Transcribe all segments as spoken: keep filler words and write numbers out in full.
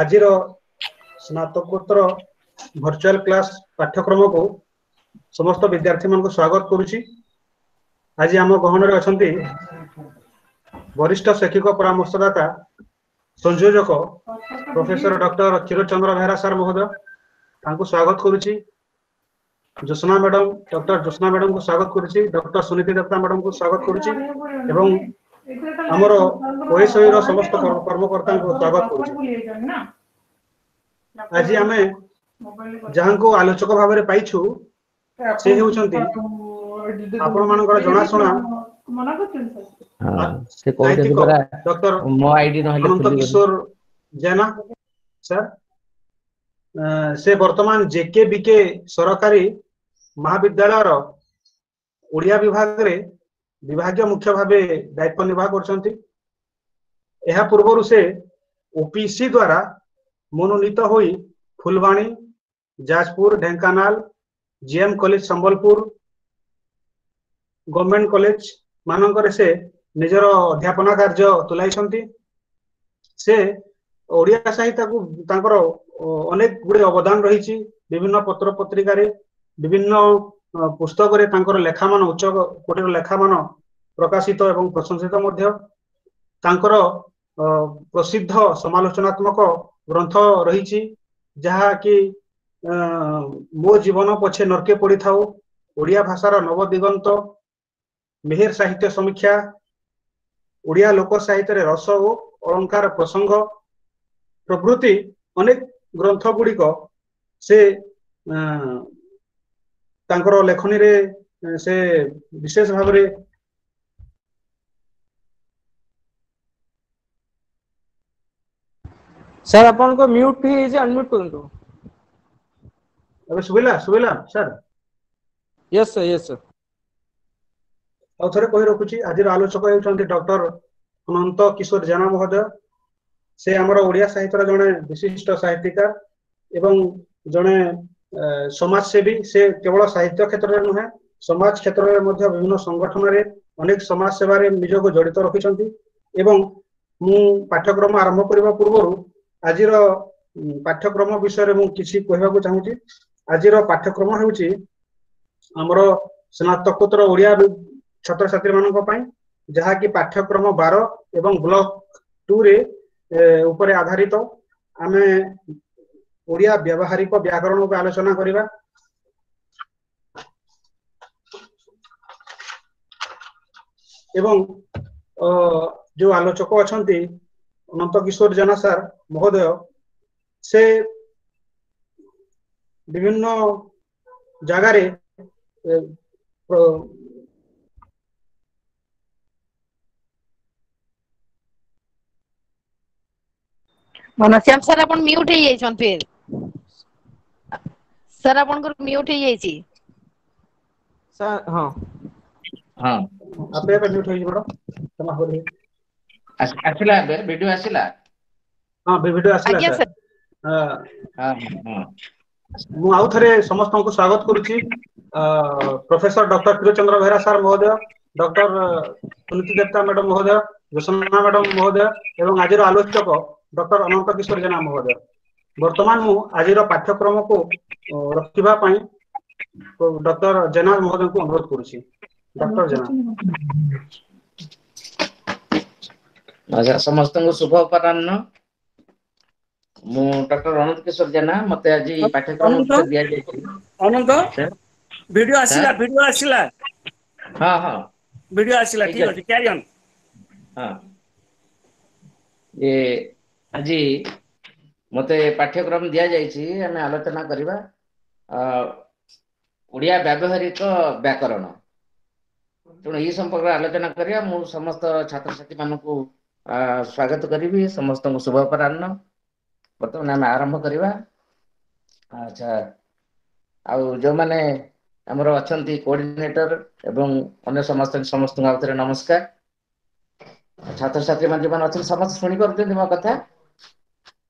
ଆଜିର ସ୍ନାତକୋତ୍ତର virtual class ପାଠ୍ୟକ୍ରମକୁ ସମସ୍ତ ବିଦ୍ୟାର୍ଥୀମାନଙ୍କୁ ସ୍ୱାଗତ କରୁଛି। ଆଜି ଆମ ଗହଣରେ ଅଛନ୍ତି ବରିଷ୍ଠ ଶୈକ୍ଷିକ ପରାମର୍ଶଦାତା ସଂଯୋଜକ ପ୍ରଫେସର ଡକ୍ଟର କ୍ଷୀରଚନ୍ଦ୍ର ବେହେରା ସାର୍ ମହୋଦୟ, ତାଙ୍କୁ ସ୍ୱାଗତ କରୁଛି। ଜ୍ୟୋତ୍ସ୍ନା ମ୍ୟାଡମ, ଡକ୍ଟର ଜ୍ୟୋତ୍ସ୍ନା ମ୍ୟାଡମଙ୍କୁ ସ୍ୱାଗତ କରୁଛି। ଡକ୍ଟର ସୁନୀତି ଦତ୍ତା ମ୍ୟାଡମଙ୍କୁ ସ୍ୱାଗତ କରୁଛି ଏବଂ ଆମର ଓଏସଓଇ ର ସମସ୍ତ କର୍ମକର୍ତ୍ତାଙ୍କୁ ସ୍ୱାଗତ କରୁଛି। ଆଜି ଆମେ ଯାହାଙ୍କୁ ଆଲୋଚକ ଭାବରେ ପାଇଛୁ ସେ ହେଉଛନ୍ତି ଆପଣମାନଙ୍କର ଜଣାଶୁଣା ସାହିତ୍ୟିକ ଡକ୍ଟର ଅନନ୍ତ କିଶୋର ଜେନା ସାର୍। ସେ ବର୍ତ୍ତମାନ ଜେକେ ବିକେ ସରକାରୀ ମହାବିଦ୍ୟାଳୟର ଓଡ଼ିଆ ବିଭାଗରେ ବିଭାଗୀୟ ମୁଖ୍ୟ ଭାବେ ଦାୟିତ୍ୱ ନିର୍ବାହ କରୁଛନ୍ତି। ଏହା ପୂର୍ବରୁ ସେ ଓପିସି ଦ୍ୱାରା ମନୋନୀତ ହୋଇ Phulbani, Jajpur, Dhenkanal, GM college Sambalpur, government college ମାନଙ୍କରେ ସେ ନିଜର ଅଧ୍ୟାପନା କାର୍ଯ୍ୟ ତୁଲାଇଛନ୍ତି। ସେ ଓଡ଼ିଆ ସାହିତ୍ୟକୁ ତାଙ୍କର ଅନେକ ଗୁଡ଼ିଏ ଅବଦାନ ରହିଛି। ବିଭିନ୍ନ ପତ୍ର ପତ୍ରିକାରେ, ବିଭିନ୍ନ ପୁସ୍ତକରେ ତାଙ୍କର ଲେଖାମାନ, ଉଚ୍ଚ କୋଟିର ଲେଖାମାନ ପ୍ରକାଶିତ ଏବଂ ପ୍ରଶଂସିତ ମଧ୍ୟ। ତାଙ୍କର ପ୍ରସିଦ୍ଧ ସମାଲୋଚନାତ୍ମକ ଗ୍ରନ୍ଥ ରହିଛି, ଯାହାକି ମୋ ଜୀବନ ପଛେ ନର୍କେ ପଡ଼ିଥାଉ, ଓଡ଼ିଆ ଭାଷାର ନବଦିଗନ୍ତ, ମେହେର ସାହିତ୍ୟ ସମୀକ୍ଷା, ଓଡ଼ିଆ ଲୋକ ସାହିତ୍ୟରେ ରସ ଓ ଅଳଙ୍କାର ପ୍ରସଙ୍ଗ ପ୍ରଭୃତି ଅନେକ ଗ୍ରନ୍ଥ ଗୁଡ଼ିକ ସେ ତାଙ୍କର ଲେଖନୀରେ ସେ ବିଶେଷ ଭାବରେ ସାର୍ ଆପଣଙ୍କ ମ୍ୟୁଟ୍ ହେଇଯାଇଛି, ଅନମ୍ୟୁଟ୍ କରନ୍ତୁ। ଏବେ ଶୁଭିଲା? ଶୁଭିଲା sir? Yes sir, yes sir. ଆଉ ଥରେ କହି ରଖୁଛି, ଆଜିର ଆଲୋଚକ ହେଉଛନ୍ତି ଡକ୍ଟର ଅନନ୍ତ କିଶୋର ଜେନା ମହୋଦୟ। ସେ ଆମର ଓଡ଼ିଆ ସାହିତ୍ୟର ଜଣେ ବିଶିଷ୍ଟ ସାହିତ୍ୟିକାର ଏବଂ ଜଣେ ସମାଜସେବୀ। ସେ କେବଳ ସାହିତ୍ୟ କ୍ଷେତ୍ରରେ ନୁହେଁ, ସମାଜ କ୍ଷେତ୍ରରେ ମଧ୍ୟ ବିଭିନ୍ନ ସଂଗଠନରେ ଅନେକ ସମାଜ ସେବାରେ ନିଜକୁ ଜଡ଼ିତ ରଖିଛନ୍ତି। ଏବଂ ମୁଁ ପାଠ୍ୟକ୍ରମ ଆରମ୍ଭ କରିବା ପୂର୍ବରୁ ଆଜିର ପାଠ୍ୟକ୍ରମ ବିଷୟରେ ମୁଁ କିଛି କହିବାକୁ ଚାହୁଁଛି। ଆଜିର ପାଠ୍ୟକ୍ରମ ହେଉଛି ଆମର ସ୍ନାତକୋତ୍ତର ଓଡ଼ିଆ ଛାତ୍ରଛାତ୍ରୀ ମାନଙ୍କ ପାଇଁ, ଯାହାକି ପାଠ୍ୟକ୍ରମ ବାର ଏବଂ ବ୍ଲକ ଟୁ ରେ ଉପରେ ଆଧାରିତ। ଆମେ ଓଡ଼ିଆ ବ୍ୟବହାରିକ ବ୍ୟାକରଣ ଉପରେ ଆଲୋଚନା କରିବା। ଏବଂ ଯୋଉ ଆଲୋଚକ ଅଛନ୍ତି ଅନନ୍ତ କିଶୋର ଜେନା ସାର୍ ମହୋଦୟ, ସେ ବିଭିନ୍ନ ଜାଗାରେ ଘନଶ୍ୟାମ ସାର୍ ଆପଣ ମ୍ୟୁଟ ହେଇଯାଇଛନ୍ତି ଫେର। ସାର୍ ଆପଣଙ୍କର ମ୍ୟୁଟ ହେଇଯାଇଛି। ସାର୍ ହଁ ହଁ ଆପେ ଆପେ ମ୍ୟୁଟ ହେଇଯିବ କ୍ଷମା କରିବେ। ଆସିଲା ଏବେ ଭିଡିଓ ଆସିଲା? ହଁ, ଭିଡିଓ ଆସିଲା ଆଜ୍ଞା ସାର୍। ସାର୍। ହଁ ହଁ। ମୁଁ ଆଉ ଥରେ ସମସ୍ତଙ୍କୁ ସ୍ୱାଗତ କରୁଛି। Professor doctor Kshirachandra Behera sir ମହୋଦୟ, ଡକ୍ଟର ସୁନୀତି ଦେବତା ମ୍ୟାଡମ ମହୋଦୟ, ଜ୍ୟୋତ୍ସ୍ନା ମ୍ୟାଡମ ମହୋଦୟ ଏବଂ ଆଜିର ଆଲୋଚକ ଡକ୍ଟର ଅନନ୍ତ କିଶୋର ଜେନା ମହୋଦୟ। ବର୍ତ୍ତମାନ ମୁଁ ଆଜିର ପାଠ୍ୟକ୍ରମକୁ ରଖିବା ପାଇଁ ଡକ୍ଟର ଜେନା ମହୋଦୟଙ୍କୁ ଅନୁରୋଧ କରୁଛି। ଡକ୍ଟର ଜେନା। ଆଚ୍ଛା, ସମସ୍ତଙ୍କୁ ଶୁଭ ଅପରାହ୍ନ। ମୁଁ ଡକ୍ଟର ଅନନ୍ତ କିଶୋର ଜେନା। ମତେ ଆଜି ପାଠ୍ୟକ୍ରମ ଦିଆଯାଇଛି। ଅନନ୍ତ, ଭିଡିଓ ଆସିଲା? ଭିଡିଓ ଆସିଲା? ହଁ ହଁ, ଭିଡିଓ ଆସିଲା। ଠିକ ଅଛି, କ୍ୟାରି ଅନ୍। ହଁ, ଏ ଆଜି ମତେ ପାଠ୍ୟକ୍ରମ ଦିଆଯାଇଛି, ଆମେ ଆଲୋଚନା କରିବା ଓଡ଼ିଆ ବ୍ୟବହାରିକ ବ୍ୟାକରଣ। ତେଣୁ ଏହି ସମ୍ପର୍କରେ ଆଲୋଚନା କରିବା। ମୁଁ ସମସ୍ତ ଛାତ୍ରଛାତ୍ରୀ ମାନଙ୍କୁ ସ୍ୱାଗତ କରିବି, ସମସ୍ତଙ୍କୁ ଶୁଭ ଅପରାହ୍ନ। ବର୍ତ୍ତମାନ ଆମେ ଆରମ୍ଭ କରିବା। ଆଚ୍ଛା, ଆଉ ଯୋଉମାନେ ଆମର ଅଛନ୍ତି କୋଅର୍ଡିନେଟର ଏବଂ ଅନ୍ୟ ସମସ୍ତ ସମସ୍ତଙ୍କୁ ଆଉ ଥରେ ନମସ୍କାର। ଛାତ୍ରଛାତ୍ରୀ ମାନେ ଯୋଉମାନେ ଅଛନ୍ତି ସମସ୍ତେ ଶୁଣିପାରୁଛନ୍ତି ମୋ କଥା?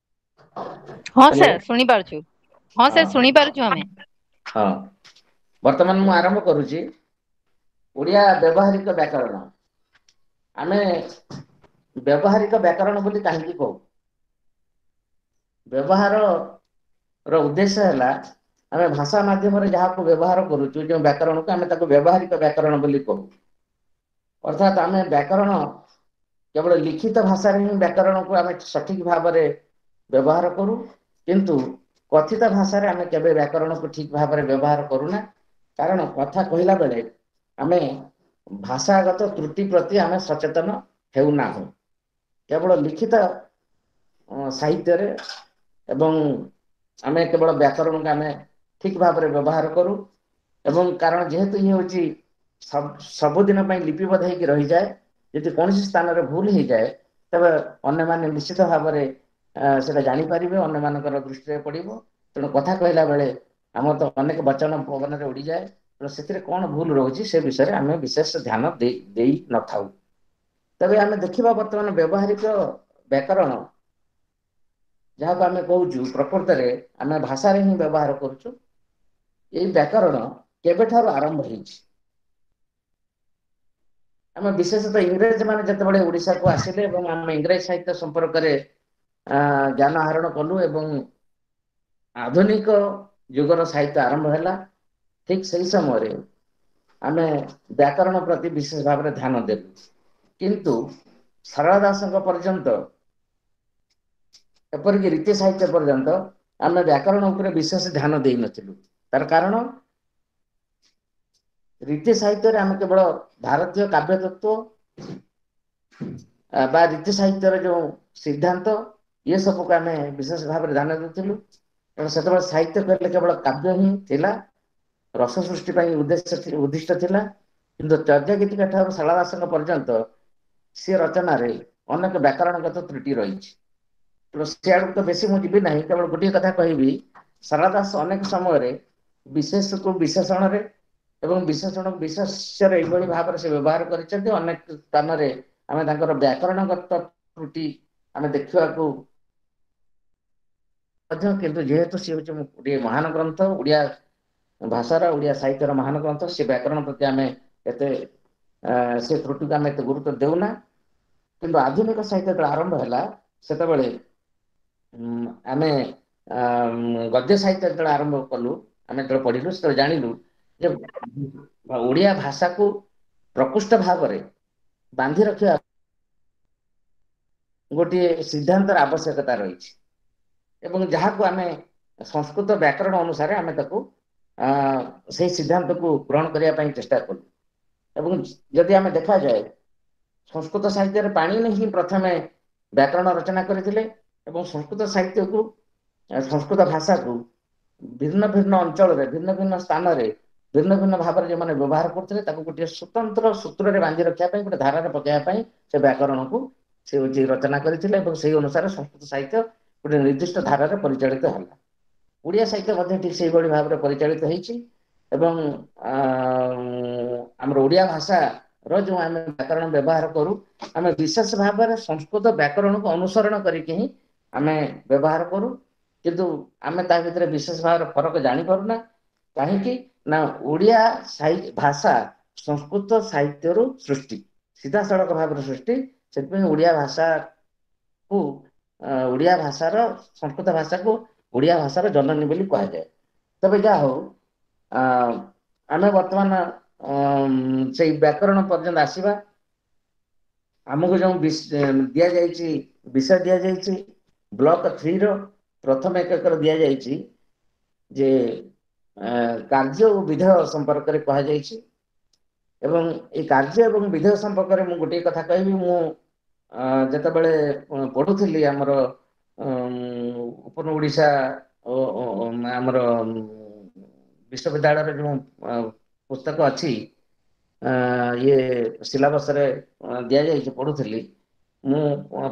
ହଁ ସାର୍, ଶୁଣିପାରୁଛୁ। ହଁ ସାର୍, ଶୁଣିପାରୁଛୁ ଆମେ। ହଁ, ବର୍ତ୍ତମାନ ମୁଁ ଆରମ୍ଭ କରୁଛି ଓଡ଼ିଆ ବ୍ୟବହାରିକ ବ୍ୟାକରଣ। ଆମେ ବ୍ୟବହାରିକ ବ୍ୟାକରଣ ବୋଲି କାହିଁକି କହୁ? ବ୍ୟବହାର ର ଉଦ୍ଦେଶ୍ୟ ହେଲା ଆମେ ଭାଷା ମାଧ୍ୟମରେ ଯାହାକୁ ବ୍ୟବହାର କରୁଛୁ, ଯେଉଁ ବ୍ୟାକରଣକୁ ଆମେ ତାକୁ ବ୍ୟବହାରିକ ବ୍ୟାକରଣ ବୋଲି କହୁ। ଅର୍ଥାତ୍ ଆମେ ବ୍ୟାକରଣ କେବଳ ଲିଖିତ ଭାଷାରେ ହିଁ ବ୍ୟାକରଣକୁ ଆମେ ସଠିକ ଭାବରେ ବ୍ୟବହାର କରୁ, କିନ୍ତୁ କଥିତ ଭାଷାରେ ଆମେ କେବେ ବ୍ୟାକରଣକୁ ଠିକ ଭାବରେ ବ୍ୟବହାର କରୁନା। କାରଣ କଥା କହିଲା ବେଳେ ଆମେ ଭାଷାଗତ ତ୍ରୁଟି ପ୍ରତି ଆମେ ସଚେତନ ହେଉନାହୁଁ। କେବଳ ଲିଖିତ ସାହିତ୍ୟରେ ଏବଂ ଆମେ କେବଳ ବ୍ୟାକରଣକୁ ଆମେ ଠିକ ଭାବରେ ବ୍ୟବହାର କରୁ। ଏବଂ କାରଣ ଯେହେତୁ ଇଏ ହେଉଛି ସବୁଦିନ ପାଇଁ ଲିପିବଦ୍ଧ ହେଇକି ରହିଯାଏ, ଯଦି କୌଣସି ସ୍ଥାନରେ ଭୁଲ ହେଇଯାଏ ତେବେ ଅନ୍ୟମାନେ ନିଶ୍ଚିତ ଭାବରେ ସେଟା ଜାଣିପାରିବେ, ଅନ୍ୟମାନଙ୍କର ଦୃଷ୍ଟିରେ ପଡ଼ିବ। ତେଣୁ କଥା କହିଲା ବେଳେ ଆମର ତ ଅନେକ ବଚନ ପବନରେ ଉଡ଼ିଯାଏ, ତେଣୁ ସେଥିରେ କଣ ଭୁଲ ରହୁଛି ସେ ବିଷୟରେ ଆମେ ବିଶେଷ ଧ୍ୟାନ ଦେଇ ଦେଇ ନଥାଉ। ତେବେ ଆମେ ଦେଖିବା ବର୍ତ୍ତମାନ ବ୍ୟବହାରିକ ବ୍ୟାକରଣ ଯାହାକୁ ଆମେ କହୁଛୁ, ପ୍ରକୃତରେ ଆମେ ଭାଷାରେ ହିଁ ବ୍ୟବହାର କରୁଛୁ। ଏଇ ବ୍ୟାକରଣ କେବେଠାରୁ ଆରମ୍ଭ ହେଇଛି? ଆମେ ବିଶେଷତଃ ଇଂରେଜ ମାନେ ଯେତେବେଳେ ଓଡ଼ିଶାକୁ ଆସିଲେ ଏବଂ ଆମେ ଇଂରେଜ ସାହିତ୍ୟ ସମ୍ପର୍କରେ ଜ୍ଞାନ ଆହରଣ କଲୁ ଏବଂ ଆଧୁନିକ ଯୁଗର ସାହିତ୍ୟ ଆରମ୍ଭ ହେଲା, ଠିକ ସେଇ ସମୟରେ ଆମେ ବ୍ୟାକରଣ ପ୍ରତି ବିଶେଷ ଭାବରେ ଧ୍ୟାନ ଦେଲୁ। କିନ୍ତୁ ସାରଳା ଦାସଙ୍କ ପର୍ଯ୍ୟନ୍ତ, ଏପରିକି ରୀତି ସାହିତ୍ୟ ପର୍ଯ୍ୟନ୍ତ ଆମେ ବ୍ୟାକରଣ ଉପରେ ବିଶେଷ ଧ୍ୟାନ ଦେଇନଥିଲୁ। ତାର କାରଣ ରୀତି ସାହିତ୍ୟରେ ଆମେ କେବଳ ଭାରତୀୟ କାବ୍ୟ ତତ୍ତ୍ୱ ବା ରୀତି ସାହିତ୍ୟର ଯୋଉ ସିଦ୍ଧାନ୍ତ ଇଏ ସବୁକୁ ଆମେ ବିଶେଷ ଭାବରେ ଧ୍ୟାନ ଦେଉଥିଲୁ। କାରଣ ସେତେବେଳେ ସାହିତ୍ୟ କହିଲେ କେବଳ କାବ୍ୟ ହିଁ ଥିଲା, ରସ ସୃଷ୍ଟି ପାଇଁ ଉଦ୍ଦେଶ୍ୟ ଉଦ୍ଦିଷ୍ଟ ଥିଲା। କିନ୍ତୁ ଚର୍ଯ୍ୟା ଗୀତିକା ଠାରୁ ସାରଳା ଦାସଙ୍କ ପର୍ଯ୍ୟନ୍ତ ସେ ରଚନାରେ ଅନେକ ବ୍ୟାକରଣଗତ ତ୍ରୁଟି ରହିଛି। ତେଣୁ ସିଆଡ଼କୁ ତ ବେଶୀ ମୁଁ ଯିବି ନାହିଁ, କେବଳ ଗୋଟିଏ କଥା କହିବି, ସାରଳା ଦାସ ଅନେକ ସମୟରେ ବିଶେଷକୁ ବିଶେଷଣରେ ଏବଂ ବିଶେଷଣକୁ ବିଶେଷ୍ୟରେ ଏଇଭଳି ଭାବରେ ସେ ବ୍ୟବହାର କରିଛନ୍ତି। ଅନେକ ସ୍ଥାନରେ ଆମେ ତାଙ୍କର ବ୍ୟାକରଣଗତ ତ୍ରୁଟି ଆମେ ଦେଖିବାକୁ ମଧ୍ୟ, କିନ୍ତୁ ଯେହେତୁ ସିଏ ହେଉଛି ଗୋଟିଏ ମହାନ ଗ୍ରନ୍ଥ, ଓଡ଼ିଆ ଭାଷାର ଓଡ଼ିଆ ସାହିତ୍ୟର ମହାନ ଗ୍ରନ୍ଥ, ସେ ବ୍ୟାକରଣ ପ୍ରତି ଆମେ ଏତେ ସେ ତ୍ରୁଟିକୁ ଆମେ ଏତେ ଗୁରୁତ୍ୱ ଦେଉନା। କିନ୍ତୁ ଆଧୁନିକ ସାହିତ୍ୟ ଯେତେବେଳେ ଆରମ୍ଭ ହେଲା ସେତେବେଳେ ଆମେ ଗଦ୍ୟ ସାହିତ୍ୟ ଯେତେବେଳେ ଆରମ୍ଭ କଲୁ, ଆମେ ଯେତେବେଳେ ପଢିଲୁ ସେତେବେଳେ ଜାଣିଲୁ ଯେ ଓଡ଼ିଆ ଭାଷାକୁ ପ୍ରକୃଷ୍ଟ ଭାବରେ ବାନ୍ଧି ରଖିବା ଗୋଟିଏ ସିଦ୍ଧାନ୍ତର ଆବଶ୍ୟକତା ରହିଛି ଏବଂ ଯାହାକୁ ଆମେ ସଂସ୍କୃତ ବ୍ୟାକରଣ ଅନୁସାରେ ଆମେ ତାକୁ ସେଇ ସିଦ୍ଧାନ୍ତକୁ ଗ୍ରହଣ କରିବା ପାଇଁ ଚେଷ୍ଟା କଲୁ। ଏବଂ ଯଦି ଆମେ ଦେଖାଯାଏ ସଂସ୍କୃତ ସାହିତ୍ୟରେ ପାଣିନି ହିଁ ପ୍ରଥମେ ବ୍ୟାକରଣ ରଚନା କରିଥିଲେ ଏବଂ ସଂସ୍କୃତ ସାହିତ୍ୟକୁ ସଂସ୍କୃତ ଭାଷାକୁ ଭିନ୍ନ ଭିନ୍ନ ଅଞ୍ଚଳରେ ଭିନ୍ନ ଭିନ୍ନ ସ୍ଥାନରେ ଭିନ୍ନ ଭିନ୍ନ ଭାବରେ ଯେଉଁମାନେ ବ୍ୟବହାର କରୁଥିଲେ ତାକୁ ଗୋଟିଏ ସ୍ୱତନ୍ତ୍ର ସୂତ୍ରରେ ବାନ୍ଧି ରଖିବା ପାଇଁ, ଗୋଟେ ଧାରାରେ ପକାଇବା ପାଇଁ ସେ ବ୍ୟାକରଣକୁ ସେ ହେଉଛି ରଚନା କରିଥିଲେ ଏବଂ ସେଇ ଅନୁସାରେ ସଂସ୍କୃତ ସାହିତ୍ୟ ଗୋଟେ ନିର୍ଦ୍ଦିଷ୍ଟ ଧାରାରେ ପରିଚାଳିତ ହେଲା। ଓଡ଼ିଆ ସାହିତ୍ୟ ମଧ୍ୟ ଠିକ ସେଇଭଳି ଭାବରେ ପରିଚାଳିତ ହେଇଛି ଏବଂ ଆମର ଓଡ଼ିଆ ଭାଷାର ଯେଉଁ ଆମେ ବ୍ୟାକରଣ ବ୍ୟବହାର କରୁ, ଆମେ ବିଶେଷ ଭାବରେ ସଂସ୍କୃତ ବ୍ୟାକରଣକୁ ଅନୁସରଣ କରିକି ହିଁ ଆମେ ବ୍ୟବହାର କରୁ। କିନ୍ତୁ ଆମେ ତା ଭିତରେ ବିଶେଷ ଭାବରେ ଫରକ ଜାଣିପାରୁନା। କାହିଁକି ନା ଓଡ଼ିଆ ଭାଷା ସଂସ୍କୃତ ସାହିତ୍ୟରୁ ସୃଷ୍ଟି, ସିଧାସଳଖ ଭାବରେ ସୃଷ୍ଟି। ସେଥିପାଇଁ ଓଡ଼ିଆ ଭାଷାକୁ ଓଡ଼ିଆ ଭାଷାର ସଂସ୍କୃତ ଭାଷାକୁ ଓଡ଼ିଆ ଭାଷାର ଜନନୀ ବୋଲି କୁହାଯାଏ। ତେବେ ଯାହା ହଉ, ଆମେ ବର୍ତ୍ତମାନ ସେଇ ବ୍ୟାକରଣ ପର୍ଯ୍ୟନ୍ତ ଆସିବା। ଆମକୁ ଯେଉଁ ଦିଆଯାଇଛି ବିଷୟ ଦିଆଯାଇଛି ବ୍ଲକ ଥ୍ରୀର ପ୍ରଥମ ଏକକରେ ଦିଆଯାଇଛି ଯେ କାର୍ଯ୍ୟ ଓ ବିଧେୟ ସମ୍ପର୍କରେ କୁହାଯାଇଛି। ଏବଂ ଏଇ କାର୍ଯ୍ୟ ଏବଂ ବିଧେୟ ସମ୍ପର୍କରେ ମୁଁ ଗୋଟିଏ କଥା କହିବି। ମୁଁ ଯେତେବେଳେ ପଢୁଥିଲି ଆମର ଉପର ଓଡ଼ିଶା ଆମର ବିଶ୍ୱବିଦ୍ୟାଳୟରେ ଯେଉଁ ପୁସ୍ତକ ଅଛି ଇଏ ସିଲାବସରେ ଦିଆଯାଇଛି ପଢୁଥିଲି, ମୁଁ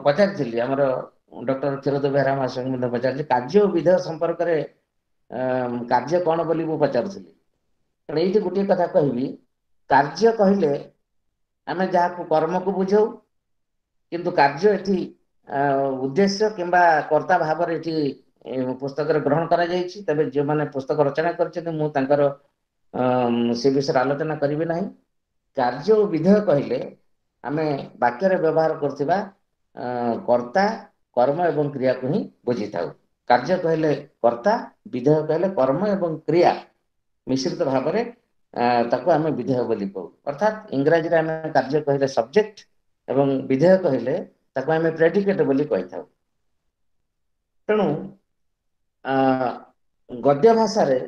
ପଚାରିଥିଲି ଆମର ଡକ୍ଟର କ୍ଷୀରୋଦ ବେହେରା ମହାଶୟଙ୍କୁ ମଧ୍ୟ ପଚାରିଲି କାର୍ଯ୍ୟ ଓ ବିଧେୟ ସମ୍ପର୍କରେ କାର୍ଯ୍ୟ କଣ ବୋଲି ମୁଁ ପଚାରୁଥିଲି। ତେଣୁ ଏଇଠି ଗୋଟିଏ କଥା କହିବି, କାର୍ଯ୍ୟ କହିଲେ ଆମେ ଯାହାକୁ କର୍ମକୁ ବୁଝାଉ, କିନ୍ତୁ କାର୍ଯ୍ୟ ଏଠି ଉଦ୍ଦେଶ୍ୟ କିମ୍ବା କର୍ତ୍ତା ଭାବରେ ଏଠି ପୁସ୍ତକରେ ଗ୍ରହଣ କରାଯାଇଛି। ତେବେ ଯେଉଁମାନେ ପୁସ୍ତକ ରଚନା କରିଛନ୍ତି ମୁଁ ତାଙ୍କର ସେ ବିଷୟରେ ଆଲୋଚନା କରିବି ନାହିଁ। କାର୍ଯ୍ୟ ଓ ବିଧେୟ କହିଲେ ଆମେ ବାକ୍ୟରେ ବ୍ୟବହାର କରୁଥିବା କର୍ତ୍ତା, କର୍ମ ଏବଂ କ୍ରିୟାକୁ ହିଁ ବୁଝିଥାଉ। କାର୍ଯ୍ୟ କହିଲେ କର୍ତ୍ତା, ବିଧେୟ କହିଲେ କର୍ମ ଏବଂ କ୍ରିୟା ମିଶ୍ରିତ ଭାବରେ ତାକୁ ଆମେ ବିଧେୟ ବୋଲି କହୁ। ଅର୍ଥାତ୍ ଇଂରାଜୀରେ ଆମେ କାର୍ଯ୍ୟ କହିଲେ ସବଜେକ୍ଟ ଏବଂ ବିଧେୟ କହିଲେ ତାକୁ ଆମେ ପ୍ରେଡିକେଟ ବୋଲି କହିଥାଉ। ତେଣୁ ଆ ଗଦ୍ୟ ଭାଷାରେ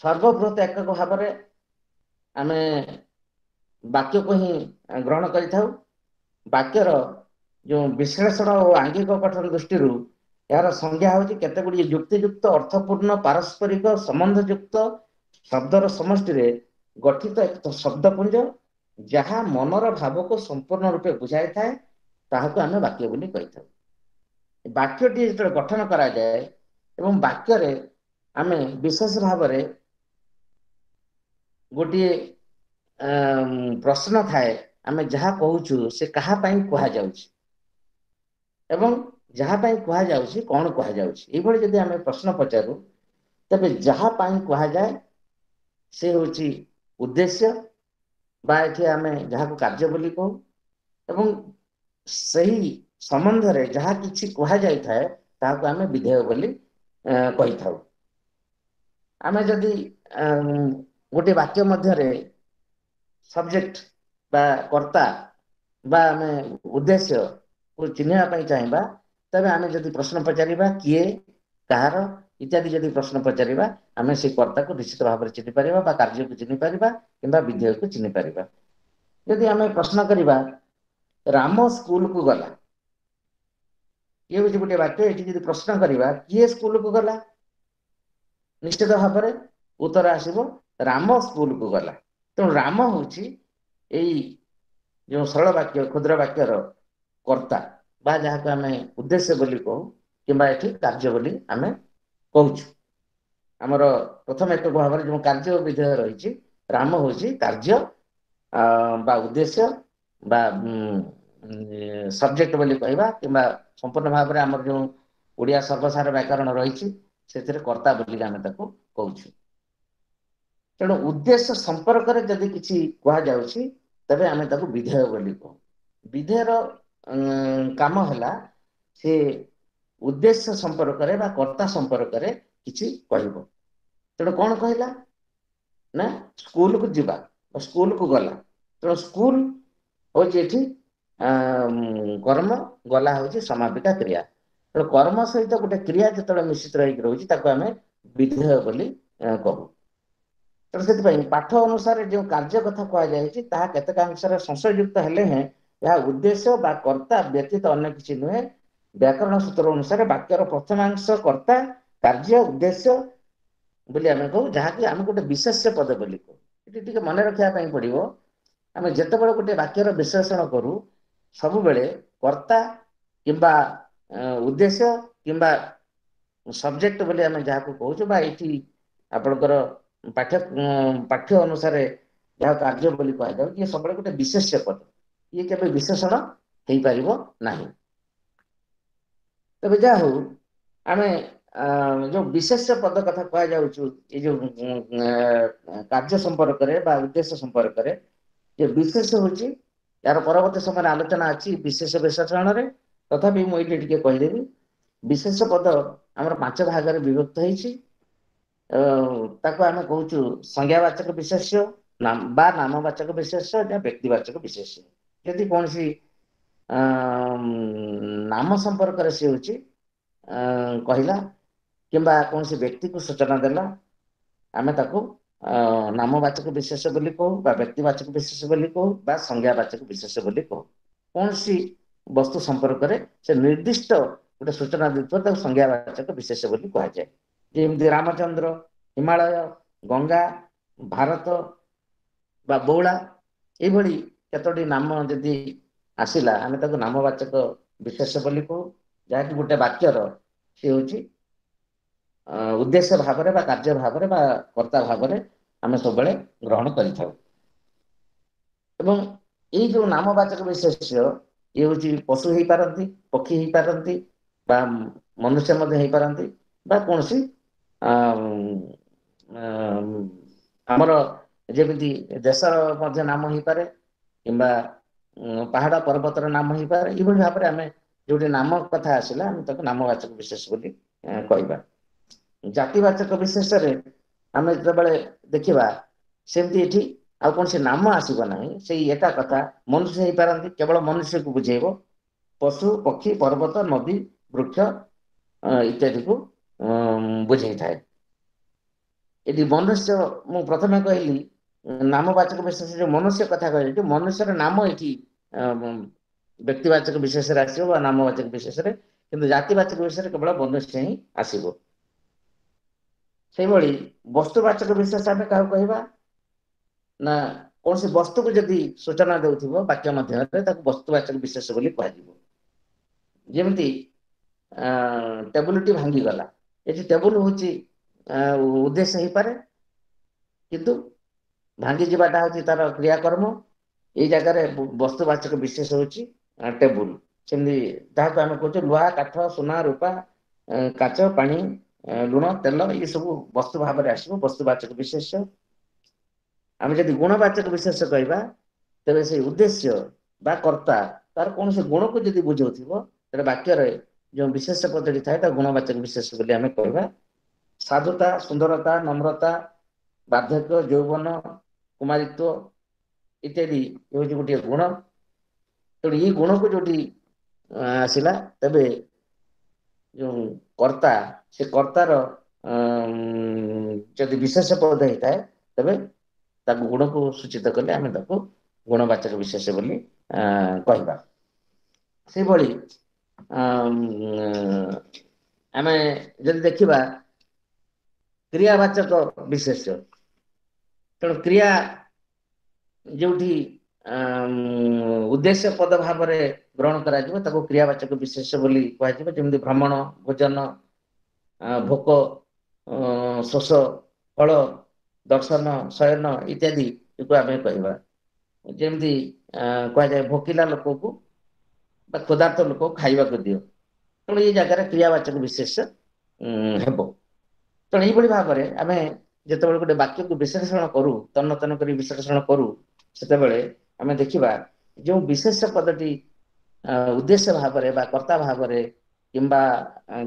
ସର୍ବବୃହତ ଏକକ ଭାବରେ ଆମେ ବାକ୍ୟକୁ ହିଁ ଗ୍ରହଣ କରିଥାଉ। ବାକ୍ୟର ଯେଉଁ ବିଶ୍ଳେଷଣ ଓ ଆଙ୍ଗିକ ଗଠନ ଦୃଷ୍ଟିରୁ ଏହାର ସଂଜ୍ଞା ହେଉଛି କେତେ ଗୁଡ଼ିଏ ଯୁକ୍ତିଯୁକ୍ତ, ଅର୍ଥପୂର୍ଣ୍ଣ, ପାରସ୍ପରିକ ସମ୍ବନ୍ଧଯୁକ୍ତ ଶବ୍ଦର ସମଷ୍ଟିରେ ଗଠିତ ଏକ ଶବ୍ଦପୁଞ୍ଜ, ଯାହା ମନର ଭାବକୁ ସମ୍ପୂର୍ଣ୍ଣ ରୂପେ ବୁଝାଇଥାଏ, ତାହାକୁ ଆମେ ବାକ୍ୟ ବୋଲି କହିଥାଉ। ବାକ୍ୟଟି ଯେତେବେଳେ ଗଠନ କରାଯାଏ ଏବଂ ବାକ୍ୟରେ ଆମେ ବିଶେଷ ଭାବରେ ଗୋଟିଏ ପ୍ରଶ୍ନ ଥାଏ, ଆମେ ଯାହା କହୁଛୁ ସେ କାହା ପାଇଁ କୁହାଯାଉଛି ଏବଂ ଯାହା ପାଇଁ କୁହାଯାଉଛି କଣ କୁହାଯାଉଛି, ଏଇଭଳି ଯଦି ଆମେ ପ୍ରଶ୍ନ ପଚାରୁ, ତେବେ ଯାହା ପାଇଁ କୁହାଯାଏ ସେ ହେଉଛି ଉଦ୍ଦେଶ୍ୟ, ବା ଏଠି ଆମେ ଯାହାକୁ କାର୍ଯ୍ୟ ବୋଲି କହୁ, ଏବଂ ସେହି ସମ୍ବନ୍ଧରେ ଯାହା କିଛି କୁହାଯାଇଥାଏ ତାହାକୁ ଆମେ ବିଧେୟ ବୋଲି କହିଥାଉ। ଆମେ ଯଦି ଗୋଟିଏ ବାକ୍ୟ ମଧ୍ୟରେ ସବଜେକ୍ଟ ବା କର୍ତ୍ତା ବା ଆମେ ଉଦ୍ଦେଶ୍ୟକୁ ଚିହ୍ନିବା ପାଇଁ ଚାହିଁବା, ତେବେ ଆମେ ଯଦି ପ୍ରଶ୍ନ ପଚାରିବା କିଏ, କାହାର ଇତ୍ୟାଦି ଯଦି ପ୍ରଶ୍ନ ପଚାରିବା, ଆମେ ସେଇ କର୍ତ୍ତାକୁ ନିଶ୍ଚିତ ଭାବରେ ଚିହ୍ନି ପାରିବା ବା କାର୍ଯ୍ୟକୁ ଚିହ୍ନି ପାରିବା କିମ୍ବା ବିଧେୟକୁ ଚିହ୍ନି ପାରିବା। ଯଦି ଆମେ ପ୍ରଶ୍ନ କରିବା ରାମ ସ୍କୁଲକୁ ଗଲା, ଇଏ ହେଉଛି ଗୋଟିଏ ବାକ୍ୟ। ଏଠି ଯଦି ପ୍ରଶ୍ନ କରିବା କିଏ ସ୍କୁଲକୁ ଗଲା, ନିଶ୍ଚିତ ଭାବରେ ଉତ୍ତର ଆସିବ ରାମ ସ୍କୁଲକୁ ଗଲା। ତେଣୁ ରାମ ହେଉଛି ଏଇ ଯେଉଁ ସରଳ ବାକ୍ୟ, କ୍ଷୁଦ୍ର ବାକ୍ୟର କର୍ତ୍ତା ବା ଯାହାକୁ ଆମେ ଉଦ୍ଦେଶ୍ୟ ବୋଲି କହୁ କିମ୍ବା ଏଠି କାର୍ଯ୍ୟ ବୋଲି ଆମେ କହୁଛୁ। ଆମର ପ୍ରଥମ ଏକକ ଭାବରେ ଯେଉଁ କାର୍ଯ୍ୟ ବିଧେୟ ରହିଛି, ରାମ ହେଉଛି କାର୍ଯ୍ୟ ବା ଉଦ୍ଦେଶ୍ୟ ବା ସବଜେକ୍ଟ ବୋଲି କହିବା, କିମ୍ବା ସମ୍ପୂର୍ଣ୍ଣ ଭାବରେ ଆମର ଯେଉଁ ଓଡ଼ିଆ ସର୍ବସାର ବ୍ୟାକରଣ ରହିଛି ସେଥିରେ କର୍ତ୍ତା ବୋଲି ଆମେ ତାକୁ କହୁଛୁ। ତେଣୁ ଉଦ୍ଦେଶ୍ୟ ସମ୍ପର୍କରେ ଯଦି କିଛି କୁହାଯାଉଛି ତେବେ ଆମେ ତାକୁ ବିଧେୟ ବୋଲି କହୁ। ବିଧେୟର କାମ ହେଲା ସେ ଉଦ୍ଦେଶ୍ୟ ସମ୍ପର୍କରେ ବା କର୍ତ୍ତା ସମ୍ପର୍କରେ କିଛି କହିବ। ତେଣୁ କଣ କହିଲା ନା ସ୍କୁଲକୁ ଯିବା ବା ସ୍କୁଲକୁ ଗଲା। ତେଣୁ ସ୍କୁଲ ହଉଛି ଏଠି କର୍ମ, ଗଲା ହଉଛି ସମାପିକା କ୍ରିୟା। ତେଣୁ କର୍ମ ସହିତ ଗୋଟେ କ୍ରିୟା ଯେତେବେଳେ ମିଶ୍ରିତ ହେଇକି ରହୁଛି ତାକୁ ଆମେ ବିଧେୟ ବୋଲି କହୁ। ତେଣୁ ସେଥିପାଇଁ ପାଠ ଅନୁସାରେ ଯେଉଁ କାର୍ଯ୍ୟ କଥା କୁହାଯାଇଛି ତାହା କେତେକାଂଶରେ ସଂଶୟଯୁକ୍ତ ହେଲେ ହେଁ ଏହା ଉଦ୍ଦେଶ୍ୟ ବା କର୍ତ୍ତା ବ୍ୟତୀତ ଅନ୍ୟ କିଛି ନୁହେଁ। ବ୍ୟାକରଣ ସୂତ୍ର ଅନୁସାରେ ବାକ୍ୟର ପ୍ରଥମାଂଶ କର୍ତ୍ତା, କାର୍ଯ୍ୟ, ଉଦ୍ଦେଶ୍ୟ ବୋଲି ଆମେ କହୁ, ଯାହାକି ଆମେ ଗୋଟେ ବିଶେଷ୍ୟ ପଦ ବୋଲି କହୁ। ଏଠି ଟିକେ ମନେ ରଖିବା ପାଇଁ ପଡିବ, ଆମେ ଯେତେବେଳେ ଗୋଟେ ବାକ୍ୟର ବିଶ୍ଳେଷଣ କରୁ ସବୁବେଳେ କର୍ତ୍ତା କିମ୍ବା ଉଦ୍ଦେଶ୍ୟ କିମ୍ବା ସବଜେକ୍ଟ ବୋଲି ଆମେ ଯାହାକୁ କହୁଛୁ, ବା ଏଇଠି ଆପଣଙ୍କର ପାଠ୍ୟ ପାଠ୍ୟ ଅନୁସାରେ ଯାହା କାର୍ଯ୍ୟ ବୋଲି କୁହାଯାଉଛି, ଇଏ ସବୁବେଳେ ଗୋଟେ ବିଶେଷ୍ୟ ପଦ, ଇଏ କେବେ ବିଶେଷଣ ହେଇପାରିବ ନାହିଁ। ତେବେ ଯାହା ହଉ, ଆମେ ଯୋଉ ବିଶେଷ୍ୟ ପଦ କଥା କୁହାଯାଉଛୁ ଏଇ ଯୋଉ କାର୍ଯ୍ୟ ସମ୍ପର୍କରେ ବା ଉଦ୍ଦେଶ୍ୟ ସମ୍ପର୍କରେ, ଯେ ବିଶେଷ ହଉଛି ଏହାର ପରବର୍ତ୍ତୀ ସମୟରେ ଆଲୋଚନା ଅଛି ବିଶେଷ ବିଶେଷଣରେ, ତଥାପି ମୁଁ ଏଇଠି ଟିକେ କହିଦେବି। ବିଶେଷ ପଦ ଆମର ପାଞ୍ଚ ଭାଗରେ ବିଭକ୍ତ ହେଇଛି। ତାକୁ ଆମେ କହୁଛୁ ସଂଜ୍ଞାବାଚକ ବିଶେଷ୍ୟ ବା ନାମବାଚକ ବିଶେଷ୍ୟ या ବ୍ୟକ୍ତିବାଚକ ବିଶେଷ୍ୟ। ଯଦି କୌଣସି ନାମ ସମ୍ପର୍କରେ ସେ ହଉଛି କହିଲା କିମ୍ବା କୌଣସି ବ୍ୟକ୍ତିକୁ ସୂଚନା ଦେଲା, ଆମେ ତାକୁ ନାମବାଚକ ବିଶେଷ ବୋଲି କହୁ ବା ବ୍ୟକ୍ତିବାଚକ ବିଶେଷ ବୋଲି କହୁ ବା ସଂଜ୍ଞାବାଚକ ବିଶେଷ ବୋଲି କହୁ। କୌଣସି ବସ୍ତୁ ସମ୍ପର୍କରେ ସେ ନିର୍ଦ୍ଦିଷ୍ଟ ଗୋଟେ ସୂଚନା ଦେଇଥିବ ତାକୁ ସଂଜ୍ଞାବାଚକ ବିଶେଷ ବୋଲି କୁହାଯାଏ। ଯେମିତି ରାମଚନ୍ଦ୍ର, ହିମାଳୟ, ଗଙ୍ଗା, ଭାରତ ବା ବଉଳା, ଏଇଭଳି କେତୋଟି ନାମ ଯଦି ଆସିଲା ଆମେ ତାକୁ ନାମବାଚକ ବିଶେଷ ବୋଲି କହୁ, ଯାହାକି ଗୋଟେ ବାକ୍ୟର ସେ ହଉଛି ଉଦ୍ଦେଶ୍ୟ ଭାବରେ ବା କାର୍ଯ୍ୟ ଭାବରେ ବା କର୍ତ୍ତା ଭାବରେ ଆମେ ସବୁବେଳେ ଗ୍ରହଣ କରିଥାଉ। ଏବଂ ଏଇ ଯୋଉ ନାମବାଚକ ବିଶେଷ୍ୟ ଇଏ ହଉଛି ପଶୁ ହେଇପାରନ୍ତି, ପକ୍ଷୀ ହେଇପାରନ୍ତି ବା ମନୁଷ୍ୟ ମଧ୍ୟ ହେଇପାରନ୍ତି ବା କୌଣସି ଆମର ଯେମିତି ଦେଶର ମଧ୍ୟ ନାମ ହେଇପାରେ କିମ୍ବା ପାହାଡ଼ ପର୍ବତର ନାମ ହେଇପାରେ। ଏଇଭଳି ଭାବରେ ଆମେ ଯୋଉଠି ନାମ କଥା ଆସିଲା ଆମେ ତାକୁ ନାମବାଚକ ବିଶେଷ ବୋଲି କହିବା। ଜାତିବାଚକ ବିଶେଷରେ ଆମେ ଯେତେବେଳେ ଦେଖିବା ସେମିତି ଏଠି ଆଉ କୌଣସି ନାମ ଆସିବ ନାହିଁ, ସେଇ ଏକା କଥା। ମନୁଷ୍ୟ ହେଇପାରନ୍ତି, କେବଳ ମନୁଷ୍ୟକୁ ବୁଝେଇବ, ପଶୁ, ପକ୍ଷୀ, ପର୍ବତ, ନଦୀ, ବୃକ୍ଷ ଇତ୍ୟାଦିକୁ ବୁଝେଇଥାଏ। ଏଠି ମନୁଷ୍ୟ, ମୁଁ ପ୍ରଥମେ କହିଲି ନାମବାଚକ ବିଶେଷ ଯୋଉ ମନୁଷ୍ୟ କଥା କହିଲି, ମନୁଷ୍ୟର ନାମ ଏଠି ବ୍ୟକ୍ତିବାଚକ ବିଶେଷରେ ଆସିବ ବା ନାମବାଚକ ବିଶେଷରେ, କିନ୍ତୁ ଜାତିବାଚକ ବିଶେଷରେ କେବଳ ମନୁଷ୍ୟ ହିଁ ଆସିବ। ସେଇଭଳି ବସ୍ତୁବାଚକ ବିଶେଷ ଆମେ କାହାକୁ କହିବା ନା କୌଣସି ବସ୍ତୁକୁ ଯଦି ସୂଚନା ଦେଉଥିବ ବାକ୍ୟ ମଧ୍ୟରେ ତାକୁ ବସ୍ତୁବାଚକ ବିଶେଷ ବୋଲି କୁହାଯିବ। ଯେମିତି ଟେବୁଲଟି ଭାଙ୍ଗିଗଲା, ଏଠି ଟେବୁଲ ହଉଛି ଉଦ୍ଦେଶ୍ୟ ହେଇପାରେ, କିନ୍ତୁ ଭାଙ୍ଗିଯିବାଟା ହଉଛି ତାର କ୍ରିୟାକର୍ମ। ଏଇ ଜାଗାରେ ବସ୍ତୁବାଚକ ବିଶେଷ ହଉଛି ଟେବୁଲ। ସେମିତି ଯାହାକୁ ଆମେ କହୁଛେ ଲୁହା, କାଠ, ସୁନା, ରୂପା, କାଚ, ପାଣି, ଲୁଣ, ତେଲ, ଇଏ ସବୁ ବସ୍ତୁ ଭାବରେ ଆସିବ ବସ୍ତୁବାଚକ ବିଶେଷ। ଆମେ ଯଦି ଗୁଣବାଚକ ବିଶେଷ କହିବା ତେବେ ସେଇ ଉଦ୍ଦେଶ୍ୟ ବା କର୍ତ୍ତା ତାର କୌଣସି ଗୁଣକୁ ଯଦି ବୁଝଉଥିବ ତେବେ ବାକ୍ୟରେ ଯେଉଁ ବିଶେଷ ପଦଟି ଥାଏ ତାକୁ ଗୁଣବାଚକ ବିଶେଷ ବୋଲି ଆମେ କହିବା। ସାଧୁତା, ସୁନ୍ଦରତା, ନମ୍ରତା, ବାର୍ଦ୍ଧକ୍ୟ, ଯୌବନ, କୁମାରିତ୍ୱ ଇତ୍ୟାଦି ହେଉଛି ଗୋଟିଏ ଗୁଣ। ତେଣୁ ଏଇ ଗୁଣକୁ ଯୋଉଠି ଆସିଲା ତେବେ ଯୋଉ କର୍ତ୍ତା, ସେ କର୍ତ୍ତାର ଯଦି ବିଶେଷ ପଦ ହେଇଥାଏ ତେବେ ତାକୁ ଗୁଣକୁ ସୂଚିତ କଲେ ଆମେ ତାକୁ ଗୁଣବାଚକ ବିଶେଷ ବୋଲି କହିବା। ସେଇଭଳି ଆମେ ଯଦି ଦେଖିବା କ୍ରିୟାବାଚକ ବିଶେଷ୍ୟ, ତେଣୁ କ୍ରିୟା ଯୋଉଠି ଉଦ୍ଦେଶ୍ୟ ପଦ ଭାବରେ ଗ୍ରହଣ କରାଯିବ ତାକୁ କ୍ରିୟାବାଚକ ବିଶେଷ୍ୟ ବୋଲି କୁହାଯିବ। ଯେମିତି ଭ୍ରମଣ, ଭୋଜନ, ଭୋକ, ଶୋଷ, ଫଳ, ଦର୍ଶନ, ଶୟନ ଇତ୍ୟାଦି ଆମେ କହିବା। ଯେମିତି କୁହାଯାଏ ଭୋକିଲା ଲୋକକୁ ବା କ୍ଷୁଧାର୍ତ ଲୋକକୁ ଖାଇବାକୁ ଦିଅ, ତେଣୁ ଏଇ ଜାଗାରେ କ୍ରିୟାବାଚକ ବିଶେଷ୍ୟ ହେବ। ତେଣୁ ଏଇଭଳି ଭାବରେ ଆମେ ଯେତେବେଳେ ଗୋଟେ ବାକ୍ୟକୁ ବିଶ୍ଳେଷଣ କରୁ, ତନ୍ନ ତନ୍ନ କରି ବିଶ୍ଳେଷଣ କରୁ, ସେତେବେଳେ ଆମେ ଦେଖିବା ଯେଉଁ ବିଶେଷ୍ୟ ପଦଟି ଉଦ୍ଦେଶ୍ୟ ଭାବରେ ବା କର୍ତ୍ତା ଭାବରେ କିମ୍ବା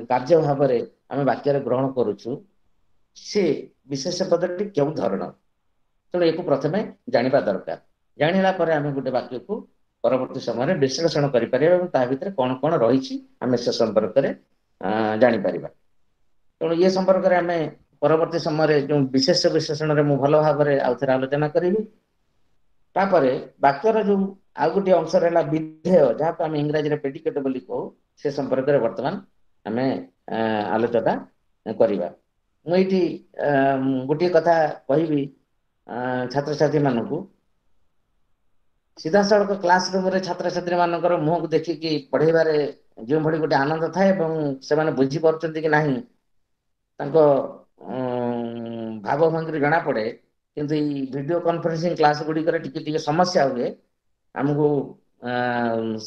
କାର୍ଯ୍ୟ ଭାବରେ ଆମେ ବାକ୍ୟରେ ଗ୍ରହଣ କରୁଛୁ, ସେ ବିଶେଷ୍ୟ ପଦଟି କେଉଁ ଧରଣର, ତେଣୁ ଏକୁ ପ୍ରଥମେ ଜାଣିବା ଦରକାର। ଜାଣିଲା ପରେ ଆମେ ଗୋଟେ ବାକ୍ୟକୁ ପରବର୍ତ୍ତୀ ସମୟରେ ବିଶ୍ଳେଷଣ କରିପାରିବା ଏବଂ ତା ଭିତରେ କଣ କଣ ରହିଛି ଆମେ ସେ ସମ୍ପର୍କରେ ଜାଣିପାରିବା। ତେଣୁ ଇଏ ସମ୍ପର୍କରେ ଆମେ ପରବର୍ତ୍ତୀ ସମୟରେ ଯେଉଁ ବିଶେଷ ବିଶ୍ଳେଷଣରେ ମୁଁ ଭଲ ଭାବରେ ଆଉ ଥରେ ଆଲୋଚନା କରିବି। ତାପରେ ବାକ୍ୟର ଯୋଉ ଆଉ ଗୋଟିଏ ଅଂଶ ରହିଲା ବିଧେୟ, ଯାହାକୁ ଆମେ ଇଂରାଜୀରେ ପ୍ରେଡିକେଟ ବୋଲି କହୁ, ସେ ସମ୍ପର୍କରେ ବର୍ତ୍ତମାନ ଆମେ ଆଲୋଚନା କରିବା। ମୁଁ ଏଇଠି ଗୋଟିଏ କଥା କହିବି ଛାତ୍ରଛାତ୍ରୀ ମାନଙ୍କୁ, ସିଧାସଳଖ କ୍ଲାସ ରୁମରେ ଛାତ୍ରଛାତ୍ରୀ ମାନଙ୍କର ମୁହଁକୁ ଦେଖିକି ପଢେଇବାରେ ଯେଉଁଭଳି ଗୋଟେ ଆନନ୍ଦ ଥାଏ ଏବଂ ସେମାନେ ବୁଝିପାରୁଛନ୍ତି କି ନାହିଁ ତାଙ୍କ ଭାବଭଙ୍ଗୀରୁ ଜଣା ପଡେ, କିନ୍ତୁ ଏଇ ଭିଡିଓ କନଫରେନ୍ସିଂ କ୍ଲାସ ଗୁଡିକରେ ଟିକେ ଟିକେ ସମସ୍ୟା ହୁଏ। ଆମକୁ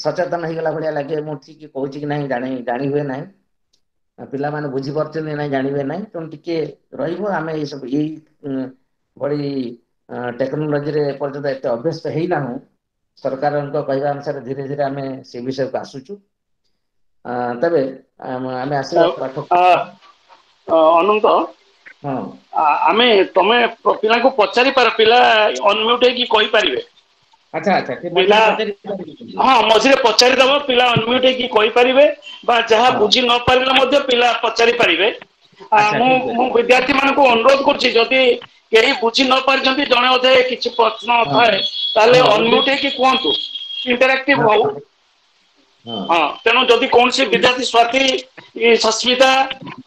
ସଚେତନ ହେଇଗଲା ଭଳିଆ ଲାଗେ, ମୁଁ ଠିକ କହୁଛି କି ନାହିଁ ଜାଣି ଜାଣି ହୁଏ ନାହିଁ, ପିଲାମାନେ ବୁଝିପାରୁଛନ୍ତି ନାହିଁ ଜାଣିବେ ନାହିଁ। ତେଣୁ ଟିକେ ରହିବ, ଆମେ ଏଇ ସବୁ ଏଇ ଭଳି ଟେକ୍ନୋଲୋଜିରେ ଏପର୍ଯ୍ୟନ୍ତ ଏତେ ଅଭ୍ୟସ୍ତ ହେଇନାହୁଁ। ସରକାରଙ୍କ କହିବା ଅନୁସାରେ ଧୀରେ ଧୀରେ ଆମେ ସେ ବିଷୟକୁ ଆସୁଛୁ। ତେବେ ଆମେ ଆସିବା ପାଠ। ଅନନ୍ତ, ହଁ, ଆମେ ତମେ ପିଲାଙ୍କୁ ପଚାରି ପାର, ପିଲା ଅନମ୍ୟୁଟ ହେଇକି କହିପାରିବେ। ଆଚ୍ଛା ଆଚ୍ଛା, ପିଲା ହଁ ମଝିରେ ପଚାରିଦବ, ପିଲା ଅନମ୍ୟୁଟ ହେଇକି କହିପାରିବେ ବା ଯାହା ବୁଝି ନ ପାରିଲେ ମଧ୍ୟ ପିଲା ପଚାରି ପାରିବେ। ମୁଁ ମୁଁ ବିଦ୍ୟାର୍ଥୀ ମାନଙ୍କୁ ଅନୁରୋଧ କରୁଛି, ଯଦି କେହି ବୁଝି ନ ପାରିଛନ୍ତି, ଜଣେ ଅଧେ କିଛି ପ୍ରଶ୍ନ ଥାଏ ତାହେଲେ ଅନମ୍ୟୁଟ ହେଇକି କୁହନ୍ତୁ, ଇଣ୍ଟରାକ୍ଟିଭ ହଉ। ହଁ, ତେଣୁ ଯଦି କୌଣସି ବିଦ୍ୟାର୍ଥୀ ସ୍ୱାତି, ସସ୍ମିତା,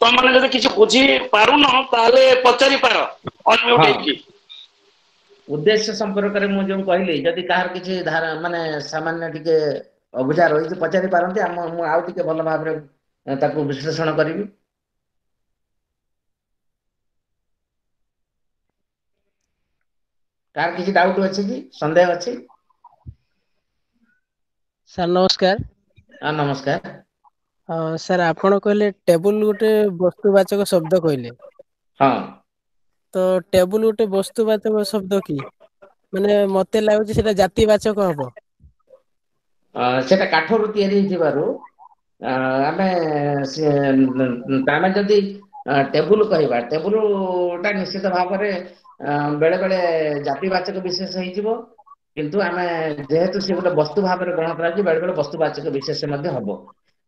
ତମମାନେ ଯଦି କିଛି ବୁଝି ପାରୁନ ତାହେଲେ ପଚାରି ପାର ଅନମ୍ୟୁଟ ହେଇକି। ଉଦ୍ଦେଶ୍ୟ ସମ୍ପର୍କରେ ମୁଁ ଯୋଉ କହିଲି, ଯଦି କାହାର କିଛି ଧାରା ମାନେ ସାମାନ୍ୟ ଟିକେ ଅବୁଝା ରହିଛି ପଚାରି ପାରନ୍ତି, ଆମ ମୁଁ ଆଉ ଟିକେ ଭଲ ଭାବରେ ତାକୁ ବିଶ୍ଳେଷଣ କରିବି। କାହାର କିଛି ଡାଉଟ ଅଛି କି, ସନ୍ଦେହ ଅଛି? ସାର୍ ନମସ୍କାର। ହଁ ନମସ୍କାର। ହଁ ସାର୍, ଆପଣ କହିଲେ ଟେବୁଲ ଗୋଟେ ବସ୍ତୁବାଚକ ଶବ୍ଦ କହିଲେ। ହଁ, ତ ଟେବୁଲ ଗୋଟେ ବସ୍ତୁବାଚକ ଶବ୍ଦ କି? ମାନେ ମତେ ଲାଗୁଛି ସେଟା ଜାତିବାଚକ ହବ। ସେଟା କାଠରୁ ତିଆରି ହେଇଥିବାରୁ ଆମେ ଆମେ ଯଦି ଟେବୁଲ କହିବା, ଟେବୁଲ ଟା ନିଶ୍ଚିତ ଭାବରେ ବେଳେ ବେଳେ ଜାତିବାଚକ ବିଶେଷ ହେଇଯିବ, କିନ୍ତୁ ଆମେ ଯେହେତୁ ସେ ଗୋଟେ ବସ୍ତୁ ଭାବରେ ଗ୍ରହଣ କରାଯାଉଛି, ବେଳେ ବେଳେ ବସ୍ତୁବାଚକ ବିଶେଷ ମଧ୍ୟ ହବ।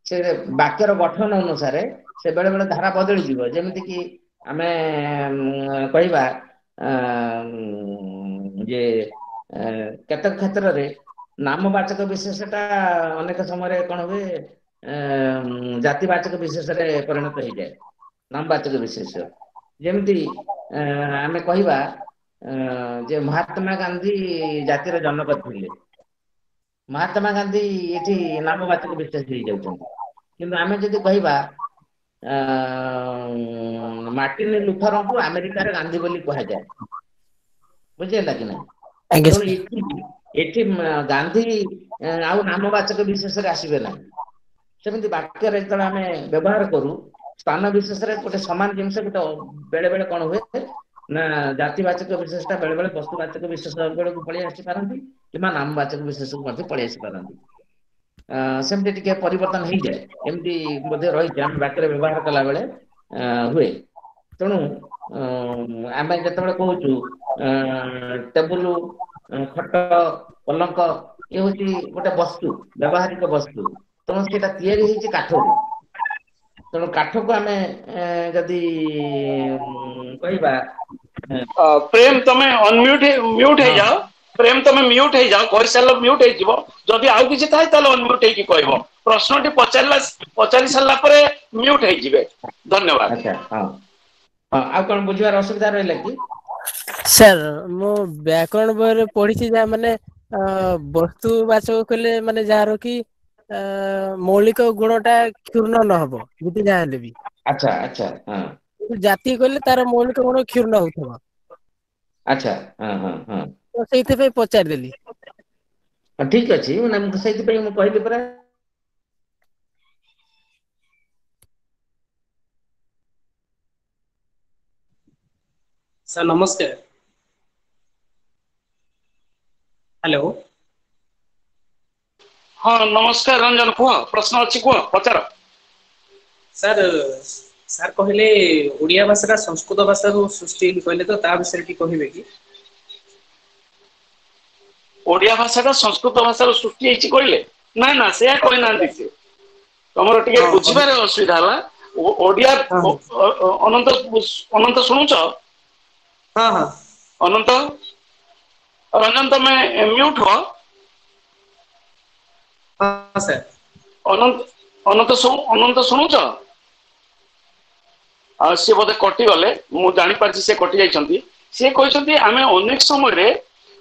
ସେ ବାକ୍ୟର ଗଠନ ଅନୁସାରେ ସେ ବେଳେ ବେଳେ ଧାରା ବଦଳିଯିବ। ଯେମିତି କିି ଆମେ କହିବା ଯେ କେତେକ କ୍ଷେତ୍ରରେ ନାମବାଚକ ବିଶେଷଟା ଅନେକ ସମୟରେ କଣ ହୁଏ, ଜାତିବାଚକ ବିଶେଷରେ ପରିଣତ ହେଇଯାଏ ନାମବାଚକ ବିଶେଷ। ଯେମିତି ଆମେ କହିବା ଯେ ମହାତ୍ମା ଗାନ୍ଧୀ ଜାତିର ଜନକ ଥିଲେ, ମହାତ୍ମା ଗାନ୍ଧୀ ଏଠି ନାମବାଚକ ବିଶେଷ ହେଇଯାଉଛନ୍ତି। କିନ୍ତୁ ଆମେ ଯଦି କହିବା ମାର୍ଟିନ ଲୁଥରଙ୍କୁ ଆମେରିକାର ଗାନ୍ଧୀ ବୋଲି କୁହାଯାଏ, ବୁଝିହେଲା କି ନାଇଁ? ତେଣୁ ଏଠି ଏଠି ଗାନ୍ଧୀ ଆଉ ନାମବାଚକ ବିଶେଷରେ ଆସିବେ ନାହିଁ। ସେମିତି ବାକ୍ୟରେ ଯେତେବେଳେ ଆମେ ବ୍ୟବହାର କରୁ ସ୍ଥାନ ବିଶେଷରେ ଗୋଟେ ସମାନ ଜିନିଷ ଗୋଟେ ବେଳେ ବେଳେ କଣ ହୁଏ ନା ଜାତିବାଚକ ବିଶେଷଟା ବେଳେ ବେଳେ ବସ୍ତୁବାଚକ ବିଶେଷ ବେଳକୁ ପଳେଇ ଆସିପାରନ୍ତି କିମ୍ବା ନାମବାଚକ ବିଶେଷକୁ ମଧ୍ୟ ପଳେଇ ଆସିପାରନ୍ତି। ସେମିତି ଟିକେ ପରିବର୍ତ୍ତନ ହେଇଯାଏ, ଏମିତି ମଧ୍ୟ ରହିଛି ଆମେ ବାକ୍ୟରେ ବ୍ୟବହାର କଲା ବେଳେ ହୁଏ। ତେଣୁ ଆମେ ଯେତେବେଳେ କହୁଛୁ ଟେବୁଲ, ଖଟ, ପଲଙ୍କ, ଇଏ ହଉଛି ଗୋଟେ ବସ୍ତୁ, ବ୍ୟବହାରିକ ବସ୍ତୁ। ତେଣୁ ସେଇଟା ତିଆରି ହେଇଛି କାଠରୁ। ତେଣୁ କାଠକୁ ଆମେ ଯଦି କହିବା, ପ୍ରେମ ତମେ ଅନମ୍ୟୁଟ ମ୍ୟୁଟ ହେଇଯାଅ, ପ୍ରେମ ତମେ ମ୍ୟୁଟ ହେଇଯାଅ, କହିସାରିଲା ମ୍ୟୁଟ ହେଇଯିବ। ଯଦି ଆଉ କିଛି ଥାଏ ତାହେଲେ ଅନମ୍ୟୁଟ ହେଇକି କହିବ। ପ୍ରଶ୍ନଟି ପଚାରିଲା ପଚାରି ସାରିଲା ପରେ ମ୍ୟୁଟ ହେଇଯିବେ। ଧନ୍ୟବାଦ। ଆଚ୍ଛା, ହଁ ହଁ, ଆଉ କଣ ବୁଝିବାର ଅସୁବିଧା ରହିଲା କି? ସାର୍ ମୁଁ ବ୍ୟାକରଣ ବହିରେ ପଢିଛି ଯାହା ମାନେ ବସ୍ତୁବାଚକ କହିଲେ ମାନେ ଯାହାର କି ମୌଳିକ ଗୁଣ ଟା କ୍ଷୁର୍ଣ୍ଣ ନହବ ଯେତେ ଯାହା ହେଲେ ବି। ଆଚ୍ଛା ଆଚ୍ଛା, ହଁ। ଜାତି କହିଲେ ତାର ମୌଳିକ ଗୁଣ କ୍ଷୁର୍ଣ୍ଣ ହଉଥିବ। ଆଚ୍ଛା, ହଁ ହଁ ହଁ, ସେଇଥିପାଇଁ ପଚାରିଦେଲି। ଠିକ ଅଛି, ମାନେ ସେଇଥିପାଇଁ ମୁଁ କହିଲି ପରା। ସାର୍ ନମସ୍କାର। ହ୍ୟାଲୋ। ହଁ ନମସ୍କାର ରଞ୍ଜନ, କୁହ ପ୍ରଶ୍ନ ଅଛି କୁହ, ପଚାର। ସାର୍ ସାର୍ କହିଲେ ଓଡିଆ ଭାଷାଟା ସଂସ୍କୃତ ଭାଷାରୁ ସୃଷ୍ଟି କହିଲେ, ତ ତା ବିଷୟରେ ଟିକେ କହିବେ କି? ଓଡିଆ ଭାଷାଟା ସଂସ୍କୃତ ଭାଷାରୁ ସୃଷ୍ଟି ହେଇଛି କହିଲେ? ନା ନା, ସେୟା କହିନାହାନ୍ତି ସେ। ତମର ଟିକେ ବୁଝିବାରେ ଅସୁବିଧା ହେଲା। ଓଡିଆ ଅନନ୍ତ ଅନନ୍ତ ଶୁଣୁଛ? ହଁ ହଁ। ଅନନ୍ତ ରଞ୍ଜନ ତମେ ମ୍ୟୁଟ ହୁଅ। ହଁ ସାର୍। ଅନନ୍ତ ଅନନ୍ତ ଅନନ୍ତ ଶୁଣୁଛ? ଆଉ ସିଏ ବୋଧେ କଟିଗଲେ, ମୁଁ ଜାଣିପାରିଛି ସେ କଟି ଯାଇଛନ୍ତି। ସିଏ କହିଛନ୍ତି ଆମେ ଅନେକ ସମୟରେ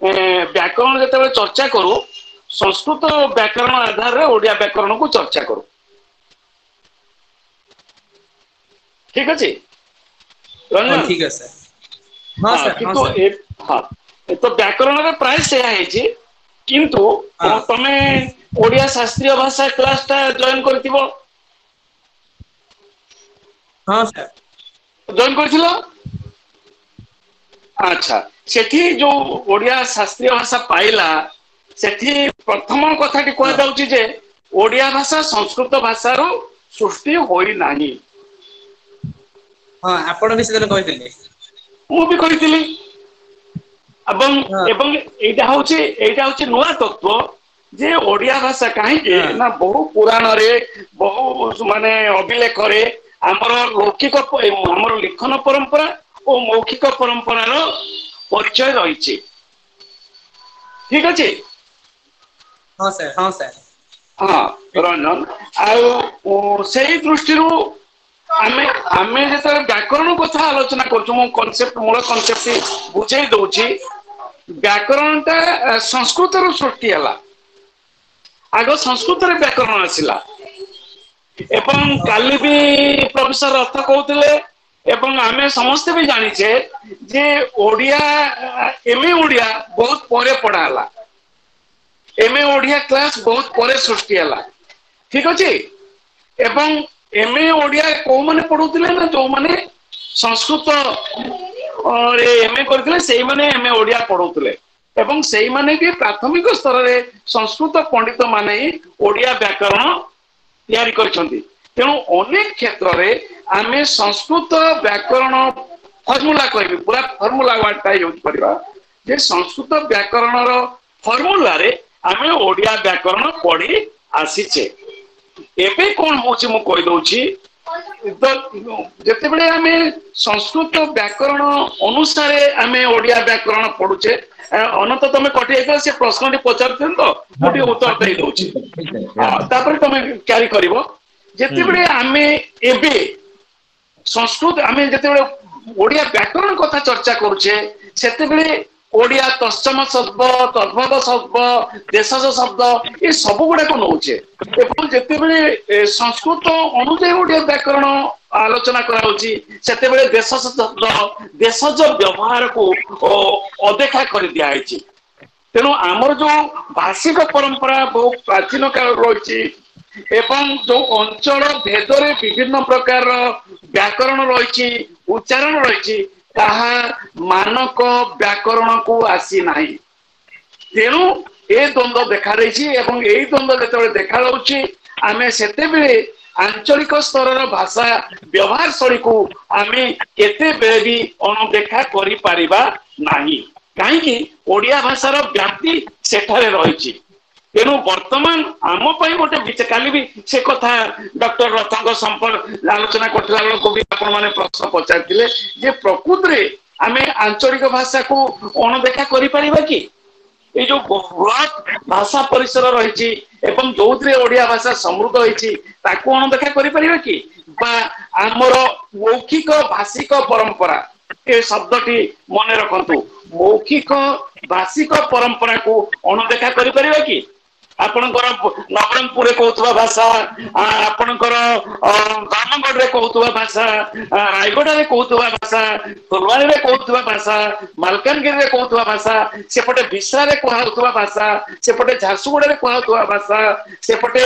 ବ୍ୟାକରଣ ଯେତେବେଳେ ଚର୍ଚ୍ଚା କରୁ ସଂସ୍କୃତ ବ୍ୟାକରଣ ଆଧାରରେ ଓଡିଆ ବ୍ୟାକରଣକୁ ଚର୍ଚ୍ଚା କରୁ। ଠିକ ଅଛି ରଞ୍ଜନ? ଠିକ ଅଛି। ହଁ କିନ୍ତୁ ହଁ ତ ବ୍ୟାକରଣରେ ପ୍ରାୟ ସେୟା ହେଇଛି, କିନ୍ତୁ ତମେ ଓଡିଆ ଶାସ୍ତ୍ରୀୟ ଭାଷା କ୍ଲାସ ଟା ଜଏନ କରିଥିବ? ହଁ ସାର୍। ଜଏନ କରିଥିଲ? ଆଚ୍ଛା, ସେଠି ଯୋଉ ଓଡିଆ ଶାସ୍ତ୍ରୀୟ ଭାଷା ପାଇଲା, ସେଠି ପ୍ରଥମ କଥାଟି କୁହାଯାଉଛି ଯେ ଓଡିଆ ଭାଷା ସଂସ୍କୃତ ଭାଷାରୁ ସୃଷ୍ଟି ହୋଇନାହିଁ। ହଁ, ଆପଣ ବି ସେଦିନ କହିଥିଲେ। ମୁଁ ବି କହିଥିଲି। ଏବଂ ଏବଂ ଏଇଟା ହଉଛି ଏଇଟା ହଉଛି ନୂଆ ତତ୍ତ୍ୱ ଯେ ଓଡିଆ ଭାଷା କାହିଁକି ନା ବହୁ ପୁରାଣରେ ବହୁ ମାନେ ଅଭିଲେଖରେ ଆମର ଲୌକିକ ଆମର ଲିଖନ ପରମ୍ପରା ଓ ମୌଖିକ ପରମ୍ପରାର ପରିଚୟ ରହିଛି। ଠିକ ଅଛି? ହଁ ସାର୍, ହଁ ସାର୍। ହଁ ରଞ୍ଜନ, ଆଉ ସେଇ ଦୃଷ୍ଟିରୁ ଆମେ ଆମେ ଯେତେବେଳେ ବ୍ୟାକରଣ କଥା ଆଲୋଚନା କରୁଛୁ, ମୁଁ କନସେପ୍ଟ ମୂଳ କନସେପ୍ଟ ବୁଝେଇ ଦଉଛି। ବ୍ୟାକରଣ ଟା ସଂସ୍କୃତରୁ ସୃଷ୍ଟି ହେଲା, ଆଗ ସଂସ୍କୃତରେ ବ୍ୟାକରଣ ଆସିଲା। ଏବଂ କାଲି ବି ପ୍ରଫେସର ରଥ କହୁଥିଲେ ଏବଂ ଆମେ ସମସ୍ତେ ବି ଜାଣିଛେ ଯେ ଓଡିଆ ଏମ ଏ ଓଡିଆ ବହୁତ ପରେ ପଢା ହେଲା, ଏମ ଏ ଓଡିଆ କ୍ଲାସ ବହୁତ ପରେ ସୃଷ୍ଟି ହେଲା। ଠିକ ଅଛି? ଏବଂ ଏମ ଏ ଓଡିଆ କୋଉମାନେ ପଢୁଥିଲେ ନା ଯୋଉମାନେ ସଂସ୍କୃତ ଏମ ଏ କରିଥିଲେ ସେଇମାନେ ଏମ ଏ ଓଡିଆ ପଢଉଥିଲେ, ଏବଂ ସେଇମାନେ ବି ପ୍ରାଥମିକ ସ୍ତରରେ ସଂସ୍କୃତ ପଣ୍ଡିତ ମାନେ ହିଁ ଓଡିଆ ବ୍ୟାକରଣ ତିଆରି କରିଛନ୍ତି। ତେଣୁ ଅନେକ କ୍ଷେତ୍ରରେ ଆମେ ସଂସ୍କୃତ ବ୍ୟାକରଣ ଫର୍ମୁଲା କହିବି, ପୁରା ଫର୍ମୁଲା ୱାର୍ଡଟା ୟୁଜ କରିବା ଯେ ସଂସ୍କୃତ ବ୍ୟାକରଣର ଫର୍ମୁଲାରେ ଆମେ ଓଡିଆ ବ୍ୟାକରଣ ପଢି ଆସିଛେ। ଏବେ କଣ ହଉଛି ମୁଁ କହିଦଉଛି, ଯେତେବେଳେ ଆମେ ସଂସ୍କୃତ ବ୍ୟାକରଣ ଅନୁସାରେ ଆମେ ଓଡିଆ ବ୍ୟାକରଣ ପଢୁଛେ, ଅନନ୍ତ ତମେ କଟି ଯାଇଥିଲ, ସେ ପ୍ରଶ୍ନଟି ପଚାରୁଥିଲେ ତ ମୁଁ ଟିକେ ଉତ୍ତର ଦେଇ ଦଉଛି, ତାପରେ ତମେ କ୍ୟାରି କରିବ। ଯେତେବେଳେ ଆମେ ଏବେ ସଂସ୍କୃତ ଆମେ ଯେତେବେଳେ ଓଡିଆ ବ୍ୟାକରଣ କଥା ଚର୍ଚ୍ଚା କରୁଛେ, ସେତେବେଳେ ଓଡିଆ ତତ୍ସମ ଶବ୍ଦ, ତଦ୍ଭବ ଶବ୍ଦ, ଦେଶଜ ଶବ୍ଦ ଏ ସବୁ ଗୁଡାକ ନଉଛେ। ଏବଂ ଯେତେବେଳେ ସଂସ୍କୃତ ଅନୁଯାୟୀ ଓଡିଆ ବ୍ୟାକରଣ ଆଲୋଚନା କରାହଉଛି, ସେତେବେଳେ ଦେଶଜ ଶବ୍ଦ, ଦେଶଜ ବ୍ୟବହାରକୁ ଅଦେଖା କରି ଦିଆହେଇଛି। ତେଣୁ ଆମର ଯୋଉ ଭାଷିକ ପରମ୍ପରା ବହୁ ପ୍ରାଚୀନ କାଳରୁ ରହିଛି ଏବଂ ଯୋଉ ଅଞ୍ଚଳ ଭେଦରେ ବିଭିନ୍ନ ପ୍ରକାରର ବ୍ୟାକରଣ ରହିଛି, ଉଚ୍ଚାରଣ ରହିଛି, ତାହା ମାନକ ବ୍ୟାକରଣକୁ ଆସିନାହିଁ। ତେଣୁ ଏ ଦ୍ୱନ୍ଦ୍ୱ ଦେଖାଦେଇଛି। ଏବଂ ଏଇ ଦ୍ୱନ୍ଦ୍ୱ ଯେତେବେଳେ ଦେଖାଯାଉଛି, ଆମେ ସେତେବେଳେ ଆଞ୍ଚଳିକ ସ୍ତରର ଭାଷା ବ୍ୟବହାର ଶୈଳୀକୁ ଆମେ କେତେବେଳେ ବି ଅଣଦେଖା କରିପାରିବା ନାହିଁ, କାହିଁକି ଓଡିଆ ଭାଷାର ବ୍ୟାପ୍ତି ସେଠାରେ ରହିଛି। ତେଣୁ ବର୍ତ୍ତମାନ ଆମ ପାଇଁ ଗୋଟେ, କାଲି ବି ସେ କଥା ଡକ୍ଟର ରଥଙ୍କ ସମ୍ପର୍କ ଆଲୋଚନା କରୁଥିଲା ବେଳକୁ ବି ଆପଣ ମାନେ ପ୍ରଶ୍ନ ପଚାରିଥିଲେ ଯେ ପ୍ରକୃତରେ ଆମେ ଆଞ୍ଚଳିକ ଭାଷାକୁ ଅଣଦେଖା କରିପାରିବା କି? ଏଇ ଯୋଉ ବୃହତ ଭାଷା ପରିସର ରହିଛି ଏବଂ ଯୋଉଥିରେ ଓଡିଆ ଭାଷା ସମୃଦ୍ଧ ହେଇଛି, ତାକୁ ଅଣଦେଖା କରିପାରିବା କି? ବା ଆମର ମୌଖିକ ଭାଷିକ ପରମ୍ପରା, ଏ ଶବ୍ଦଟି ମନେ ରଖନ୍ତୁ, ମୌଖିକ ଭାଷିକ ପରମ୍ପରାକୁ ଅଣଦେଖା କରିପାରିବା କି? ଆପଣଙ୍କର ନବରଙ୍ଗପୁରରେ କହୁଥିବା ଭାଷା, ଆପଣଙ୍କର ଧର୍ମଗଡରେ କହୁଥିବା ଭାଷା, ରାୟଗଡାରେ କହୁଥିବା ଭାଷା, ଫୁଲବାଣୀରେ କହୁଥିବା ଭାଷା, ମାଲକାନଗିରିରେ କହୁଥିବା ଭାଷା, ସେପଟେ ବିଶ୍ରାରେ କୁହାଯାଉଥିବା ଭାଷା, ସେପଟେ ଝାରସୁଗୁଡାରେ କୁହାଯାଉଥିବା ଭାଷା, ସେପଟେ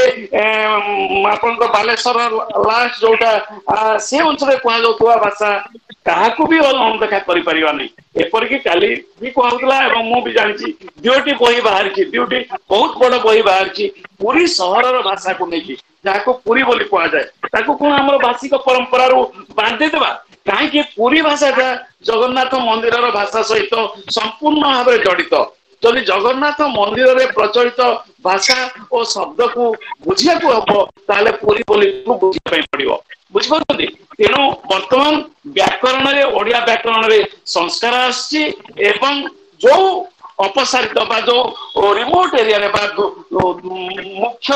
ଆପଣଙ୍କ ବାଲେଶ୍ୱର ଲାଷ୍ଟ ଯୋଉଟା ସେ ଅଞ୍ଚଳରେ କୁହାଯାଉଥିବା ଭାଷା, କାହାକୁ ବି ଅଣଦେଖା କରିପାରିବାନି। ଏପରିକି କାଲି ବି କୁହାଯାଉଥିଲା ଏବଂ ମୁଁ ବି ଜାଣିଛି ଦୁଇଟି ବହି ବାହାରିଛି, ଦୁଇଟି ବହୁତ ବଡ ବହି ବାହାରିଛି ପୁରୀ ସହରର ଭାଷାକୁ ନେଇକି, ଯାହାକୁ ପୁରୀ ବୋଲି କୁହାଯାଏ, ତାକୁ କଣ ଆମର ଭାଷିକ ପରମ୍ପରାରୁ ବାନ୍ଧିଦେବା? କାହିଁକି ପୁରୀ ଭାଷାଟା ଜଗନ୍ନାଥ ମନ୍ଦିରର ଭାଷା ସହିତ ସମ୍ପୂର୍ଣ୍ଣ ଭାବରେ ଜଡିତ। ଯଦି ଜଗନ୍ନାଥ ମନ୍ଦିରରେ ପ୍ରଚଳିତ ଭାଷା ଓ ଶବ୍ଦକୁ ବୁଝିବାକୁ ହବ, ତାହେଲେ ପୁରୀ ବୋଲିକୁ ବୁଝିବା ପାଇଁ ପଡିବ। ବୁଝିପାରୁଛନ୍ତି? ତେଣୁ ବର୍ତ୍ତମାନ ବ୍ୟାକରଣରେ, ଓଡିଆ ବ୍ୟାକରଣରେ ସଂସ୍କାର ଆସିଛି ଏବଂ ଯୋଉ ଅପସାରିତ ବା ଯୋଉ ରିମୋଟ ଏରିଆରେ ବା ମୁଖ୍ୟ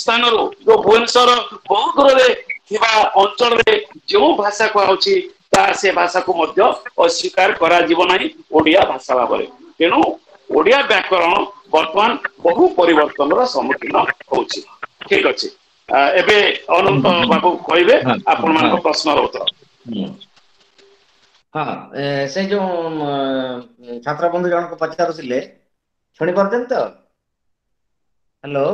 ସ୍ଥାନରୁ ଯୋଉ ଭୁବନେଶ୍ୱର ବହୁ ଦୂରରେ ଥିବା ଅଞ୍ଚଳରେ ଯେଉଁ ଭାଷା କୁହାହଉଛି, ତା ସେ ଭାଷାକୁ ମଧ୍ୟ ଅସ୍ୱୀକାର କରାଯିବ ନାହିଁ ଓଡିଆ ଭାଷା ଭାବରେ। ତେଣୁ ଓଡିଆ ବ୍ୟାକରଣ ବର୍ତ୍ତମାନ ବହୁ ପରିବର୍ତ୍ତନର ସମ୍ମୁଖୀନ ହଉଛି। ଠିକ ଅଛି, ଏବେ ଅନନ୍ତ ବାବୁ କହିବେ ଆପଣ ମାନଙ୍କ ପ୍ରଶ୍ନର ଉତ୍ତର। ହଁ, ସେ ଯୋଉ ଛାତ୍ର ବନ୍ଧୁ ଜଣକ ପଚାରୁଥିଲେ, ଶୁଣି ପାରୁଛନ୍ତି ତ? ହ୍ୟାଲୋ,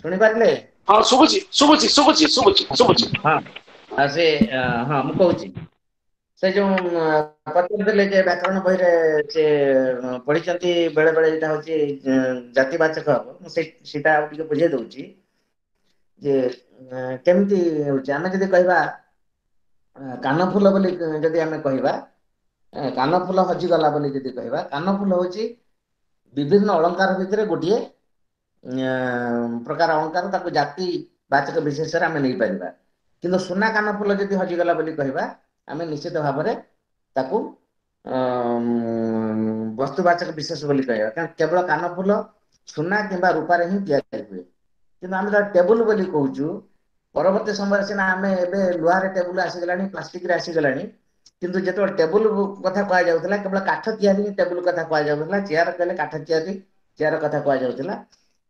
ଶୁଣିପାରିଲେ? ହଁ, ଶୁଭୁଛି ଶୁଭୁଛି ଶୁଭୁଛି ଶୁଭୁଛି ଶୁଭୁଛି। ହଁ, ସେ ହଁ ମୁଁ କହୁଛି, ସେ ଯୋଉ ପଚାରୁଥିଲେ ଯେ ବ୍ୟାକରଣ ବହିରେ ସେ ପଢିଛନ୍ତି ବେଳେ ବେଳେ ଏଇଟା ହଉଛି ଜାତିବାଚକ ହବ, ମୁଁ ସେ ସେଇଟା ଆଉ ଟିକେ ବୁଝେଇ ଦଉଛି ଯେ କେମିତି ହଉଛି। ଆମେ ଯଦି କହିବା କାନଫୁଲ ବୋଲି, ଯଦି ଆମେ କହିବା କାନଫୁଲ ହଜିଗଲା ବୋଲି ଯଦି କହିବା, କାନଫୁଲ ହଉଛି ବିଭିନ୍ନ ଅଳଙ୍କାର ଭିତରେ ଗୋଟିଏ ପ୍ରକାର ଅଳଙ୍କାର, ତାକୁ ଜାତି ବାଚକ ବିଶେଷରେ ଆମେ ନେଇପାରିବା। କିନ୍ତୁ ସୁନା କାନଫୁଲ ଯଦି ହଜିଗଲା ବୋଲି କହିବା, ଆମେ ନିଶ୍ଚିତ ଭାବରେ ତାକୁ ବସ୍ତୁବାଚକ ବିଶେଷ ବୋଲି କହିବା, କାରଣ କେବଳ କାନଫୁଲ ସୁନା କିମ୍ବା ରୂପାରେ ହିଁ ତିଆରି ହୁଏ। କିନ୍ତୁ ଆମେ ତାକୁ ଟେବୁଲ ବୋଲି କହୁଛୁ, ପରବର୍ତ୍ତୀ ସମୟରେ ସିନା ଆମେ ଏବେ ଲୁହାରେ ଟେବୁଲ ଆସିଗଲାଣି, ପ୍ଲାଷ୍ଟିକରେ ଆସିଗଲାଣି, କିନ୍ତୁ ଯେତେବେଳେ ଟେବୁଲ କଥା କୁହାଯାଉଥିଲା କେବଳ କାଠ ତିଆରି ହିଁ ଟେବୁଲ କଥା କୁହାଯାଉଥିଲା, ଚେୟାର କହିଲେ କାଠ ତିଆରି ଚେୟାର କଥା କୁହାଯାଉଥିଲା।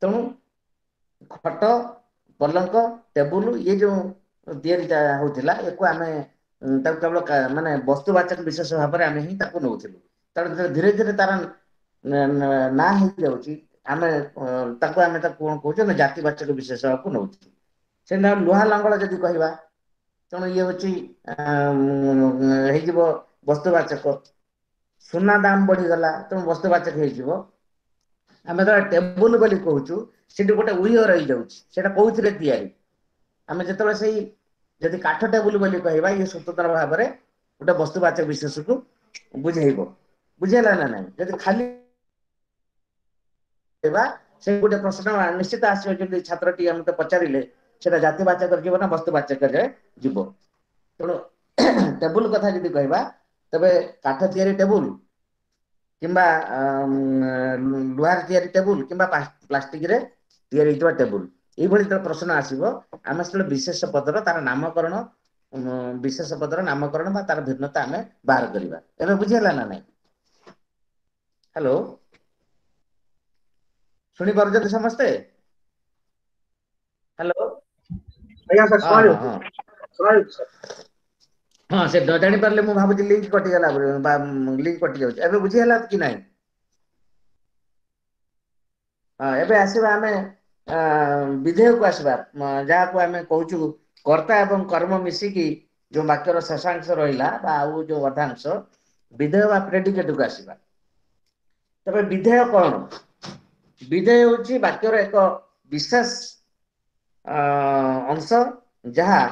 ତେଣୁ ଖଟ, ପଲଙ୍କ, ଟେବୁଲ ଇଏ ଯୋଉ ତିଆରିଟା ହଉଥିଲା, ୟାକୁ ଆମେ ତାକୁ କେବଳ ମାନେ ବସ୍ତୁବାଚକ ବିଶେଷ ଭାବରେ ଆମେ ହିଁ ତାକୁ ନଉଥିଲୁ। ତେଣୁ ଧୀରେ ଧୀରେ ତାର ନାଁ ହେଇଯାଉଛି, ଆମେ ତାକୁ ଆମେ ତାକୁ କଣ କହୁଛେ ନା ଜାତିବାଚକ ବିଶେଷକୁ ନଉଛୁ। ସେମିତି ଲୁହା ଲଙ୍ଗଳ ଯଦି କହିବା, ତେଣୁ ଇଏ ହଉଛି ହେଇଯିବ ବସ୍ତୁବାଚକ। ସୁନା ଦାମ ବଢିଗଲା, ତେଣୁ ବସ୍ତୁବାଚକ ହେଇଯିବ। ଆମେ ଯେତେବେଳେ ଟେବୁଲ ବୋଲି କହୁଛୁ ସେଠି ଗୋଟେ ଉଇହ ରହିଯାଉଛି, ସେଇଟା କୋଉଥିରେ ତିଆରି। ଆମେ ଯେତେବେଳେ ସେଇ ଯଦି କାଠ ଟେବୁଲ ବୋଲି କହିବା, ଇଏ ସ୍ୱତନ୍ତ୍ର ଭାବରେ ଗୋଟେ ବସ୍ତୁବାଚକ ବିଶେଷକୁ ବୁଝେଇବ। ବୁଝେଇଲା ନା ନାଇଁ? ଯଦି ଖାଲି ସେ ଗୋଟେ ପ୍ରଶ୍ନ ନିଶ୍ଚିତ ଆସିବ, ଯଦି ଛାତ୍ରଟି ମତେ ପଚାରିଲେ ସେଟା ଜାତିବାଚକରେ ଯିବ ନା ବସ୍ତୁବାଚକରେ ଯିବ। ତେଣୁ ଟେବୁଲ କଥା ଯଦି କହିବା, ତେବେ କାଠ ତିଆରି ଟେବୁଲ କିମ୍ବା ଲୁହାରେ ତିଆରି ଟେବୁଲ କିମ୍ବା ପ୍ଲାଷ୍ଟିକରେ ତିଆରି ହେଇଥିବା ଟେବୁଲ, ଏଇଭଳି ଯେତେବେଳେ ପ୍ରଶ୍ନ ଆସିବ ଆମେ ସେତେବେଳେ ବିଶେଷ ପଦର ତାର ନାମକରଣ, ବିଶେଷ ପଦର ନାମକରଣ ବା ତାର ଭିନ୍ନତା ଆମେ ବାହାର କରିବା। ଏବେ ବୁଝିହେଲା ନା ନାଇଁ? ହ୍ୟାଲୋ, ଶୁଣି ପାରୁଛନ୍ତି ସମସ୍ତେ? ହ୍ୟାଲୋ? ଆଜ୍ଞା ସାର୍, ଶୁଣାଯାଉଛି, ଶୁଣାଯାଉଛି ସାର୍। ହଁ, ସେ ନ ଜାଣିପାରିଲେ ମୁଁ ଭାବୁଛି ଲିଙ୍କ କଟିଗଲା, ଲିଙ୍କ କଟି ଯାଉଛି। ଏବେ ବୁଝିହେଲା କି ନାଇଁ? ହଁ, ଏବେ ଆସିବା ଆମେ ବିଧେୟକୁ ଆସିବା, ଯାହାକୁ ଆମେ କହୁଛୁ କର୍ତ୍ତା ଏବଂ କର୍ମ ମିଶିକି ଯୋଉ ବାକ୍ୟର ଶେଷାଂଶ ରହିଲା ବା ଆଉ ଯୋଉ ଅର୍ଦ୍ଧାଂଶ, ବିଧେୟ ବା ପ୍ରେଡିକେଟକୁ ଆସିବା। ତେବେ ବିଧେୟ କଣ? ବିଧେୟ ହେଉଛି ବାକ୍ୟର ଏକ ବିଶେଷ ଅଂଶ ଯାହା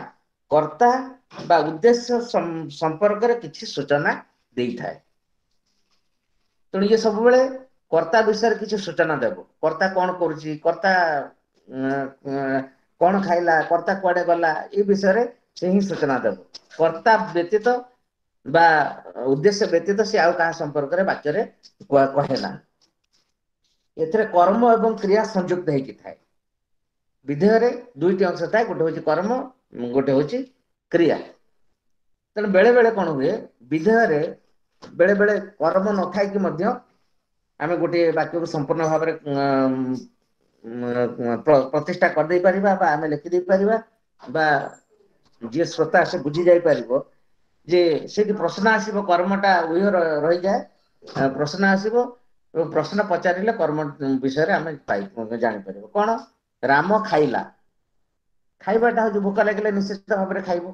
କର୍ତ୍ତା ବା ଉଦ୍ଦେଶ୍ୟ ସମ୍ପର୍କରେ କିଛି ସୂଚନା ଦେଇଥାଏ। ତେଣୁ ଇଏ ସବୁବେଳେ କର୍ତ୍ତା ବିଷୟରେ କିଛି ସୂଚନା ଦେବ। କର୍ତ୍ତା କଣ କରୁଛି, କର୍ତ୍ତା କଣ ଖାଇଲା, କର୍ତ୍ତା କୁଆଡେ ଗଲା, ଏ ବିଷୟରେ ସେ ହିଁ ସୂଚନା ଦେବ। କର୍ତ୍ତା ବ୍ୟତୀତ ବା ଉଦ୍ଦେଶ୍ୟ ବ୍ୟତୀତ ସେ ଆଉ କାହା ସମ୍ପର୍କରେ ବାକ୍ୟରେ କହେ ନା। ଏଥିରେ କର୍ମ ଏବଂ କ୍ରିୟା ସଂଯୁକ୍ତ ହେଇକି ଥାଏ। ବିଧେୟରେ ଦୁଇଟି ଅଂଶ ଥାଏ, ଗୋଟେ ହଉଛି କର୍ମ, ଗୋଟେ ହଉଛି କ୍ରିୟା। ତେଣୁ ବେଳେ ବେଳେ କଣ ହୁଏ, ବିଧେୟରେ ବେଳେ ବେଳେ କର୍ମ ନଥାଇକି ମଧ୍ୟ ଆମେ ଗୋଟିଏ ବାକ୍ୟକୁ ସମ୍ପୂର୍ଣ୍ଣ ଭାବରେ ପ୍ରତିଷ୍ଠା କରିଦେଇ ପାରିବା ବା ଆମେ ଲେଖିଦେଇ ପାରିବା, ବା ଯିଏ ଶ୍ରୋତା ସେ ବୁଝି ଯାଇପାରିବ ଯେ ସେଇଠି ପ୍ରଶ୍ନ ଆସିବ, କର୍ମଟା ଉହ ରହିଯାଏ, ପ୍ରଶ୍ନ ଆସିବ ଏବଂ ପ୍ରଶ୍ନ ପଚାରିଲେ କର୍ମ ବିଷୟରେ ଆମେ ପାଇ ଜାଣିପାରିବ। କଣ? ରାମ ଖାଇଲା। ଖାଇବାଟା ହଉଛି ଭୋକ ଲାଗିଲେ ନିଶ୍ଚିତ ଭାବରେ ଖାଇବ।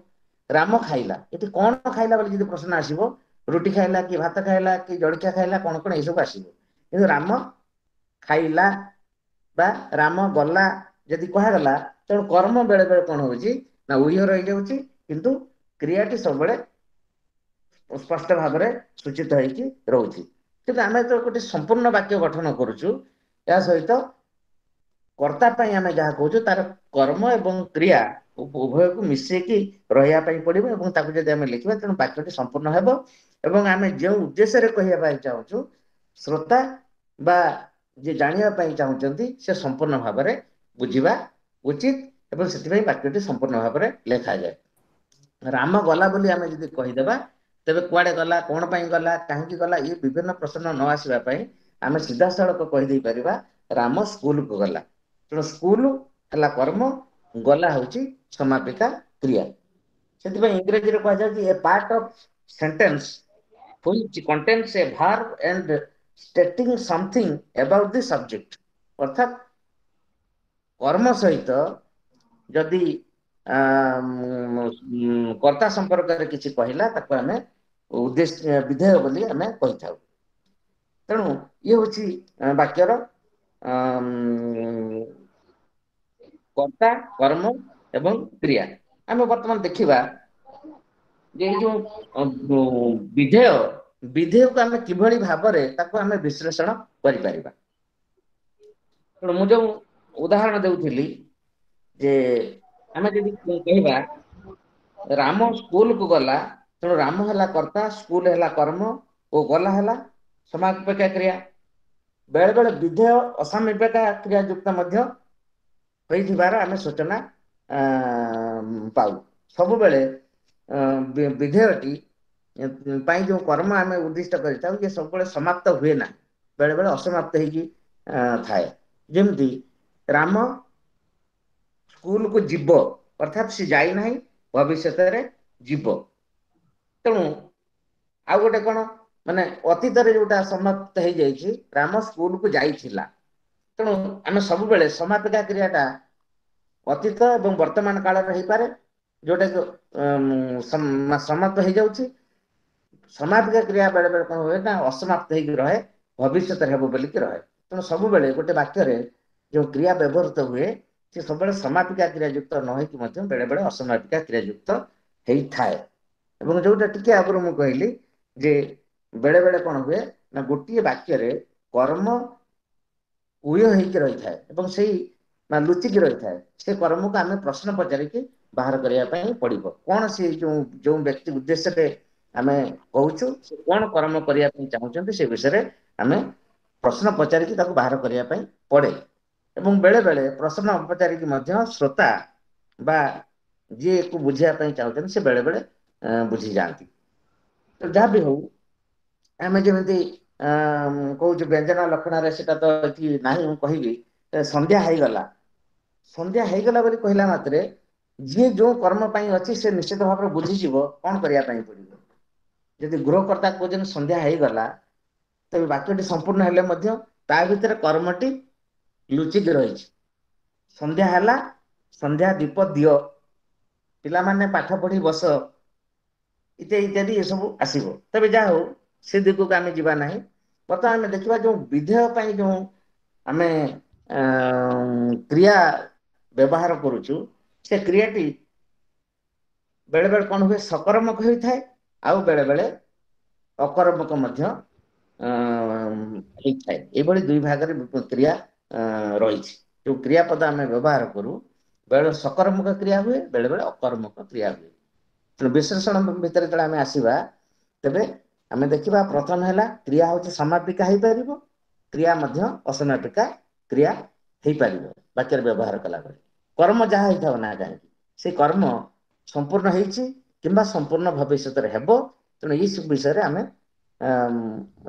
ରାମ ଖାଇଲା, ଏଠି କଣ ଖାଇଲା ବୋଲି ଯଦି ପ୍ରଶ୍ନ ଆସିବ, ରୁଟି ଖାଇଲା କି ଭାତ ଖାଇଲା କି ଜଳଖିଆ ଖାଇଲା, କଣ କଣ ଏଇସବୁ ଆସିବ। କିନ୍ତୁ ରାମ ଖାଇଲା ବା ରାମ ଗଲା ଯଦି କୁହାଗଲା, ତେଣୁ କର୍ମ ବେଳେ ବେଳେ କଣ ହଉଛି ନା ଉହ ରହିଯାଉଛି, କିନ୍ତୁ କ୍ରିୟାଟି ସବୁବେଳେ ସ୍ପଷ୍ଟ ଭାବରେ ସୂଚିତ ହେଇକି ରହୁଛି। କିନ୍ତୁ ଆମେ ଯେତେବେଳେ ଗୋଟେ ସମ୍ପୂର୍ଣ୍ଣ ବାକ୍ୟ ଗଠନ କରୁଛୁ, ଏହା ସହିତ କର୍ତ୍ତା ପାଇଁ ଆମେ ଯାହା କହୁଛୁ ତାର କର୍ମ ଏବଂ କ୍ରିୟା ଉଭୟକୁ ମିଶେଇକି ରହିବା ପାଇଁ ପଡିବ, ଏବଂ ତାକୁ ଯଦି ଆମେ ଲେଖିବା ତେଣୁ ବାକ୍ୟଟି ସମ୍ପୂର୍ଣ୍ଣ ହେବ। ଏବଂ ଆମେ ଯେଉଁ ଉଦ୍ଦେଶ୍ୟରେ କହିବା ପାଇଁ ଚାହୁଁଛୁ, ଶ୍ରୋତା ବା ଯିଏ ଜାଣିବା ପାଇଁ ଚାହୁଁଛନ୍ତି ସେ ସମ୍ପୂର୍ଣ୍ଣ ଭାବରେ ବୁଝିବା ଉଚିତ, ଏବଂ ସେଥିପାଇଁ ବାକ୍ୟଟି ସମ୍ପୂର୍ଣ୍ଣ ଭାବରେ ଲେଖାଯାଏ। ରାମ ଗଲା ବୋଲି ଆମେ ଯଦି କହିଦେବା, ତେବେ କୁଆଡେ ଗଲା, କଣ ପାଇଁ ଗଲା, କାହିଁକି ଗଲା, ଇଏ ବିଭିନ୍ନ ପ୍ରଶ୍ନ ନ ଆସିବା ପାଇଁ ଆମେ ସିଧାସଳଖ କହିଦେଇ ପାରିବା ରାମ ସ୍କୁଲକୁ ଗଲା। ତେଣୁ ସ୍କୁଲ ହେଲା କର୍ମ, ଗଲା ହଉଛି ସମାପିକା କ୍ରିୟା। ସେଥିପାଇଁ ଇଂରେଜୀରେ କୁହାଯାଉଛି a part of sentence which contains a verb and stating something about the subject. ଅର୍ଥାତ୍ କର୍ମ ସହିତ ଯଦି କର୍ତ୍ତା ସମ୍ପର୍କରେ କିଛି କହିଲା, ତାକୁ ଆମେ ଉଦ୍ଦେଶ୍ୟ ବିଧେୟ ବୋଲି ଆମେ କହିଥାଉ। ତେଣୁ ଇଏ ହଉଛି ବାକ୍ୟର କର୍ତ୍ତା, କର୍ମ ଏବଂ କ୍ରିୟା। ଆମେ ବର୍ତ୍ତମାନ ଦେଖିବା ଯେ ଏଇ ଯୋଉ ବିଧେୟ, ବିଧେୟକୁ ଆମେ କିଭଳି ଭାବରେ ତାକୁ ଆମେ ବିଶ୍ଳେଷଣ କରିପାରିବା। ତେଣୁ ମୁଁ ଯୋଉ ଉଦାହରଣ ଦେଉଥିଲି ଯେ ଆମେ ଯଦି କହିବା ରାମ ସ୍କୁଲକୁ ଗଲା, ତେଣୁ ରାମ ହେଲା କର୍ତ୍ତା, ସ୍କୁଲ ହେଲା କର୍ମ ଓ ଗଲା ହେଲା ସମାପିକା କ୍ରିୟା। ବେଳେ ବେଳେ ବିଧେୟ ଅସମାପିକା କ୍ରିୟା ଯୁକ୍ତ ମଧ୍ୟ ହୋଇଥିବାର ଆମେ ସୂଚନା ପାଉ। ସବୁବେଳେ ବିଧେୟଟି ପାଇଁ ଯୋଉ କର୍ମ ଆମେ ଉଦ୍ଦିଷ୍ଟ କରିଥାଉ, ଇଏ ସବୁବେଳେ ସମାପ୍ତ ହୁଏ ନା, ବେଳେ ବେଳେ ଅସମାପ୍ତ ହେଇକି ଥାଏ। ଯେମିତି ରାମ ସ୍କୁଲକୁ ଯିବ, ଅର୍ଥାତ୍ ସେ ଯାଇନାହିଁ, ଭବିଷ୍ୟତରେ ଯିବ। ତେଣୁ ଆଉ ଗୋଟେ କଣ, ମାନେ ଅତୀତରେ ଯୋଉଟା ସମାପ୍ତ ହେଇଯାଇଛି, ରାମ ସ୍କୁଲକୁ ଯାଇଥିଲା। ତେଣୁ ଆମେ ସବୁବେଳେ ସମାପିକା କ୍ରିୟାଟା ଅତୀତ ଏବଂ ବର୍ତ୍ତମାନ କାଳରେ ହେଇପାରେ, ଯୋଉଟା କି ସମାପ୍ତ ହେଇଯାଉଛି। ସମାପିକା କ୍ରିୟା ବେଳେ ବେଳେ କଣ ହୁଏ ନା ଅସମାପ୍ତ ହେଇକି ରହେ, ଭବିଷ୍ୟତରେ ହେବ ବୋଲିକି ରହେ। ତେଣୁ ସବୁବେଳେ ଗୋଟେ ବାକ୍ୟରେ ଯେଉଁ କ୍ରିୟା ବ୍ୟବହୃତ ହୁଏ ସେ ସବୁବେଳେ ସମାପିକା କ୍ରିୟାଯୁକ୍ତ ନ ହେଇକି ମଧ୍ୟ ବେଳେ ବେଳେ ଅସମାପିକା କ୍ରିୟାଯୁକ୍ତ ହେଇଥାଏ। ଏବଂ ଯୋଉଟା ଟିକେ ଆଗରୁ ମୁଁ କହିଲି ଯେ ବେଳେ ବେଳେ କଣ ହୁଏ ନା ଗୋଟିଏ ବାକ୍ୟରେ କର୍ମ ଉୟ ହେଇକି ରହିଥାଏ ଏବଂ ସେଇ ବା ଲୁଚିକି ରହିଥାଏ, ସେ କର୍ମକୁ ଆମେ ପ୍ରଶ୍ନ ପଚାରିକି ବାହାର କରିବା ପାଇଁ ପଡିବ। କଣ ସେ ଯୋଉ ଯୋଉ ବ୍ୟକ୍ତି ଉଦ୍ଦେଶ୍ୟରେ ଆମେ କହୁଛୁ ସେ କଣ କର୍ମ କରିବା ପାଇଁ ଚାହୁଁଛନ୍ତି ସେ ବିଷୟରେ ଆମେ ପ୍ରଶ୍ନ ପଚାରିକି ତାକୁ ବାହାର କରିବା ପାଇଁ ପଡେ। ଏବଂ ବେଳେ ବେଳେ ପ୍ରଶ୍ନ ପଚାରିକି ମଧ୍ୟ ଶ୍ରୋତା ବା ଯିଏକୁ ବୁଝିବା ପାଇଁ ଚାହୁଁଛନ୍ତି ସେ ବେଳେ ବେଳେ ବୁଝିଯାଆନ୍ତି। ତ ଯାହା ବି ହଉ ଆମେ ଯେମିତି ଅ କହୁଛୁ ବ୍ୟଞ୍ଜନ ଲକ୍ଷଣରେ ସେଟା ତ ଏଠି ନାହିଁ, ମୁଁ କହିବି ସନ୍ଧ୍ୟା ହେଇଗଲା। ସନ୍ଧ୍ୟା ହେଇଗଲା ବୋଲି କହିଲା ମାତ୍ରେ ଯିଏ ଯୋଉ କର୍ମ ପାଇଁ ଅଛି ସେ ନିଶ୍ଚିତ ଭାବରେ ବୁଝିଯିବ କଣ କରିବା ପାଇଁ ପଡିବ। ଯଦି ଗୃହକର୍ତ୍ତା କହୁଛନ୍ତି ସନ୍ଧ୍ୟା ହେଇଗଲା, ତେବେ ବାକ୍ୟଟି ସମ୍ପୂର୍ଣ୍ଣ ହେଲେ ମଧ୍ୟ ତା ଭିତରେ କର୍ମଟି ଲୁଚିକି ରହିଛି। ସନ୍ଧ୍ୟା ହେଲା, ସନ୍ଧ୍ୟା ଦୀପ ଦିଅ, ପିଲାମାନେ ପାଠ ପଢି ବସ, ଇତ୍ୟାଦି ଇତ୍ୟାଦି ଏସବୁ ଆସିବ। ତେବେ ଯାହା ହଉ ସେ ଦିଗକୁ ଆମେ ଯିବା ନାହିଁ। ବର୍ତ୍ତମାନ ଆମେ ଦେଖିବା ଯୋଉ ବିଧେୟ ପାଇଁ ଯୋଉ ଆମେ କ୍ରିୟା ବ୍ୟବହାର କରୁଛୁ ସେ କ୍ରିୟାଟି ବେଳେ ବେଳେ କଣ ହୁଏ ସକର୍ମକ ହୋଇଥାଏ, ଆଉ ବେଳେ ବେଳେ ଅକର୍ମକ ମଧ୍ୟ ହେଇଥାଏ। ଏଇଭଳି ଦୁଇ ଭାଗରେ କ୍ରିୟା ରହିଛି। ଯୋଉ କ୍ରିୟାପଦ ଆମେ ବ୍ୟବହାର କରୁ ବେଳେ ସକର୍ମକ କ୍ରିୟା ହୁଏ, ବେଳେ ବେଳେ ଅକର୍ମକ କ୍ରିୟା ହୁଏ। ତେଣୁ ବିଶ୍ଳେଷଣ ଭିତରେ ଯେତେବେଳେ ଆମେ ଆସିବା ତେବେ ଆମେ ଦେଖିବା ପ୍ରଥମ ହେଲା କ୍ରିୟା ହଉଛି ସମାପିକା ହେଇପାରିବ, କ୍ରିୟା ମଧ୍ୟ ଅସମାପିକା କ୍ରିୟା ହେଇପାରିବ ବାକ୍ୟରେ ବ୍ୟବହାର କଲାବେଳେ। କର୍ମ ଯାହା ହେଇଥାଉ ନା କାହିଁକି ସେ କର୍ମ ସମ୍ପୂର୍ଣ୍ଣ ହେଇଛି କିମ୍ବା ସମ୍ପୂର୍ଣ୍ଣ ଭବିଷ୍ୟତରେ ହେବ। ତେଣୁ ଏଇ ସବୁ ବିଷୟରେ ଆମେ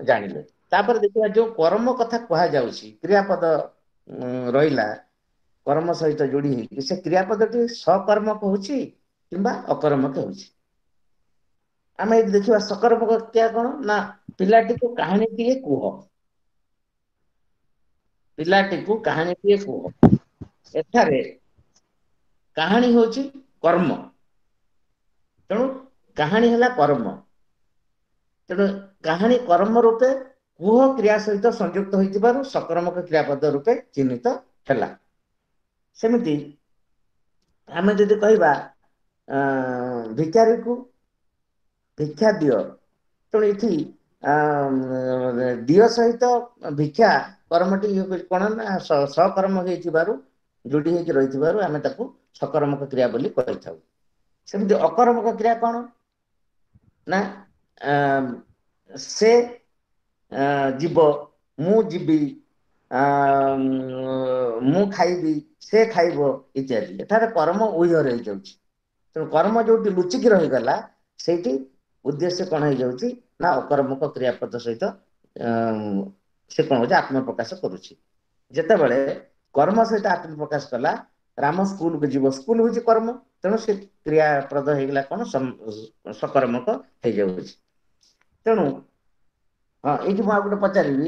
ଜାଣିଲେ। ତାପରେ ଦେଖିବା ଯୋଉ କର୍ମ କଥା କୁହାଯାଉଛି କ୍ରିୟାପଦ ରହିଲା କର୍ମ ସହିତ ଯୋଡି ହେଇକି, ସେ କ୍ରିୟାପଦଟି ସକର୍ମକ ହଉଛି କିମ୍ବା ଅକର୍ମକ ହେଉଛି। ଆମେ ଏଇଠି ଦେଖିବା ସକର୍ମକ କ୍ରିୟା କଣ ନା ପିଲାଟିକୁ କାହାଣୀଟିଏ କୁହ, ପିଲାଟିକୁ କାହାଣୀଟିଏ କୁହ। ଏଠାରେ କାହାଣୀ ହଉଛି କର୍ମ, ତେଣୁ କାହାଣୀ ହେଲା କର୍ମ। ତେଣୁ କାହାଣୀ କର୍ମ ରୂପେ କୁହ କ୍ରିୟା ସହିତ ସଂଯୁକ୍ତ ହୋଇଥିବାରୁ ସକର୍ମକ କ୍ରିୟାପଦ ରୂପେ ଚିହ୍ନିତ ହେଲା। ସେମିତି ଆମେ ଯଦି କହିବା ଭିକାରୀକୁ ଭିକ୍ଷା ଦିଅ, ତେଣୁ ଏଠି ଦିଅ ସହିତ ଭିକ୍ଷା କର୍ମଟି କଣ ନା ସକର୍ମ ହେଇଥିବାରୁ ଯୋଡି ହେଇକି ରହିଥିବାରୁ ଆମେ ତାକୁ ସକର୍ମକ କ୍ରିୟା ବୋଲି କହିଥାଉ। ସେମିତି ଅକର୍ମକ କ୍ରିୟା କଣ ନା ସେ ଯିବ, ମୁଁ ଯିବି, ମୁଁ ଖାଇବି, ସେ ଖାଇବ ଇତ୍ୟାଦି। ଏଠାରେ କର୍ମ ଉହ୍ୟ ରହିଯାଉଛି। ତେଣୁ କର୍ମ ଯୋଉଠି ଲୁଚିକି ରହିଗଲା ସେଇଠି ଉଦ୍ଦେଶ୍ୟ କଣ ହେଇଯାଉଛି ନା ଅକର୍ମକ କ୍ରିୟାପଦ ସହିତ ସେ କଣ ହଉଛି ଆତ୍ମପ୍ରକାଶ କରୁଛି। ଯେତେବେଳେ କର୍ମ ସହିତ ଆତ୍ମପ୍ରକାଶ କଲା, ରାମ ସ୍କୁଲକୁ ଯିବ, ସ୍କୁଲ ହଉଛି କର୍ମ, ତେଣୁ ସେ କ୍ରିୟାପ୍ରଦ ହେଇଗଲା କଣ ସକର୍ମକ ହେଇଯାଉଛି। ତେଣୁ ହଁ ଏଇଠି ମୁଁ ଆଉ ଗୋଟେ ପଚାରିବି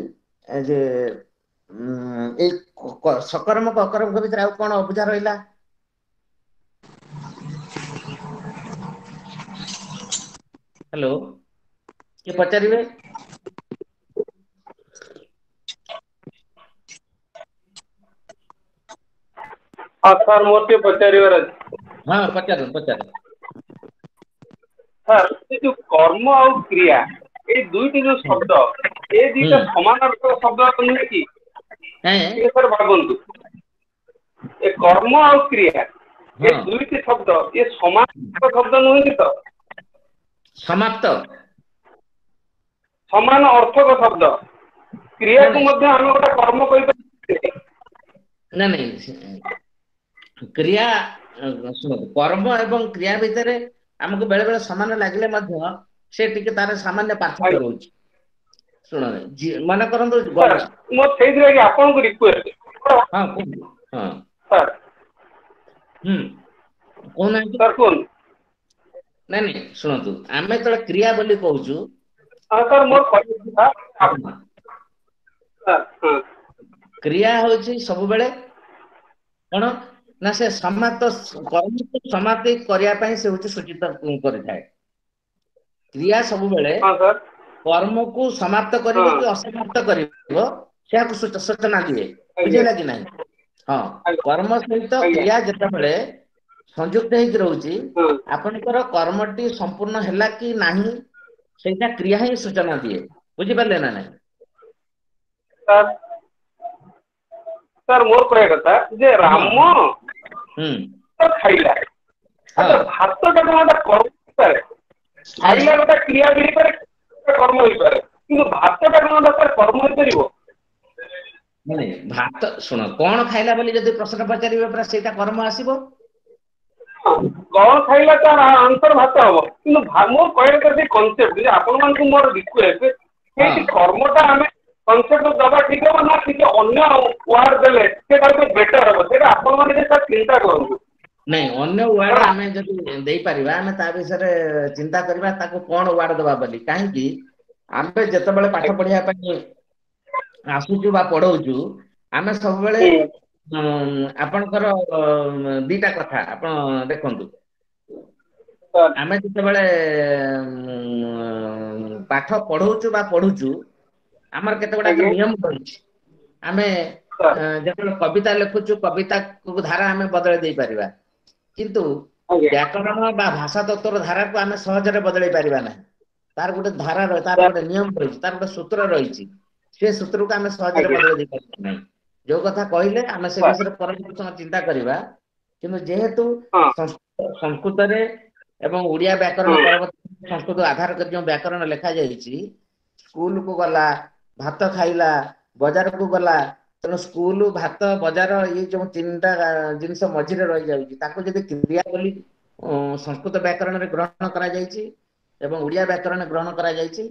ଯେ ଏଇ ସକର୍ମକ ଅକର୍ମକ ଭିତରେ ଆଉ କଣ ଅବୁଝା ରହିଲା? ହ୍ୟାଲୋ, କିଏ ପଚାରିବେ? ହଁ ସାର୍, ମୋର ଟିକେ ପଚାରିବାର ଅଛି। ହଁ ପଚାରନ୍ତୁ ପଚାରନ୍ତୁ। ସାର୍, ସେ ଯୋଉ କର୍ମ ଆଉ କ୍ରିୟା ଏଇ ଦୁଇଟି ଯୋଉ ଶବ୍ଦ, ଏ ଦିଟା ସମାନାର୍ଥକ ଶବ୍ଦ ନୁହେଁ କି? ଟିକେ ସାର୍ ଭାବନ୍ତୁ, ଏ କର୍ମ ଆଉ କ୍ରିୟା ଏ ଦୁଇଟି ଶବ୍ଦ ଏ ସମାନାର୍ଥକ ଶବ୍ଦ ନୁହେଁ କି ତ? ସମାପ୍ତ ସମାନ ଅର୍ଥକ ଶବ୍ଦ। କ୍ରିୟାକୁ ମଧ୍ୟ ଆମେ ଗୋଟେ କର୍ମ କହିପାରିବା। ନାଇଁ ନାଇଁ, କ୍ରିୟା ଶୁଣନ୍ତୁ, କର୍ମ ଏବଂ କ୍ରିୟା ଭିତରେ ଆମକୁ ବେଳେ ବେଳେ ସମାନ ଲାଗିଲେ ମଧ୍ୟ ସେ ଟିକେ ତାର ସାମାନ୍ୟ ପାର୍ଥକ୍ୟ ରହୁଛି। ଶୁଣ, ମନେ କରନ୍ତୁ ମୋର ସେଇଥିଲାଗି ଆପଣଙ୍କୁ ରିକ୍ୱେଷ୍ଟ। ହଁ କୁହନ୍ତୁ। ହଁ ସାର୍। ହୁଁ କହୁନାହାନ୍ତି। ସାର୍ କୁହନ୍ତୁ। ନାଇଁ ନାଇଁ ଶୁଣନ୍ତୁ, ଆମେ ଯେତେବେଳେ କ୍ରିୟା ବୋଲି କହୁଛୁ, କ୍ରିୟା ହଉଛି ସବୁବେଳେ କଣ ନା ସେ ସମାପ୍ତ କର୍ମକୁ ସମାପ୍ତି କରିବା ପାଇଁ ସେ ହଉଛି ସୂଚିତ କରିଥାଏ। କ୍ରିୟା ସବୁବେଳେ କର୍ମକୁ ସମାପ୍ତ କରିବ କି ଅସମାପ୍ତ କରିବ, ସେୟାକୁ ସୂଚନା ଦିଏ। ବୁଝିହେଲା କି ନାହିଁ? ହଁ, କର୍ମ ସହିତ କ୍ରିୟା ଯେତେବେଳେ ସଂଯୁକ୍ତ ହେଇକି ରହୁଛି, ଆପଣଙ୍କର କର୍ମଟି ସମ୍ପୂର୍ଣ୍ଣ ହେଲା କି ନାହିଁ ସେଇଟା କ୍ରିୟା ହିଁ ସୂଚନା ଦିଏ। ବୁଝିପାରିଲେ ନା ନାଇଁ? ସାର୍, ସାର୍ ମୋର କହିବା କଥା ଯେ ରାମ ଖାଇଲା, ଭାତଟା କଣ ଗୋଟେ କର୍ମ ହେଇପାରେ? ଖାଇଲା ଗୋଟେ କ୍ରିୟା ବି ହେଇପାରେ, କର୍ମ ହେଇପାରେ, କିନ୍ତୁ ଭାତଟା କଣ ଗୋଟେ କର୍ମ ହେଇପାରିବ? ନାଇଁ, ଭାତ ଶୁଣ, କଣ ଖାଇଲା ବୋଲି ଯଦି ପ୍ରଶ୍ନ ପଚାରିବେ ପୁରା ସେଇଟା କର୍ମ ଆସିବ। କଣ ଖାଇଲା ତାର ଆନ୍ସର ଭାତ ହବ, କିନ୍ତୁ ମୋ କହିବା କଥା ସେ କନସେପ୍ଟ ଯେ ଆପଣମାନଙ୍କୁ ମୋର ରିକ୍ୱେଷ୍ଟ, ସେଇଠି କର୍ମଟା ଆମେ କନସେପ୍ଟ ଦବା ଠିକ ହବ ନା ଟିକେ ଅନ୍ୟ ୱାର୍ଡ ଦେଲେ ସେଇଟା ଟିକେ ବେଟର ହବ? ସେଇଟା ଆପଣମାନେ ଟିକେ ସାର୍ ଚିନ୍ତା କରନ୍ତୁ। ନାଇଁ, ଅନ୍ୟ ୱାର୍ଡ ଆମେ ଯଦି ଦେଇପାରିବା ଆମେ ତା ବିଷୟରେ ଚିନ୍ତା କରିବା, ତାକୁ କଣ ୱାର୍ଡ ଦବା ବୋଲି। କାହିଁକି ଆମେ ଯେତେବେଳେ ପାଠ ପଢିବା ପାଇଁ ଆସୁଛୁ ବା ପଢଉଛୁ, ଆମେ ସବୁବେଳେ ଆପଣଙ୍କର ଦିଟା କଥା ଆପଣ ଦେଖନ୍ତୁ। ଆମେ ଯେତେବେଳେ ପାଠ ପଢଉଛୁ ବା ପଢୁଛୁ, ଆମର କେତେ ଗୁଡାକ ନିୟମ ରହିଛି। ଆମେ ଯେତେବେଳେ କବିତା ଲେଖୁଛୁ, କବିତାକୁ ଧାରା ଆମେ ବଦଳେଇ ଦେଇପାରିବା, କିନ୍ତୁ ବ୍ୟାକରଣ ବା ଭାଷା ତତ୍ତ୍ୱର ଧାରାକୁ ଆମେ ସହଜରେ ବଦଳେଇ ପାରିବା ନାହିଁ। ତାର ଗୋଟେ ଧାରା, ତାର ଗୋଟେ ନିୟମ ରହିଛି, ତାର ଗୋଟେ ସୂତ୍ର ରହିଛି, ସେ ସୂତ୍ରକୁ ଆମେ ସହଜରେ ବଦଳେଇ ଦେଇପାରିବା ନାହିଁ। ଯୋଉ କଥା କହିଲେ ଆମେ ସେ ବିଷୟରେ ପରବର୍ତ୍ତୀ ଚିନ୍ତା କରିବା, କିନ୍ତୁ ଯେହେତୁ ସଂସ୍କୃତରେ ଏବଂ ଓଡ଼ିଆ ବ୍ୟାକରଣ ପରବର୍ତ୍ତୀ ସଂସ୍କୃତ ଆଧାର କରି ଯେଉଁ ବ୍ୟାକରଣ ଲେଖାଯାଇଛି, ସ୍କୁଲକୁ ଗଲା, ଭାତ ଖାଇଲା, ବଜାରକୁ ଗଲା, ତେଣୁ ସ୍କୁଲ, ଭାତ, ବଜାର ଇଏ ଯୋଉ ତିନିଟା ଜିନିଷ ମଝିରେ ରହିଯାଉଛି, ତାକୁ ଯଦି କ୍ରିୟା ବୋଲି ସଂସ୍କୃତ ବ୍ୟାକରଣରେ ଗ୍ରହଣ କରାଯାଇଛି ଏବଂ ଓଡ଼ିଆ ବ୍ୟାକରଣ ଗ୍ରହଣ କରାଯାଇଛି,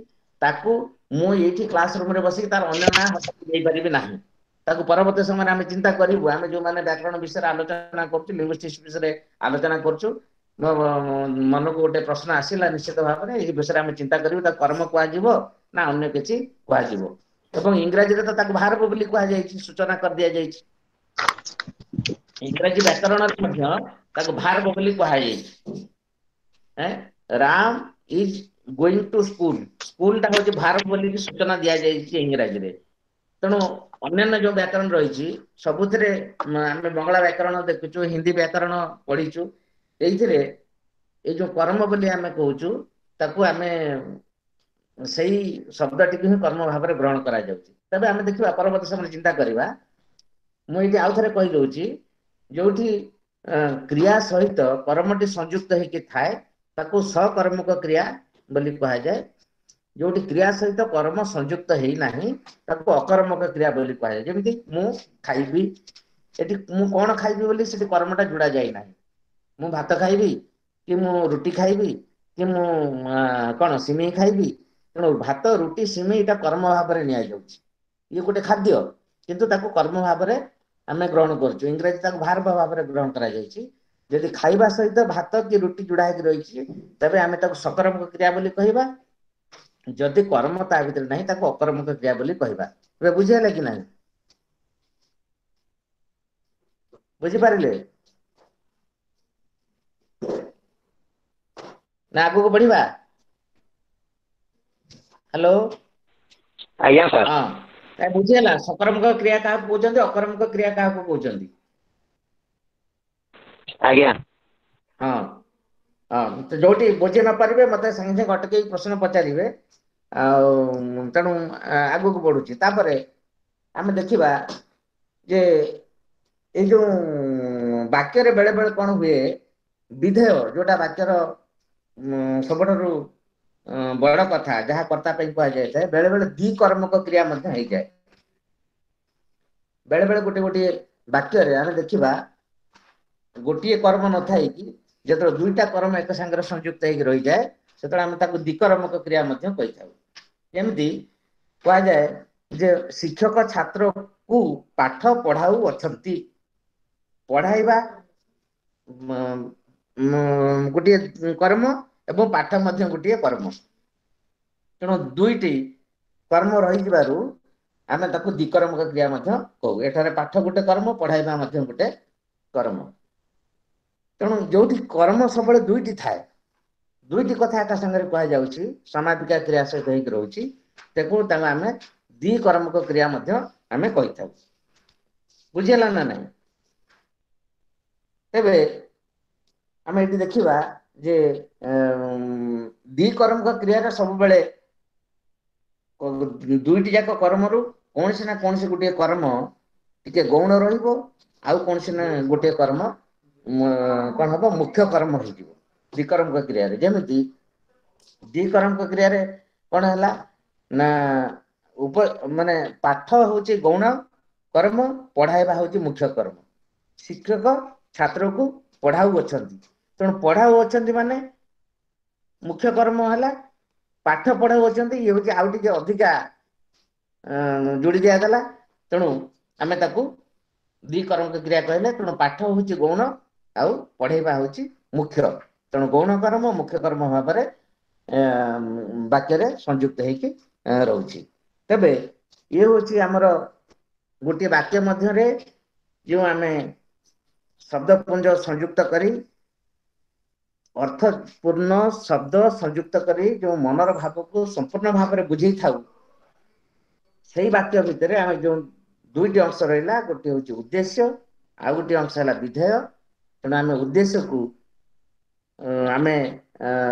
ତାକୁ ମୁଁ ଏଇଠି କ୍ଲାସ ରୁମରେ ବସିକି ତାର ଅନ୍ୟ ନାଁ ଦେଇପାରିବି ନାହିଁ। ତାକୁ ପରବର୍ତ୍ତୀ ସମୟରେ ଆମେ ଚିନ୍ତା କରିବୁ। ଆମେ ଯୋଉମାନେ ବ୍ୟାକରଣ ବିଷୟରେ ଆଲୋଚନା କରୁଛୁ, ଲିଙ୍ଗୁଇଷ୍ଟିକ୍ସ ବିଷୟରେ ଆଲୋଚନା କରୁଛୁ, ମୋ ମନକୁ ଗୋଟେ ପ୍ରଶ୍ନ ଆସିଲା, ନିଶ୍ଚିତ ଭାବରେ ଏଇ ବିଷୟରେ ଆମେ ଚିନ୍ତା କରିବୁ, ତାକୁ କର୍ମ କୁହାଯିବ ନା ଅନ୍ୟ କିଛି କୁହାଯିବ। ଏବଂ ଇଂରାଜୀରେ ତ ତାକୁ ଭାର୍ବ ବୋଲି କୁହାଯାଇଛି, ସୂଚନା କରିଦିଆଯାଇଛି। ଇଂରାଜୀ ବ୍ୟାକରଣରେ ମଧ୍ୟ ତାକୁ ଭାର୍ବ ବୋଲି କୁହାଯାଇଛି। Ram is going to school, ସ୍କୁଲଟା ହଉଛି ଭାର୍ବ ବୋଲି ସୂଚନା ଦିଆଯାଇଛି ଇଂରାଜୀରେ। ତେଣୁ ଅନ୍ୟାନ୍ୟ ଯୋଉ ବ୍ୟାକରଣ ରହିଛି ସବୁଥିରେ ଆମେ ବଙ୍ଗଳା ବ୍ୟାକରଣ ଦେଖୁଛୁ, ହିନ୍ଦୀ ବ୍ୟାକରଣ ପଢିଛୁ, ଏଇଥିରେ ଏଇ ଯୋଉ କର୍ମ ବୋଲି ଆମେ କହୁଛୁ ତାକୁ ଆମେ ସେଇ ଶବ୍ଦଟିକୁ ହିଁ କର୍ମ ଭାବରେ ଗ୍ରହଣ କରାଯାଉଛି। ତେବେ ଆମେ ଦେଖିବା ପରବର୍ତ୍ତୀ ସମୟରେ ଚିନ୍ତା କରିବା। ମୁଁ ଏଇଠି ଆଉ ଥରେ କହିଦଉଛି, ଯୋଉଠି କ୍ରିୟା ସହିତ କର୍ମଟି ସଂଯୁକ୍ତ ହେଇକି ଥାଏ ତାକୁ ସକର୍ମକ କ୍ରିୟା ବୋଲି କୁହାଯାଏ। ଯୋଉଠି କ୍ରିୟା ସହିତ କର୍ମ ସଂଯୁକ୍ତ ହେଇନାହିଁ ତାକୁ ଅକର୍ମକ କ୍ରିୟା ବୋଲି କୁହାଯାଏ। ଯେମିତି ମୁଁ ଖାଇବି, ଏଠି ମୁଁ କଣ ଖାଇବି ବୋଲି ସେଠି କର୍ମଟା ଯୋଡା ଯାଇନାହିଁ। ମୁଁ ଭାତ ଖାଇବି କି ମୁଁ ରୁଟି ଖାଇବି କି ମୁଁ କଣ ସିମେଇ ଖାଇବି, ତେଣୁ ଭାତ, ରୁଟି, ସିମେଇ ଏଇଟା କର୍ମ ଭାବରେ ନିଆଯାଉଛି। ଇଏ ଗୋଟେ ଖାଦ୍ୟ, କିନ୍ତୁ ତାକୁ କର୍ମ ଭାବରେ ଆମେ ଗ୍ରହଣ କରୁଛୁ। ଇଂରାଜୀ ତାକୁ ଭାର୍ବ ଭାବରେ ଗ୍ରହଣ କରାଯାଇଛି। ଯଦି ଖାଇବା ସହିତ ଭାତ କି ରୁଟି ଯୋଡା ହେଇକି ରହିଛି ତେବେ ଆମେ ତାକୁ ସକର୍ମକ କ୍ରିୟା ବୋଲି କହିବା। ଯଦି କର୍ମ ତା ଭିତରେ ନାହିଁ ତାକୁ ଅକର୍ମକ କ୍ରିୟା ବୋଲି କହିବା। ଏବେ ବୁଝିହେଲା କି ନାହିଁ? ବୁଝିପାରିଲେ ନା ଆଗକୁ ବଢିବା? ହ୍ୟାଲୋ। ଆଜ୍ଞା ସାର୍। ହଁ, ବୁଝିହେଲା ସକର୍ମକ କ୍ରିୟା କାହାକୁ କହୁଛନ୍ତି, ଅକର୍ମକ କ୍ରିୟା କାହାକୁ କହୁଛନ୍ତି? ଆଜ୍ଞା। ହଁ ହଁ, ଯୋଉଠି ବୁଝି ନ ପାରିବେ ମତେ ସାଙ୍ଗେ ସାଙ୍ଗେ ଅଟକେଇ ପ୍ରଶ୍ନ ପଚାରିବେ। ଆଉ ତେଣୁ ଆଗକୁ ବଢୁଛି। ତାପରେ ଆମେ ଦେଖିବା ଯେ ଏଇ ଯୋଉ ବାକ୍ୟରେ ବେଳେ ବେଳେ କଣ ହୁଏ, ବିଧେୟ ଯୋଉଟା ବାକ୍ୟର ସବୁଠାରୁ ବଡ କଥା ଯାହା କର୍ତ୍ତା ପାଇଁ କୁହାଯାଇଥାଏ, ବେଳେ ବେଳେ ଦ୍ୱିକର୍ମକ କ୍ରିୟା ମଧ୍ୟ ହେଇଯାଏ। ବେଳେ ବେଳେ ଗୋଟେ ଗୋଟିଏ ବାକ୍ୟରେ ଆମେ ଦେଖିବା ଗୋଟିଏ କର୍ମ ନଥାଇକି ଯେତେବେଳେ ଦୁଇଟା କର୍ମ ଏକ ସାଙ୍ଗରେ ସଂଯୁକ୍ତ ହେଇକି ରହିଯାଏ ସେତେବେଳେ ଆମେ ତାକୁ ଦ୍ୱିକର୍ମକ କ୍ରିୟା ମଧ୍ୟ କହିଥାଉ। ଯେମିତି କୁହାଯାଏ ଯେ ଶିକ୍ଷକ ଛାତ୍ରକୁ ପାଠ ପଢାଉ ଅଛନ୍ତି। ପଢାଇବା ଗୋଟିଏ କର୍ମ ଏବଂ ପାଠ ମଧ୍ୟ ଗୋଟିଏ କର୍ମ। ତେଣୁ ଦୁଇଟି କର୍ମ ରହିଯିବାରୁ ଆମେ ତାକୁ ଦ୍ୱିକର୍ମକ କ୍ରିୟା ମଧ୍ୟ କହୁ। ଏଠାରେ ପାଠ ଗୋଟେ କର୍ମ, ପଢାଇବା ମଧ୍ୟ ଗୋଟେ କର୍ମ। ତେଣୁ ଯୋଉଠି କର୍ମ ସବୁବେଳେ ଦୁଇଟି ଥାଏ, ଦୁଇଟି କଥା ଏକା ସାଙ୍ଗରେ କୁହାଯାଉଛି, ସମାପିକା କ୍ରିୟା ସହିତ ହେଇକି ରହୁଛି, ତାକୁ ତାକୁ ଆମେ ଦ୍ୱିକର୍ମକ କ୍ରିୟା ମଧ୍ୟ ଆମେ କହିଥାଉ। ବୁଝିହେଲା ନା ନାଇଁ? ତେବେ ଆମେ ଏଠି ଦେଖିବା ଯେ ଦ୍ୱିକର୍ମକ କ୍ରିୟାରେ ସବୁବେଳେ ଦୁଇଟି ଯାକ କର୍ମରୁ କୌଣସି ନା କୌଣସି ଗୋଟିଏ କର୍ମ ଟିକେ ଗୌଣ ରହିବ, ଆଉ କୌଣସି ନା ଗୋଟିଏ କର୍ମ କଣ ହବ, ମୁଖ୍ୟ କର୍ମ ହେଇଯିବ ଦ୍ୱିକର୍ମକ କ୍ରିୟାରେ। ଯେମିତି ଦ୍ୱିକର୍ମକ କ୍ରିୟାରେ କଣ ହେଲା ନା ଉପ ମାନେ ପାଠ ହଉଛି ଗୌଣ କର୍ମ, ପଢାଇବା ହଉଛି ମୁଖ୍ୟ କର୍ମ। ଶିକ୍ଷକ ଛାତ୍ରକୁ ପଢାଉ ଅଛନ୍ତି, ତେଣୁ ପଢାଉ ଅଛନ୍ତି ମାନେ ମୁଖ୍ୟ କର୍ମ ହେଲା ପାଠ ପଢାଉ ଅଛନ୍ତି, ଇଏ ହଉଛି ଆଉ ଟିକେ ଅଧିକା ଯୋଡି ଦିଆଗଲା, ତେଣୁ ଆମେ ତାକୁ ଦ୍ୱିକର୍ମକ କ୍ରିୟା କହିଲେ। ତେଣୁ ପାଠ ହଉଛି ଗୌଣ ଆଉ ପଢେଇବା ହଉଛି ମୁଖ୍ୟ, ତେଣୁ ଗୌଣ କର୍ମ ମୁଖ୍ୟ କର୍ମ ଭାବରେ ବାକ୍ୟରେ ସଂଯୁକ୍ତ ହେଇକି ରହୁଛି। ତେବେ ଇଏ ହଉଛି ଆମର ଗୋଟିଏ ବାକ୍ୟ ମଧ୍ୟରେ ଯେଉଁ ଆମେ ଶବ୍ଦପୁଞ୍ଜ ସଂଯୁକ୍ତ କରି ଅର୍ଥପୂର୍ଣ୍ଣ ଶବ୍ଦ ସଂଯୁକ୍ତ କରି ଯେଉଁ ମନର ଭାବକୁ ସମ୍ପୂର୍ଣ୍ଣ ଭାବରେ ବୁଝେଇଥାଉ, ସେଇ ବାକ୍ୟ ଭିତରେ ଆମେ ଯେଉଁ ଦୁଇଟି ଅଂଶ ରହିଲା, ଗୋଟିଏ ହଉଛି ଉଦ୍ଦେଶ୍ୟ ଆଉ ଗୋଟିଏ ଅଂଶ ହେଲା ବିଧେୟ। ତେଣୁ ଆମେ ଉଦ୍ଦେଶ୍ୟକୁ ଆମେ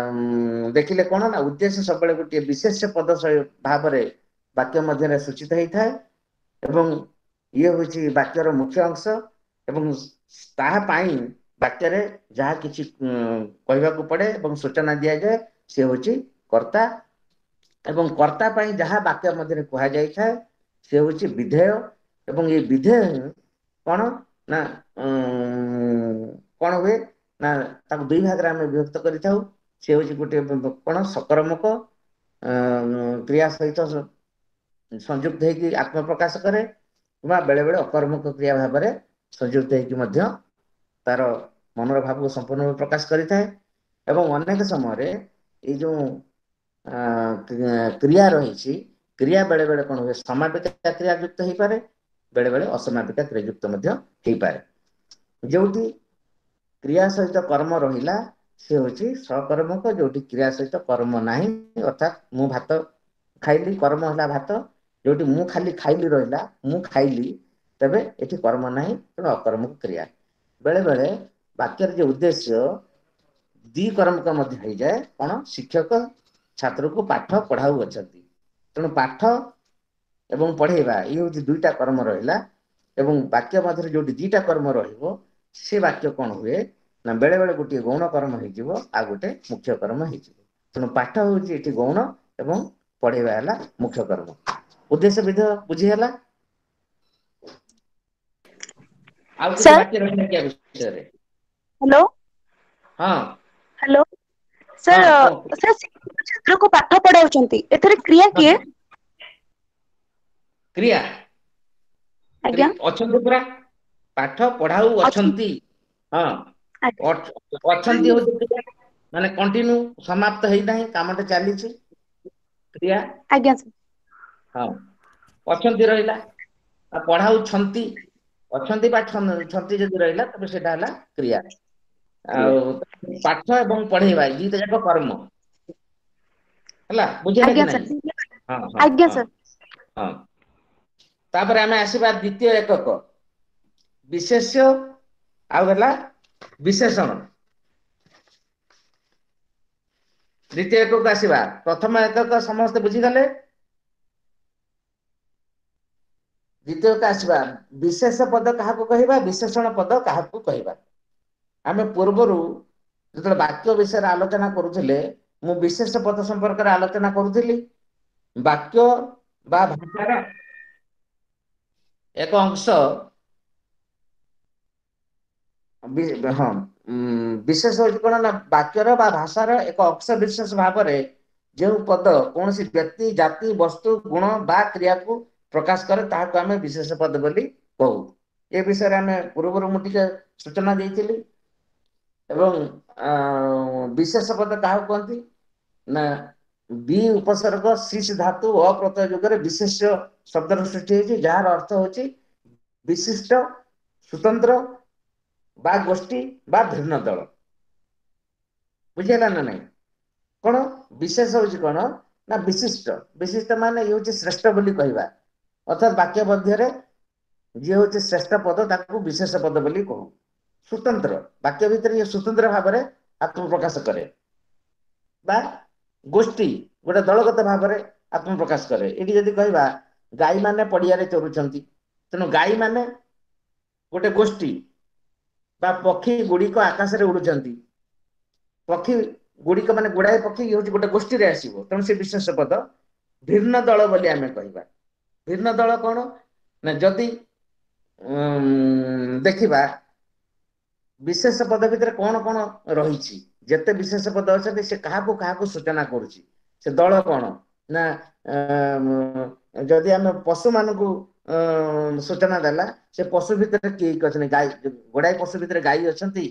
ଦେଖିଲେ କଣ ନା ଉଦ୍ଦେଶ୍ୟ ସବୁବେଳେ ଗୋଟିଏ ବିଶେଷ ପଦ ଭାବରେ ବାକ୍ୟ ମଧ୍ୟରେ ସୂଚିତ ହେଇଥାଏ ଏବଂ ଇଏ ହଉଛି ବାକ୍ୟର ମୁଖ୍ୟ ଅଂଶ ଏବଂ ତାହା ପାଇଁ ବାକ୍ୟରେ ଯାହା କିଛି କହିବାକୁ ପଡେ ଏବଂ ସୂଚନା ଦିଆଯାଏ ସେ ହଉଛି କର୍ତ୍ତା, ଏବଂ କର୍ତ୍ତା ପାଇଁ ଯାହା ବାକ୍ୟ ମଧ୍ୟରେ କୁହାଯାଇଥାଏ ସେ ହଉଛି ବିଧେୟ। ଏବଂ ଏଇ ବିଧେୟ ହିଁ କଣ ନା କଣ ହୁଏ ନା ତାକୁ ଦୁଇ ଭାଗରେ ଆମେ ବିଭକ୍ତ କରିଥାଉ। ସେ ହଉଛି ଗୋଟିଏ କଣ ସକର୍ମକ କ୍ରିୟା ସହିତ ସଂଯୁକ୍ତ ହେଇକି ଆତ୍ମପ୍ରକାଶ କରେ, କିମ୍ବା ବେଳେ ବେଳେ ଅକର୍ମକ କ୍ରିୟା ଭାବରେ ସଂଯୁକ୍ତ ହେଇକି ମଧ୍ୟ ତାର ମନର ଭାବକୁ ସମ୍ପୂର୍ଣ୍ଣ ଭାବେ ପ୍ରକାଶ କରିଥାଏ। ଏବଂ ଅନେକ ସମୟରେ ଏଇ ଯୋଉ କ୍ରିୟା ରହିଛି, କ୍ରିୟା ବେଳେ ବେଳେ କଣ ହୁଏ ସମାପିକା କ୍ରିୟା ଯୁକ୍ତ ହେଇପାରେ, ବେଳେ ବେଳେ ଅସମାପିକା କ୍ରିୟା ଯୁକ୍ତ ମଧ୍ୟ ହେଇପାରେ। ଯୋଉଠି କ୍ରିୟା ସହିତ କର୍ମ ରହିଲା ସେ ହଉଛି ସକର୍ମକ, ଯୋଉଠି କ୍ରିୟା ସହିତ କର୍ମ ନାହିଁ, ଅର୍ଥାତ୍ ମୁଁ ଭାତ ଖାଇଲି, କର୍ମ ହେଲା ଭାତ, ଯୋଉଠି ମୁଁ ଖାଲି ଖାଇଲି ରହିଲା, ମୁଁ ଖାଇଲି, ତେବେ ଏଠି କର୍ମ ନାହିଁ, ତେଣୁ ଅକର୍ମକ କ୍ରିୟା। ବେଳେ ବେଳେ ବାକ୍ୟର ଯେ ଉଦ୍ଦେଶ୍ୟ ଦ୍ୱିକର୍ମକ ମଧ୍ୟ ହେଇଯାଏ, କଣ ଶିକ୍ଷକ ଛାତ୍ରକୁ ପାଠ ପଢାଉ ଅଛନ୍ତି, ତେଣୁ ପାଠ ଏବଂ ପଢେଇବା ଇଏ ହଉଛି ଦୁଇଟା କର୍ମ ରହିଲା। ଏବଂ ବାକ୍ୟ ମଧ୍ୟରେ ଯୋଉଠି ଦିଟା କର୍ମ ରହିବ ସେ ବାକ୍ୟ କଣ ହୁଏ ନା ବେଳେ ବେଳେ ଗୋଟିଏ ଗୌଣ କର୍ମ ହେଇଯିବ ଆଉ ଗୋଟେ ମୁଖ୍ୟ କର୍ମ ହେଇଯିବ। ତେଣୁ ପାଠ ହଉଛି ଏଠି ଗୌଣ ଏବଂ ପଢେଇବା ହେଲା ମୁଖ୍ୟ କର୍ମ। ଉଦ୍ଦେଶ୍ୟ ବିଧେୟ ବୁଝିହେଲା? ଆଉ କିଛି ବାକି ରହିଲା କି ବିଷୟରେ? ହ୍ୟାଲୋ, ହଁ ହ୍ୟାଲୋ ସାର୍, ସାର୍ ଛାତ୍ରକୁ ପାଠ ପଢାଉଛନ୍ତି, ଏଥିରେ କ୍ରିୟା କିଏ? କ୍ରିୟା ଆଜ୍ଞା ଅଛନ୍ତି ପୁରା, ପାଠ ପଢାଉ ଅଛନ୍ତି, ହଁ ଅଛନ୍ତି ହଉଛି ମାନେ କଣ୍ଟିନ୍ୟୁ, ସମାପ୍ତ ହେଇନାହିଁ, କାମଟା ଚାଲିଛି, କ୍ରିୟା। ଆଜ୍ଞା ହଁ ଅଛନ୍ତି ରହିଲା, ଆଉ ପଢାଉଛନ୍ତି, ଅଛନ୍ତି ବା ଛନ୍ତି ଯଦି ରହିଲା ତେବେ ସେଇଟା ହେଲା କ୍ରିୟା। ଆଉ ପାଠ ଏବଂ ପଢେଇବା ଦିଟା ଯାକ କର୍ମ ହେଲା, ବୁଝିଲା କି ନାଇଁ? ହଁ ଆଜ୍ଞା ସାର୍। ହଁ ତାପରେ ଆମେ ଆସିବା ଦ୍ୱିତୀୟ ଏକକ ବିଶେଷ୍ୟ ଆଉ ହେଲା ବିଶେଷଣ। ଦ୍ୱିତୀୟ ଏକକ ଆସିବା। ପ୍ରଥମ ଏକକ ସମସ୍ତେ ବୁଝିଗଲେ? ଦ୍ୱିତୀୟ ଏକ ଆସିବା ବିଶେଷ ପଦ କାହାକୁ କହିବା, ବିଶେଷଣ ପଦ କାହାକୁ କହିବା। ଆମେ ପୂର୍ବରୁ ଯେତେବେଳେ ବାକ୍ୟ ବିଷୟରେ ଆଲୋଚନା କରୁଥିଲେ ମୁଁ ବିଶେଷ ପଦ ସମ୍ପର୍କରେ ଆଲୋଚନା କରୁଥିଲି। ବାକ୍ୟ ବା ଭାଷାର ଏକ ଅଂଶ ହଁ ବିଶେଷ ହଉଛି କଣ ନା ବାକ୍ୟର ବା ଭାଷାର ଏକ ଅଂଶ ବିଶେଷ ଭାବରେ ଯେଉଁ ପଦ କୌଣସି ବ୍ୟକ୍ତି, ଜାତି, ବସ୍ତୁ, ଗୁଣ ବା କ୍ରିୟାକୁ ପ୍ରକାଶ କରେ ତାହାକୁ ଆମେ ବିଶେଷ ପଦ ବୋଲି କହୁ। ଏ ବିଷୟରେ ଆମେ ପୂର୍ବରୁ ମୁଁ ଟିକେ ସୂଚନା ଦେଇଥିଲି। ଏବଂ ବିଶେଷ ପଦ କାହାକୁ କୁହନ୍ତି ନା ବି ଉପସର୍ଗ ଶିଷ ଧାତୁ ଅପ୍ରତ୍ୟୟ ଯୁଗରେ ବିଶେଷ୍ୟ ଶବ୍ଦର ସୃଷ୍ଟି ହେଇଛି, ଯାହାର ଅର୍ଥ ହଉଛି ବିଶିଷ୍ଟ, ସ୍ୱତନ୍ତ୍ର ବା ଗୋଷ୍ଠୀ ବା ଭିନ୍ନ ଦଳ। ବୁଝିହେଲା ନା ନାଇଁ? କଣ ବିଶେଷ ହଉଛି କଣ ନା ବିଶିଷ୍ଟ, ବିଶିଷ୍ଟ ମାନେ ଇଏ ହଉଛି ଶ୍ରେଷ୍ଠ ବୋଲି କହିବା। ଅର୍ଥାତ୍ ବାକ୍ୟ ମଧ୍ୟରେ ଯିଏ ହଉଛି ଶ୍ରେଷ୍ଠ ପଦ ତାକୁ ବିଶେଷ ପଦ ବୋଲି କହୁ। ସ୍ୱତନ୍ତ୍ର ବାକ୍ୟ ଭିତରେ ଇଏ ସ୍ୱତନ୍ତ୍ର ଭାବରେ ଆତ୍ମପ୍ରକାଶ କରେ ବା ଗୋଷ୍ଠୀ ଗୋଟେ ଦଳଗତ ଭାବରେ ଆତ୍ମପ୍ରକାଶ କରେ। ଏଠି ଯଦି କହିବା ଗାଈ ମାନେ ପଡିଆରେ ଚରୁଛନ୍ତି, ତେଣୁ ଗାଈ ମାନେ ଗୋଟେ ଗୋଷ୍ଠୀ, ବା ପକ୍ଷୀ ଗୁଡିକ ଆକାଶରେ ଉଡୁଛନ୍ତି, ପକ୍ଷୀ ଗୁଡିକ ମାନେ ଗୁଡାଏ ପକ୍ଷୀ ଇଏ ହଉଛି ଗୋଟେ ଗୋଷ୍ଠୀରେ ଆସିବ, ତେଣୁ ସେ ବିଶେଷ ପଦ। ଭିନ୍ନ ଦଳ ବୋଲି ଆମେ କହିବା। ଭିନ୍ନ ଦଳ କଣ ନା ଯଦି ଉଁ ଦେଖିବା ବିଶେଷ ପଦ ଭିତରେ କଣ କଣ ରହିଛି, ଯେତେ ବିଶେଷ ପଦ ଅଛନ୍ତି ସେ କାହାକୁ କାହାକୁ ସୂଚନା କରୁଛି, ସେ ଦଳ କଣ ନା ଯଦି ଆମେ ପଶୁ ମାନଙ୍କୁ ସୂଚନା ଦେଲା, ସେ ପଶୁ ଭିତରେ କିଏ କିଏ ଅଛନ୍ତି, ଗାଈ, ଗୋଡାଏ ପଶୁ ଭିତରେ ଗାଈ ଅଛନ୍ତି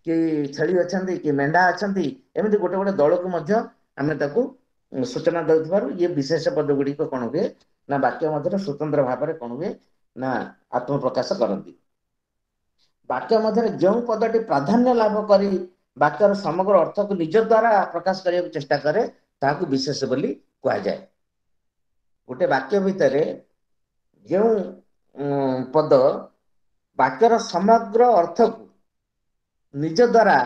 କି ଛେଳି ଅଛନ୍ତି କି ମେଣ୍ଢା ଅଛନ୍ତି, ଏମିତି ଗୋଟେ ଗୋଟେ ଦଳକୁ ମଧ୍ୟ ଆମେ ତାକୁ ସୂଚନା ଦଉଥିବାରୁ ଇଏ ବିଶେଷ ପଦ ଗୁଡିକ କଣ ହୁଏ ନା ବାକ୍ୟ ମଧ୍ୟରେ ସ୍ୱତନ୍ତ୍ର ଭାବରେ କଣ ହୁଏ ନା ଆତ୍ମପ୍ରକାଶ କରନ୍ତି। ବାକ୍ୟ ମଧ୍ୟରେ ଯେଉଁ ପଦଟି ପ୍ରାଧାନ୍ୟ ଲାଭ କରି ବାକ୍ୟର ସମଗ୍ର ଅର୍ଥକୁ ନିଜ ଦ୍ଵାରା ପ୍ରକାଶ କରିବାକୁ ଚେଷ୍ଟା କରେ ତାହାକୁ ବିଶେଷ ବୋଲି କୁହାଯାଏ। ଗୋଟେ ବାକ୍ୟ ଭିତରେ ଯେଉଁ ପଦ ବାକ୍ୟର ସମଗ୍ର ଅର୍ଥକୁ ନିଜ ଦ୍ଵାରା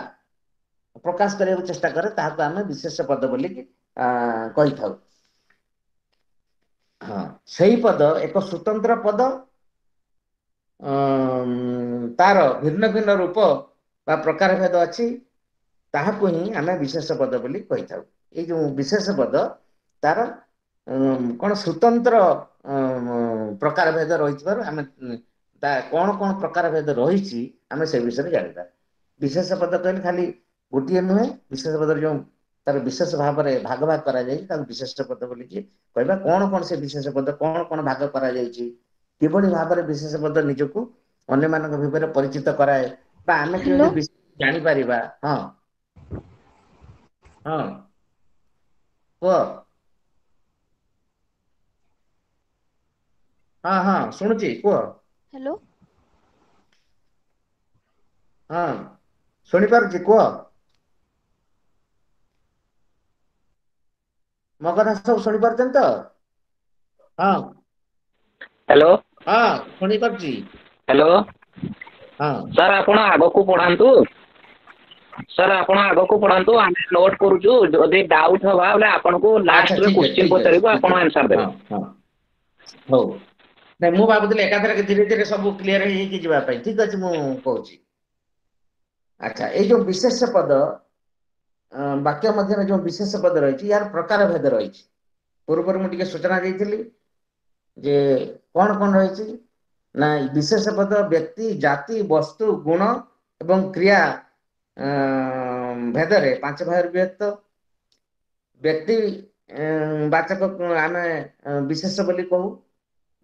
ପ୍ରକାଶ କରିବାକୁ ଚେଷ୍ଟା କରେ ତାହାକୁ ଆମେ ବିଶେଷ ପଦ ବୋଲି କହିଥାଉ। ହଁ, ସେଇ ପଦ ଏକ ସ୍ୱତନ୍ତ୍ର ପଦ, ତାର ଭିନ୍ନ ଭିନ୍ନ ରୂପ ବା ପ୍ରକାର ଭେଦ ଅଛି, ତାହାକୁ ହିଁ ଆମେ ବିଶେଷ ପଦ ବୋଲି କହିଥାଉ। ଏଇ ଯୋଉ ବିଶେଷ ପଦ ତାର କଣ ସ୍ୱତନ୍ତ୍ର ପ୍ରକାର ଭେଦ ରହିଥିବାରୁ ଆମେ ତା କଣ କଣ ପ୍ରକାର ଭେଦ ରହିଛି ଆମେ ସେ ବିଷୟରେ ଜାଣିବା। ବିଶେଷ ପଦ କହିଲେ ଖାଲି ଗୋଟିଏ ନୁହେଁ, ବିଶେଷ ପଦର ଯୋଉ ତାର ବିଶେଷ ଭାବରେ ଭାଗ ଭାଗ କରାଯାଇଛି ତାକୁ ବିଶେଷ ପଦ ବୋଲିକି କହିବା। କଣ କଣ ସେ ବିଶେଷ ପଦ, କଣ କଣ ଭାଗ କରାଯାଇଛି, କିଭଳି ଭାବରେ ବିଶେଷ ପଦ ନିଜକୁ ଅନ୍ୟମାନଙ୍କ ଭିତରେ ପରିଚିତ କରାଏ ବା ଆମେ କେମିତି ଜାଣିପାରିବା। ହଁ ହଁ କୁହ। ହଁ ହଁ ଶୁଣୁଛି, କୁହ। ହ୍ୟାଲୋ। ହଁ ଶୁଣିପାରୁଛି, କୁହ। ମୋ କଥା ସବୁ ଶୁଣିପାରୁଛନ୍ତି ତ? ହଁ ହ୍ୟାଲୋ। ହଁ ଶୁଣିପାରୁଛି। ହ୍ୟାଲୋ ହଁ ସାର୍, ଆପଣ ଆଗକୁ ପଢାନ୍ତୁ। ସାର୍ ଆପଣ ଆଗକୁ ପଢାନ୍ତୁ, ଆମେ ନୋଟ କରୁଛୁ। ଯଦି ଡାଉଟ ହବା ବୋଲେ ଆପଣଙ୍କୁ ଲାଷ୍ଟରେ କ୍ୱେଶ୍ଚିନ୍ ପଚାରିବୁ, ଆପଣ ଆନ୍ସର ଦେବେ। ହଉ, ନାଇଁ ମୁଁ ଭାବୁଥିଲି ଏକାଥରକେ ଧୀରେ ଧୀରେ ସବୁ କ୍ଲିୟର ହେଇକି ଯିବା ପାଇଁ। ଠିକ ଅଛି, ମୁଁ କହୁଛି। ଆଚ୍ଛା, ଏଇ ଯୋଉ ବିଶେଷ ପଦ ବାକ୍ୟ ମଧ୍ୟରେ ଯୋଉ ବିଶେଷ ପଦ ରହିଛି ୟାର ପ୍ରକାର ଭେଦ ରହିଛି। ପୂର୍ବରୁ ମୁଁ ଟିକେ ସୂଚନା ଦେଇଥିଲି ଯେ କଣ କଣ ରହିଛି ନା ବିଶେଷ ପଦ ବ୍ୟକ୍ତି, ଜାତି, ବସ୍ତୁ, ଗୁଣ ଏବଂ କ୍ରିୟା ଭେଦରେ ପାଞ୍ଚ ଭାଗରେ ବିଭକ୍ତ। ବ୍ୟକ୍ତି ବାଚକ ଆମେ ବିଶେଷ ବୋଲି କହୁ,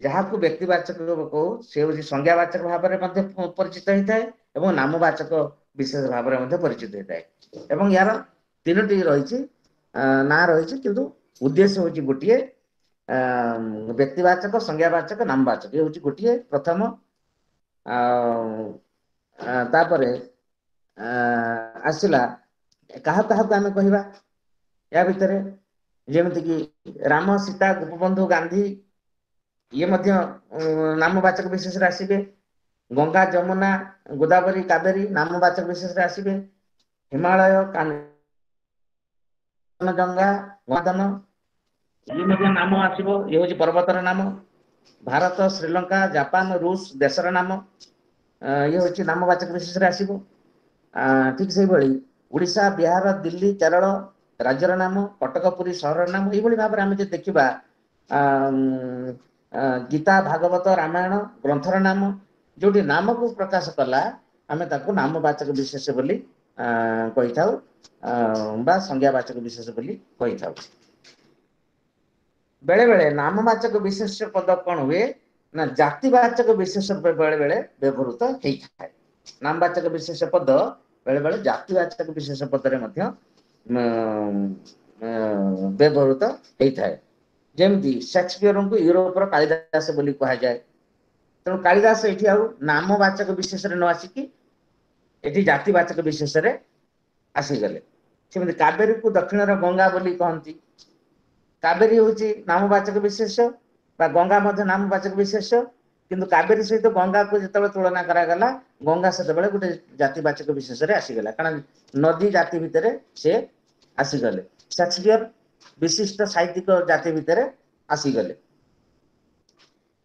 ଯାହାକୁ ବ୍ୟକ୍ତିବାଚକ କହୁ ସେ ହଉଛି ସଂଜ୍ଞାବାଚକ ଭାବରେ ମଧ୍ୟ ପରିଚିତ ହେଇଥାଏ ଏବଂ ନାମବାଚକ ବିଶେଷ ଭାବରେ ମଧ୍ୟ ପରିଚିତ ହେଇଥାଏ। ଏବଂ ୟାର ତିନୋଟି ରହିଛି ନାଁ ରହିଛି, କିନ୍ତୁ ଉଦ୍ଦେଶ୍ୟ ହଉଛି ଗୋଟିଏ, ବ୍ୟକ୍ତିବାଚକ, ସଂଜ୍ଞାବାଚକ, ନାମବାଚକ, ଇଏ ହଉଛି ଗୋଟିଏ ପ୍ରଥମ। ଆଉ ତାପରେ ଆସିଲା କାହା କାହାକୁ ଆମେ କହିବା ୟା ଭିତରେ, ଯେମିତିକି ରାମ, ସୀତା, ଗୋପବନ୍ଧୁ, ଗାନ୍ଧୀ, ଇଏ ମଧ୍ୟ ନାମବାଚକ ବିଶେଷରେ ଆସିବେ। ଗଙ୍ଗା, ଯମୁନା, ଗୋଦାବରୀ, କାବେରୀ ନାମବାଚକ ବିଶେଷରେ ଆସିବେ। ହିମାଳୟ, କାଞ୍ଚନଜଙ୍ଗା, ଗନ୍ଧନ, ଇଏ ମଧ୍ୟ ନାମ ଆସିବ, ଇଏ ହଉଛି ପର୍ବତର ନାମ। ଭାରତ, ଶ୍ରୀଲଙ୍କା, ଜାପାନ, ରୁଷ ଦେଶର ନାମ, ଇଏ ହଉଛି ନାମବାଚକ ବିଶେଷରେ ଆସିବ। ଠିକ ସେଇଭଳି ଓଡ଼ିଶା, ବିହାର, ଦିଲ୍ଲୀ, କେରଳ ରାଜ୍ୟର ନାମ, କଟକ, ପୁରୀ ସହରର ନାମ। ଏଇଭଳି ଭାବରେ ଆମେ ଯଦି ଦେଖିବା ଗୀତା, ଭାଗବତ, ରାମାୟଣ ଗ୍ରନ୍ଥର ନାମ, ଯୋଉଠି ନାମକୁ ପ୍ରକାଶ କଲା ଆମେ ତାକୁ ନାମବାଚକ ବିଶେଷ ବୋଲି କହିଥାଉ ବା ସଂଜ୍ଞାବାଚକ ବିଶେଷ ବୋଲି କହିଥାଉ। ବେଳେ ବେଳେ ନାମବାଚକ ବିଶେଷ ପଦ କଣ ହୁଏ ନା ଜାତିବାଚକ ବିଶେଷ ବେଳେ ବେଳେ ବ୍ୟବହୃତ ହେଇଥାଏ। ନାମବାଚକ ବିଶେଷ ପଦ ବେଳେ ବେଳେ ଜାତିବାଚକ ବିଶେଷ ପଦରେ ମଧ୍ୟ ବ୍ୟବହୃତ ହେଇଥାଏ। ଯେମିତି ସେକ୍ସପିୟରଙ୍କୁ ୟୁରୋପର କାଳିଦାସ ବୋଲି କୁହାଯାଏ। ତେଣୁ କାଳିଦାସ ଏଠି ଆଉ ନାମବାଚକ ବିଶେଷରେ ନ ଆସିକି ଏଠି ଜାତିବାଚକ ବିଶେଷରେ ଆସିଗଲେ। ସେମିତି କାବେରୀକୁ ଦକ୍ଷିଣର ଗଙ୍ଗା ବୋଲି କହନ୍ତି। କାବେରୀ ହଉଛି ନାମବାଚକ ବିଶେଷ ବା ଗଙ୍ଗା ମଧ୍ୟ ନାମବାଚକ ବିଶେଷ୍ୟ, କିନ୍ତୁ କାବେରୀ ସହିତ ଗଙ୍ଗାକୁ ଯେତେବେଳେ ତୁଳନା କରାଗଲା, ଗଙ୍ଗା ସେତେବେଳେ ଗୋଟେ ଜାତିବାଚକ ବିଶେଷରେ ଆସିଗଲା, କାରଣ ନଦୀ ଜାତି ଭିତରେ ସେ ଆସିଗଲେ। ସେକ୍ସପିୟର ବିଶିଷ୍ଟ ସାହିତ୍ୟିକ ଜାତି ଭିତରେ ଆସିଗଲେ।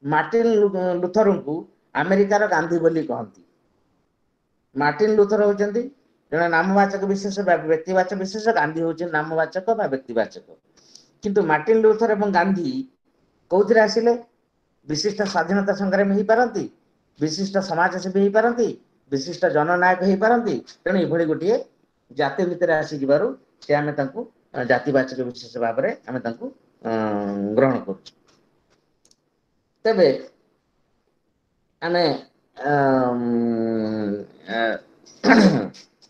ମାର୍ଟିନ ଲୁଥରଙ୍କୁ ଆମେରିକାର ଗାନ୍ଧୀ ବୋଲି କହନ୍ତି। ମାର୍ଟିନ ଲୁଥର ହଉଛନ୍ତି ଜଣେ ନାମବାଚକ ବିଶେଷ ବା ବ୍ୟକ୍ତିବାଚକ ବିଶେଷ, ଗାନ୍ଧୀ ହଉଛନ୍ତି ନାମବାଚକ ବା ବ୍ୟକ୍ତିବାଚକ। କିନ୍ତୁ ମାର୍ଟିନ ଲୁଥର ଏବଂ ଗାନ୍ଧୀ କୋଉଥିରେ ଆସିଲେ? ବିଶିଷ୍ଟ ସ୍ୱାଧୀନତା ସଂଗ୍ରାମୀ ହେଇପାରନ୍ତି, ବିଶିଷ୍ଟ ସମାଜସେବୀ ହେଇପାରନ୍ତି, ବିଶିଷ୍ଟ ଜନନାୟକ ହେଇପାରନ୍ତି। ତେଣୁ ଏଭଳି ଗୋଟିଏ ଜାତି ଭିତରେ ଆସିଯିବାରୁ ସେ ଆମେ ତାଙ୍କୁ ଜାତିବାଚକ ବିଶେଷ ଭାବରେ ଆମେ ତାଙ୍କୁ ଗ୍ରହଣ କରୁଛୁ। ତେବେ ଆମେ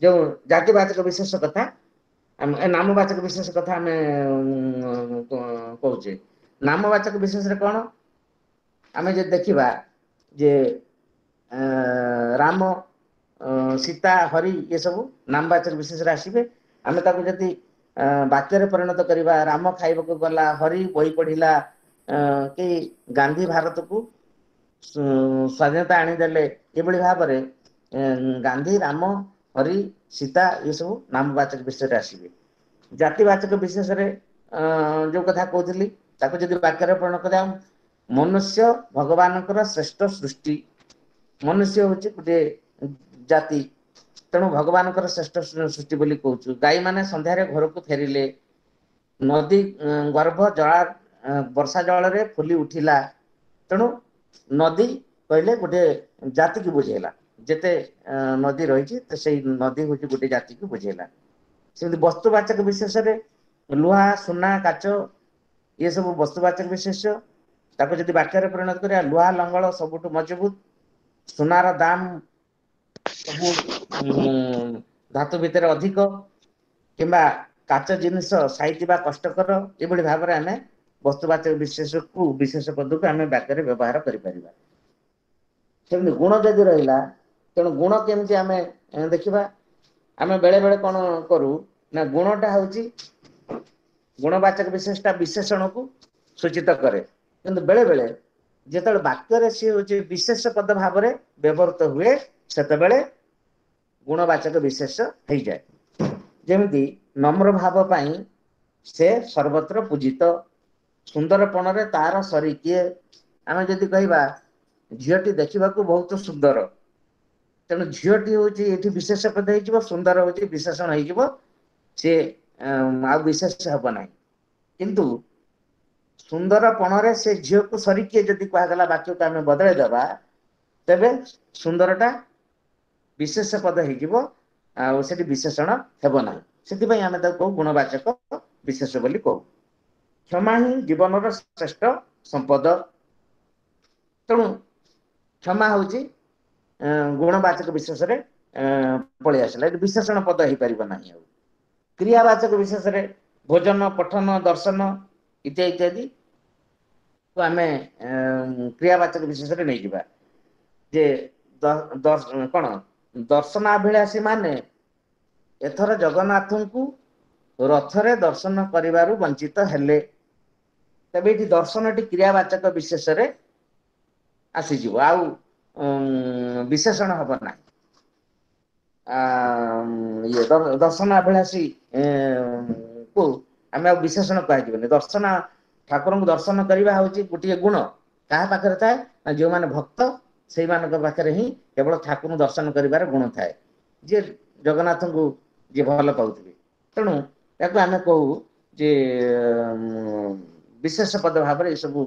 ଯୋଉ ଜାତିବାଚକ ବିଶେଷ କଥା, ନାମବାଚକ ବିଶେଷ କଥା ଆମେ କହୁଛେ, ନାମବାଚକ ବିଶେଷରେ କଣ ଆମେ ଯଦି ଦେଖିବା ଯେ ରାମ, ସୀତା, ହରି ଏସବୁ ନାମବାଚକ ବିଶେଷରେ ଆସିବେ। ଆମେ ତାକୁ ଯଦି ବାକ୍ୟରେ ପରିଣତ କରିବା, ରାମ ଖାଇବାକୁ ଗଲା, ହରି ବହି ପଢିଲା, କି ଗାନ୍ଧୀ ଭାରତକୁ ସ୍ୱାଧୀନତା ଆଣିଦେଲେ, ଏଭଳି ଭାବରେ ଗାନ୍ଧୀ, ରାମ, ହରି, ସୀତା ଏସବୁ ନାମବାଚକ ବିଶେଷରେ ଆସିବେ। ଜାତିବାଚକ ବିଶେଷରେ ଯୋଉ କଥା କହୁଥିଲି, ତାକୁ ଯଦି ବାକ୍ୟରେ ପରିଣତ କରିବା, ମନୁଷ୍ୟ ଭଗବାନଙ୍କର ଶ୍ରେଷ୍ଠ ସୃଷ୍ଟି। ମନୁଷ୍ୟ ହଉଛି ଗୋଟିଏ ଜାତି, ତେଣୁ ଭଗବାନଙ୍କର ଶ୍ରେଷ୍ଠ ସୃଷ୍ଟି ବୋଲି କହୁଛୁ। ଗାଈ ମାନେ ସନ୍ଧ୍ୟାରେ ଘରକୁ ଫେରିଲେ, ନଦୀ ଗର୍ଭ ଜଳା ବର୍ଷା ଜଳରେ ଫୁଲି ଉଠିଲା। ତେଣୁ ନଦୀ କହିଲେ ଗୋଟେ ଜାତିକୁ ବୁଝେଇଲା, ଯେତେ ନଦୀ ରହିଛି ସେଇ ନଦୀ ହଉଛି ଗୋଟେ ଜାତିକୁ ବୁଝେଇଲା। ସେମିତି ବସ୍ତୁବାଚକ ବିଶେଷରେ ଲୁହା, ସୁନା, କାଚ ଇଏ ସବୁ ବସ୍ତୁବାଚକ ବିଶେଷ୍ୟ। ତାକୁ ଯଦି ବାକ୍ୟରେ ପରିଣତ କରିବା, ଲୁହା ଲଙ୍ଗଳ ସବୁଠୁ ମଜବୁତ, ସୁନାର ଦାମ ସବୁ ଧାତୁ ଭିତରେ ଅଧିକ, କିମ୍ବା କାଚ ଜିନିଷ ସାଇତିବା କଷ୍ଟକର। ଏଭଳି ଭାବରେ ଆମେ ବସ୍ତୁବାଚକ ବିଶେଷକୁ ବିଶେଷ ପଦକୁ ଆମେ ବାକ୍ୟରେ ବ୍ୟବହାର କରିପାରିବା। ସେମିତି ଗୁଣ ଯଦି ରହିଲା, ତେଣୁ ଗୁଣ କେମିତି ଆମେ ଦେଖିବା? ଆମେ ବେଳେ ବେଳେ କଣ କରୁ ନା, ଗୁଣଟା ହଉଛି ଗୁଣବାଚକ ବିଶେଷଟା ବିଶେଷଣକୁ ସୂଚିତ କରେ, କିନ୍ତୁ ବେଳେ ବେଳେ ଯେତେବେଳେ ବାକ୍ୟରେ ସିଏ ହଉଛି ବିଶେଷ ପଦ ଭାବରେ ବ୍ୟବହୃତ ହୁଏ, ସେତେବେଳେ ଗୁଣବାଚକ ବିଶେଷ ହେଇଯାଏ। ଯେମିତି ନମ୍ର ଭାବ ପାଇଁ ସେ ସର୍ବତ୍ର ପୂଜିତ, ସୁନ୍ଦରପଣରେ ତାର ସରି କିଏ। ଆମେ ଯଦି କହିବା ଝିଅଟି ଦେଖିବାକୁ ବହୁତ ସୁନ୍ଦର, ତେଣୁ ଝିଅଟି ହଉଛି ଏଠି ବିଶେଷ ପଦ ହେଇଯିବ, ସୁନ୍ଦର ହଉଛି ବିଶେଷଣ ହେଇଯିବ, ସିଏ ଆଉ ବିଶେଷ ହବ ନାହିଁ। କିନ୍ତୁ ସୁନ୍ଦରପଣରେ ସେ ଝିଅକୁ ସରି କିଏ ଯଦି କୁହାଗଲା, ବାକ୍ୟକୁ ଆମେ ବଦଳାଇ ଦେବା, ତେବେ ସୁନ୍ଦରଟା ବିଶେଷ ପଦ ହେଇଯିବ, ଆଉ ସେଠି ବିଶେଷଣ ହେବ ନାହିଁ। ସେଥିପାଇଁ ଆମେ ତାକୁ କହୁ ଗୁଣବାଚକ ବିଶେଷ ବୋଲି କହୁ। କ୍ଷମା ହିଁ ଜୀବନର ଶ୍ରେଷ୍ଠ ସମ୍ପଦ। ତେଣୁ କ୍ଷମା ହଉଛି ଗୁଣବାଚକ ବିଶେଷରେ ପଳେଇ ଆସିଲା, ଏଠି ବିଶେଷଣ ପଦ ହେଇପାରିବ ନାହିଁ। ଆଉ କ୍ରିୟାବାଚକ ବିଶେଷରେ ଭୋଜନ, ପଠନ, ଦର୍ଶନ ଇତ୍ୟାଦି ଇତ୍ୟାଦି ଆମେ କ୍ରିୟାବାଚକ ବିଶେଷରେ ନେଇଯିବା। ଯେ କଣ ଦର୍ଶନାଭିଳାଷୀ ମାନେ ଏଥର ଜଗନ୍ନାଥଙ୍କୁ ରଥରେ ଦର୍ଶନ କରିବାରୁ ବଞ୍ଚିତ ହେଲେ। ତେବେ ଏଠି ଦର୍ଶନଟି କ୍ରିୟାବାଚକ ବିଶେଷରେ ଆସିଯିବ, ଆଉ ବିଶେଷଣ ହବ ନାହିଁ। ଇଏ ଦର୍ଶନାଭିଳାଷୀ କୁ ଆମେ ଆଉ ବିଶେଷଣ କୁହାଯିବନି। ଦର୍ଶନ, ଠାକୁରଙ୍କୁ ଦର୍ଶନ କରିବା ହଉଛି ଗୋଟିଏ ଗୁଣ। କାହା ପାଖରେ ଥାଏ ନା ଯେଉଁମାନେ ଭକ୍ତ, ସେଇମାନଙ୍କ ପାଖରେ ହିଁ କେବଳ ଠାକୁରଙ୍କୁ ଦର୍ଶନ କରିବାର ଗୁଣ ଥାଏ, ଯିଏ ଜଗନ୍ନାଥଙ୍କୁ ଯିଏ ଭଲ ପାଉଥିବେ। ତେଣୁ ତାକୁ ଆମେ କହୁ ଯେ ବିଶେଷ ପଦ ଭାବରେ ଏସବୁ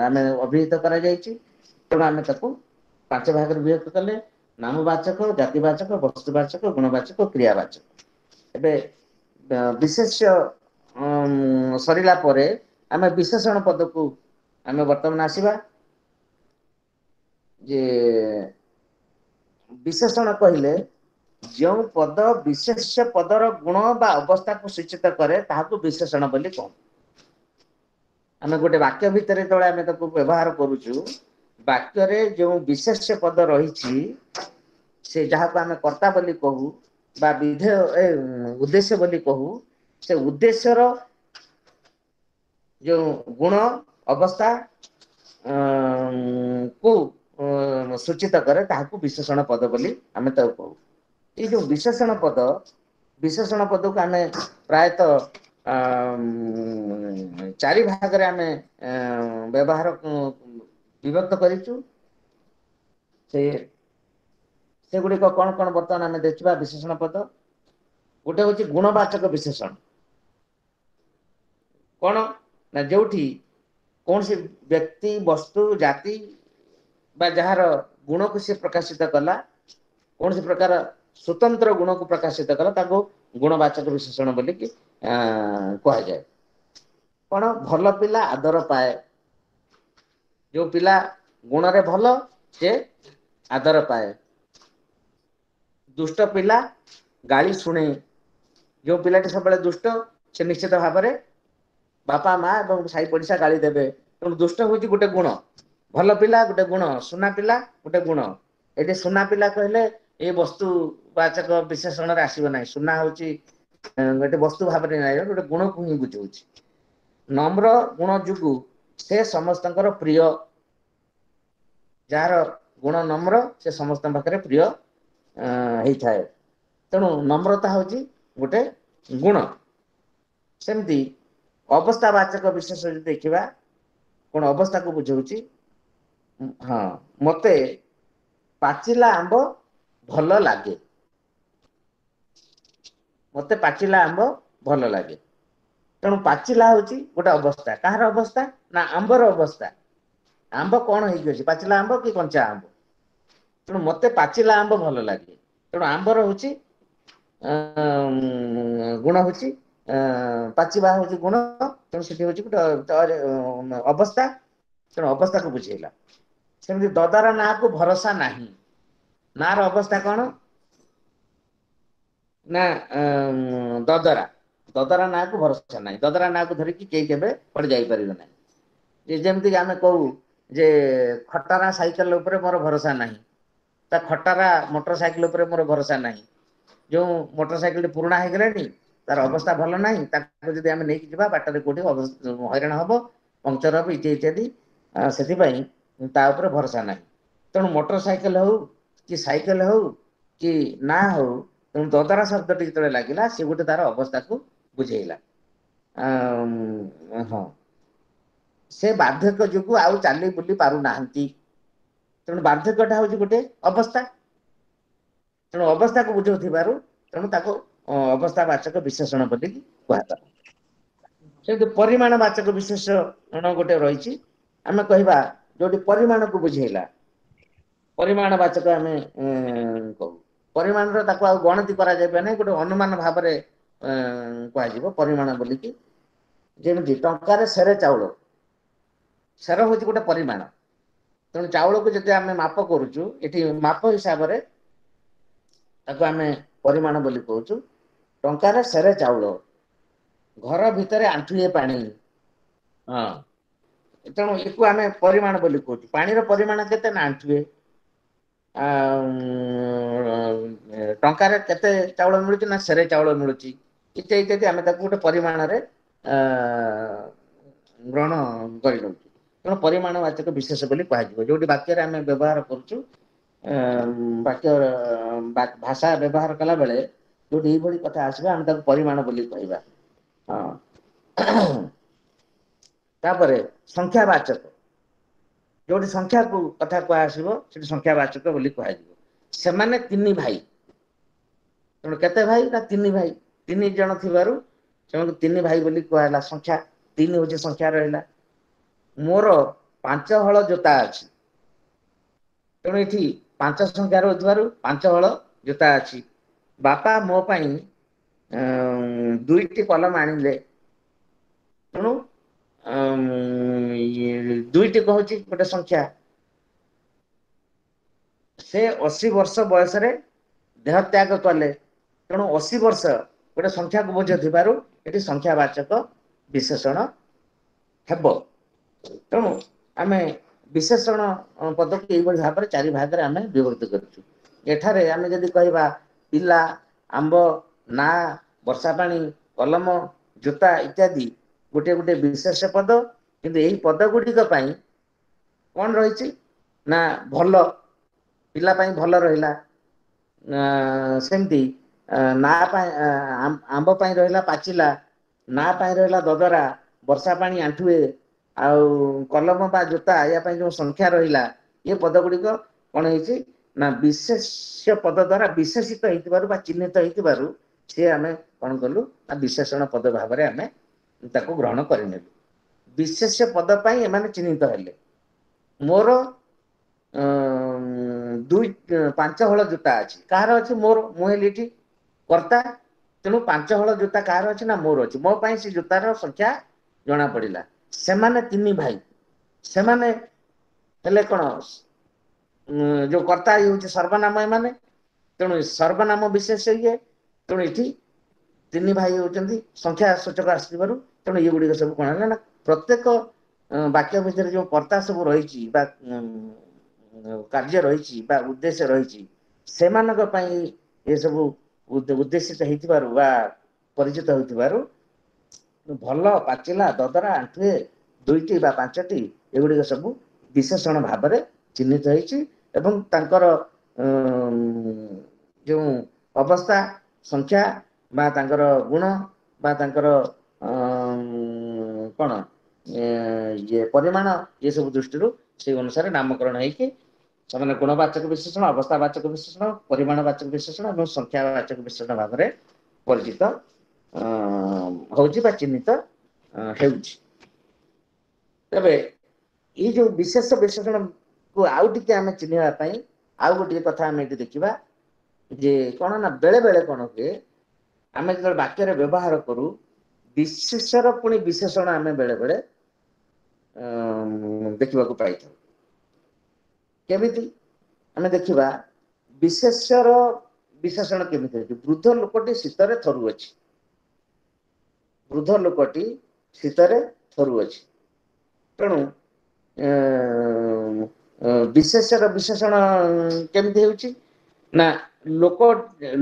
ଆମେ ଅଭିହିତ କରାଯାଇଛି। ତେଣୁ ଆମେ ତାକୁ ପାଞ୍ଚ ଭାଗରେ ବିଭକ୍ତ କଲେ: ନାମବାଚକ, ଜାତିବାଚକ, ବସ୍ତୁବାଚକ, ଗୁଣବାଚକ, କ୍ରିୟାବାଚକ। ଏବେ ବିଶେଷ୍ୟ ସରିଲା ପରେ ଆମେ ବିଶେଷଣ ପଦକୁ ଆମେ ବର୍ତ୍ତମାନ ଆସିବା। ଯେ ବିଶେଷଣ କହିଲେ ଯେଉଁ ପଦ ବିଶେଷ୍ୟ ପଦର ଗୁଣ ବା ଅବସ୍ଥାକୁ ସୂଚିତ କରେ ତାହାକୁ ବିଶେଷଣ ବୋଲି କହୁ। ଆମେ ଗୋଟେ ବାକ୍ୟ ଭିତରେ ଯେତେବେଳେ ଆମେ ତାକୁ ବ୍ୟବହାର କରୁଛୁ, ବାକ୍ୟରେ ଯେଉଁ ବିଶେଷ୍ୟ ପଦ ରହିଛି ସେ ଯାହାକୁ ଆମେ କର୍ତ୍ତା ବୋଲି କହୁ ବା ବିଧେୟ ଉଦ୍ଦେଶ୍ୟ ବୋଲି କହୁ, ସେ ଉଦ୍ଦେଶ୍ୟର ଯେଉଁ ଗୁଣ ଅବସ୍ଥା କୁ ସୂଚିତ କରେ ତାହାକୁ ବିଶେଷଣ ପଦ ବୋଲି ଆମେ ତାକୁ କହୁ। ଏଇ ଯୋଉ ବିଶେଷଣ ପଦ, ବିଶେଷଣ ପଦକୁ ଆମେ ପ୍ରାୟତଃ ଚାରି ଭାଗରେ ଆମେ ବ୍ୟବହାର ବିଭକ୍ତ କରିଛୁ। ସେ ସେଗୁଡ଼ିକ କଣ କଣ ବର୍ତ୍ତମାନ ଆମେ ଦେଖିବା। ବିଶେଷଣ ପଦ ଗୋଟେ ହଉଛି ଗୁଣବାଚକ ବିଶେଷଣ। କଣ ନା ଯୋଉଠି କୌଣସି ବ୍ୟକ୍ତି, ବସ୍ତୁ, ଜାତି ବା ଯାହାର ଗୁଣକୁ ସେ ପ୍ରକାଶିତ କଲା, କୌଣସି ପ୍ରକାର ସ୍ୱତନ୍ତ୍ର ଗୁଣକୁ ପ୍ରକାଶିତ କଲା, ତାକୁ ଗୁଣବାଚକ ବିଶେଷଣ ବୋଲିକି କୁହାଯାଏ। କଣ? ଭଲ ପିଲା ଆଦର ପାଏ। ଯୋଉ ପିଲା ଗୁଣରେ ଭଲ ସେ ଆଦର ପାଏ। ଦୁଷ୍ଟ ପିଲା ଗାଳି ଶୁଣେ। ଯୋଉ ପିଲାଟି ସବୁବେଳେ ଦୁଷ୍ଟ ସେ ନିଶ୍ଚିତ ଭାବରେ ବାପା ମା ଏବଂ ସାହି ପଡିଶା ଗାଳି ଦେବେ। ତେଣୁ ଦୁଷ୍ଟ ହଉଛି ଗୋଟେ ଗୁଣ, ଭଲ ପିଲା ଗୋଟେ ଗୁଣ, ସୁନା ପିଲା ଗୋଟେ ଗୁଣ। ଏଠି ସୁନା ପିଲା କହିଲେ ଏ ବସ୍ତୁ ବାଚକ ବିଶେଷଣରେ ଆସିବ ନାହିଁ। ସୁନା ହଉଛି ଗୋଟେ ବସ୍ତୁ ଭାବରେ ନାହିଁ, ଗୋଟେ ଗୁଣକୁ ହିଁ ବୁଝଉଛି। ନମ୍ର ଗୁଣ ଯୋଗୁ ସେ ସମସ୍ତଙ୍କର ପ୍ରିୟ। ଯାହାର ଗୁଣ ନମ୍ର ସେ ସମସ୍ତଙ୍କ ପାଖରେ ପ୍ରିୟ ହେଇଥାଏ। ତେଣୁ ନମ୍ରତା ହଉଛି ଗୋଟେ ଗୁଣ। ସେମିତି ଅବସ୍ଥାବାଚକ ବିଶେଷ ଯଦି ଦେଖିବା, କଣ ଅବସ୍ଥାକୁ ବୁଝଉଛି? ହଁ, ମତେ ପାଚିଲା ଆମ୍ବ ଭଲ ଲାଗେ। ମତେ ପାଚିଲା ଆମ୍ବ ଭଲ ଲାଗେ। ତେଣୁ ପାଚିଲା ହଉଛି ଗୋଟେ ଅବସ୍ଥା। କାହାର ଅବସ୍ଥା? ନା ଆମ୍ବର ଅବସ୍ଥା। ଆମ୍ବ କଣ ହେଇକି ଅଛି, ପାଚିଲା ଆମ୍ବ କି କଞ୍ଚା ଆମ୍ବ? ତେଣୁ ମତେ ପାଚିଲା ଆମ୍ବ ଭଲ ଲାଗେ। ତେଣୁ ଆମ୍ବର ହଉଛି ଗୁଣ ହଉଛି ପାଚିବା ହଉଛି ଗୁଣ। ତେଣୁ ସେଠି ହଉଛି ଗୋଟେ ଅବସ୍ଥା। ତେଣୁ ଅବସ୍ଥାକୁ ବୁଝେଇଲା। ସେମିତି ଦଦରା ନାଁକୁ ଭରସା ନାହିଁ। ନାଁର ଅବସ୍ଥା କଣ? ନା ଦଦରା, ଦଦରା ନାଁକୁ ଭରସା ନାହିଁ। ଦଦରା ନାଁକୁ ଧରିକି କେହି କେବେ କୁଆଡେ ଯାଇପାରିବେ ନାହିଁ। ଯେମିତିକି ଆମେ କହୁ ଯେ ଖଟାରା ସାଇକେଲ ଉପରେ ମୋର ଭରସା ନାହିଁ, ତା ଖଟାରା ମୋଟର ସାଇକେଲ ଉପରେ ମୋର ଭରସା ନାହିଁ। ଯୋଉ ମୋଟର ସାଇକେଲଟି ପୁରୁଣା ହେଇଗଲାଣି, ତାର ଅବସ୍ଥା ଭଲ ନାହିଁ, ତାକୁ ଯଦି ଆମେ ନେଇକି ଯିବା ବାଟରେ କୋଉଠି ହଇରାଣ ହବ, ପଙ୍କଚର ହବ ଇତ୍ୟାଦି ଇତ୍ୟାଦି, ସେଥିପାଇଁ ତା ଉପରେ ଭରସା ନାହିଁ। ତେଣୁ ମୋଟର ସାଇକେଲ ହଉ କି ସାଇକେଲ ହଉ କି ନା ହଉ, ତେଣୁ ଦଦରା ଶବ୍ଦଟି ଯେତେବେଳେ ଲାଗିଲା ସେ ଗୋଟେ ତାର ଅବସ୍ଥାକୁ ବୁଝେଇଲା। ହଁ, ସେ ବାର୍ଦ୍ଧକ୍ୟ ଯୋଗୁ ଆଉ ଚାଲି ବୁଲି ପାରୁନାହାନ୍ତି। ତେଣୁ ବାର୍ଦ୍ଧକ୍ୟଟା ହଉଛି ଗୋଟେ ଅବସ୍ଥା। ତେଣୁ ଅବସ୍ଥାକୁ ବୁଝଉଥିବାରୁ ତେଣୁ ତାକୁ ଅବସ୍ଥାବାଚକ ବିଶେଷଣ ବୋଲି କୁହାଗଲା। ସେମିତି ପରିମାଣ ବାଚକ ବିଶେଷଣ ଗୋଟେ ରହିଛି। ଆମେ କହିବା ଯୋଉଠି ପରିମାଣକୁ ବୁଝେଇଲା, ପରିମାଣ ବାଚକ ଆମେ କହୁ। ପରିମାଣର ତାକୁ ଆଉ ଗଣତି କରାଯାଇପାରେ ନାହିଁ, ଗୋଟେ ଅନୁମାନ ଭାବରେ କୁହାଯିବ ପରିମାଣ ବୋଲିକି। ଯେମିତି ଟଙ୍କାରେ ସେରେ ଚାଉଳ, ସେର ହଉଛି ଗୋଟେ ପରିମାଣ। ତେଣୁ ଚାଉଳକୁ ଯଦି ଆମେ ମାପ କରୁଛୁ, ଏଠି ମାପ ହିସାବରେ ତାକୁ ଆମେ ପରିମାଣ ବୋଲି କହୁଛୁ। ଟଙ୍କାରେ ସେରେ ଚାଉଳ, ଘର ଭିତରେ ଆଣ୍ଠୁଏ ପାଣି। ହଁ, ତେଣୁ ଏକୁ ଆମେ ପରିମାଣ ବୋଲି କହୁଛୁ। ପାଣିର ପରିମାଣ କେତେ? ନା ଆଣ୍ଠୁଏ। ଟଙ୍କାରେ କେତେ ଚାଉଳ ମିଳୁଛି? ନା ସେରେ ଚାଉଳ ମିଳୁଛି ଇତ୍ୟାଦି ଇତ୍ୟାଦି। ଆମେ ତାକୁ ଗୋଟେ ପରିମାଣରେ ଗ୍ରହଣ କରିନେଉଛୁ। ତେଣୁ ପରିମାଣ ବାଚକ ବିଶେଷ ବୋଲି କୁହାଯିବ। ଯୋଉଠି ବାକ୍ୟରେ ଆମେ ବ୍ୟବହାର କରୁଛୁ, ବାକ୍ୟ ଭାଷା ବ୍ୟବହାର କଲା ବେଳେ ଯୋଉଠି ଏଇଭଳି କଥା ଆସିବ ଆମେ ତାକୁ ପରିମାଣ ବୋଲି କହିବା। ହଁ, ତାପରେ ସଂଖ୍ୟାବାଚକ, ଯୋଉଠି ସଂଖ୍ୟାକୁ କଥା କୁହା ଆସିବ ସେଠି ସଂଖ୍ୟାବାଚକ ବୋଲି କୁହାଯିବ। ସେମାନେ ତିନି ଭାଇ। ତେଣୁ କେତେ ଭାଇ? ନା ତିନି ଭାଇ। ତିନି ଜଣ ଥିବାରୁ ସେମାନଙ୍କୁ ତିନି ଭାଇ ବୋଲି କୁହାହେଲା। ସଂଖ୍ୟା ତିନି ହଉଛି ସଂଖ୍ୟା ରହିଲା। ମୋର ପାଞ୍ଚ ହଳ ଜୋତା ଅଛି। ତେଣୁ ଏଠି ପାଞ୍ଚ ସଂଖ୍ୟା ରହୁଥିବାରୁ ପାଞ୍ଚ ହଳ ଜୋତା ଅଛି। ବାପା ମୋ ପାଇଁ ଦୁଇଟି କଲମ ଆଣିଲେ। ତେଣୁ ଦୁଇଟି କହୁଛି ଗୋଟେ ସଂଖ୍ୟା। ସେ ଅଶୀ ବର୍ଷ ବୟସରେ ଦେହତ୍ୟାଗ କଲେ। ତେଣୁ ଅଶୀ ବର୍ଷ ଗୋଟେ ସଂଖ୍ୟାକୁ ବୁଝୁଥିବାରୁ ଏଠି ସଂଖ୍ୟାବାଚକ ବିଶେଷଣ ହେବ। ତେଣୁ ଆମେ ବିଶେଷଣ ପଦକୁ ଏଇଭଳି ଭାବରେ ଚାରି ଭାଗରେ ଆମେ ବିଭକ୍ତ କରୁଛୁ। ଏଠାରେ ଆମେ ଯଦି କହିବା ପିଲା, ଆମ୍ବ, ନା, ବର୍ଷା ପାଣି, କଲମ, ଜୋତା ଇତ୍ୟାଦି ଗୋଟେ ଗୋଟେ ବିଶେଷ ପଦ। କିନ୍ତୁ ଏଇ ପଦ ଗୁଡ଼ିକ ପାଇଁ କଣ ରହିଛି ନା ଭଲ ପିଲା ପାଇଁ ଭଲ ରହିଲା, ସେମିତି ନା ପାଇଁ ଆମ୍ବ ପାଇଁ ରହିଲା ପାଚିଲା, ନା ପାଇଁ ରହିଲା ଦଦରା, ବର୍ଷା ପାଣି ଆଣ୍ଠୁଏ, ଆଉ କଲମ ବା ଜୋତା ୟା ପାଇଁ ଯୋଉ ସଂଖ୍ୟା ରହିଲା, ଏ ପଦ ଗୁଡ଼ିକ କଣ ହେଇଛି ନା ବିଶେଷ୍ୟ ପଦ ଦ୍ଵାରା ବିଶେଷିତ ହେଇଥିବାରୁ ବା ଚିହ୍ନିତ ହେଇଥିବାରୁ ସିଏ ଆମେ କଣ କଲୁ ନା ବିଶେଷଣ ପଦ ଭାବରେ ଆମେ ତାକୁ ଗ୍ରହଣ କରିନେଲୁ। ବିଶେଷ୍ୟ ପଦ ପାଇଁ ଏମାନେ ଚିହ୍ନିତ ହେଲେ। ମୋର ଦୁଇ ପାଞ୍ଚ ହଳ ଜୋତା ଅଛି, କାହାର ଅଛି? ମୋର। ମୁଁ ହେଲି ଏଠି କର୍ତ୍ତା, ତେଣୁ ପାଞ୍ଚ ହଳ ଜୋତା କାହାର ଅଛି ନା ମୋର ଅଛି। ମୋ ପାଇଁ ସେ ଜୋତାର ସଂଖ୍ୟା ଜଣା ପଡିଲା। ସେମାନେ ତିନି ଭାଇ, ସେମାନେ ହେଲେ କଣ ଯୋଉ କର୍ତ୍ତା ଇଏ ହଉଛି ସର୍ବନାମ ଏମାନେ, ତେଣୁ ସର୍ବନାମ ବିଶେଷ ଇଏ, ତେଣୁ ଏଠି ତିନି ଭାଇ ହଉଛନ୍ତି ସଂଖ୍ୟା ସୂଚକ ଆସିଥିବାରୁ, ତେଣୁ ଇଏ ଗୁଡ଼ିକ ସବୁ କଣ ହେଲା ନା ପ୍ରତ୍ୟେକ ବାକ୍ୟ ଭିତରେ ଯୋଉ କର୍ତ୍ତା ସବୁ ରହିଛି ବା କାର୍ଯ୍ୟ ରହିଛି ବା ଉଦ୍ଦେଶ୍ୟ ରହିଛି, ସେମାନଙ୍କ ପାଇଁ ଏସବୁ ଉଦ୍ଦେଶ୍ୟିତ ହେଇଥିବାରୁ ବା ପରିଚିତ ହୋଇଥିବାରୁ ଭଲ, ପାଚିଲା, ଦଦରା, ଆଣ୍ଠୁଏ, ଦୁଇଟି ବା ପାଞ୍ଚଟି ଏଗୁଡ଼ିକ ସବୁ ବିଶେଷଣ ଭାବରେ ଚିହ୍ନିତ ହେଇଛି ଏବଂ ତାଙ୍କର ଯେଉଁ ଅବସ୍ଥା, ସଂଖ୍ୟା ବା ତାଙ୍କର ଗୁଣ ବା ତାଙ୍କର କଣ ଇଏ ପରିମାଣ ଏସବୁ ଦୃଷ୍ଟିରୁ ସେଇ ଅନୁସାରେ ନାମକରଣ ହେଇକି ସେମାନେ ଗୁଣବାଚକ ବିଶେଷଣ, ଅବସ୍ଥାବାଚକ ବିଶେଷଣ, ପରିମାଣବାଚକ ବିଶେଷଣ ଏବଂ ସଂଖ୍ୟାବାଚକ ବିଶେଷଣ ଭାବରେ ପରିଚିତ ହଉଛି ବା ଚିହ୍ନିତ ହେଉଛି। ତେବେ ଏଇ ଯୋଉ ବିଶେଷ ବିଶେଷଣକୁ ଆଉ ଟିକେ ଆମେ ଚିହ୍ନିବା ପାଇଁ ଆଉ ଗୋଟିଏ କଥା ଆମେ ଏଠି ଦେଖିବା ଯେ କଣ ନା ବେଳେ ବେଳେ କଣ ହୁଏ, ଆମେ ଯେତେବେଳେ ବାକ୍ୟରେ ବ୍ୟବହାର କରୁ ବିଶେଷର ପୁଣି ବିଶେଷଣ ଆମେ ବେଳେ ବେଳେ ଦେଖିବାକୁ ପାଇଥାଉ। କେମିତି ଆମେ ଦେଖିବା ବିଶେଷର ବିଶେଷଣ କେମିତି ଅଛି? ବୃଦ୍ଧ ଲୋକଟି ଶୀତରେ ଥରୁଅଛି, ବୃଦ୍ଧ ଲୋକଟି ଶୀତରେ ଥରୁଅଛି। ତେଣୁ ବିଶେଷର ବିଶେଷଣ କେମିତି ହେଉଛି ନା ଲୋକ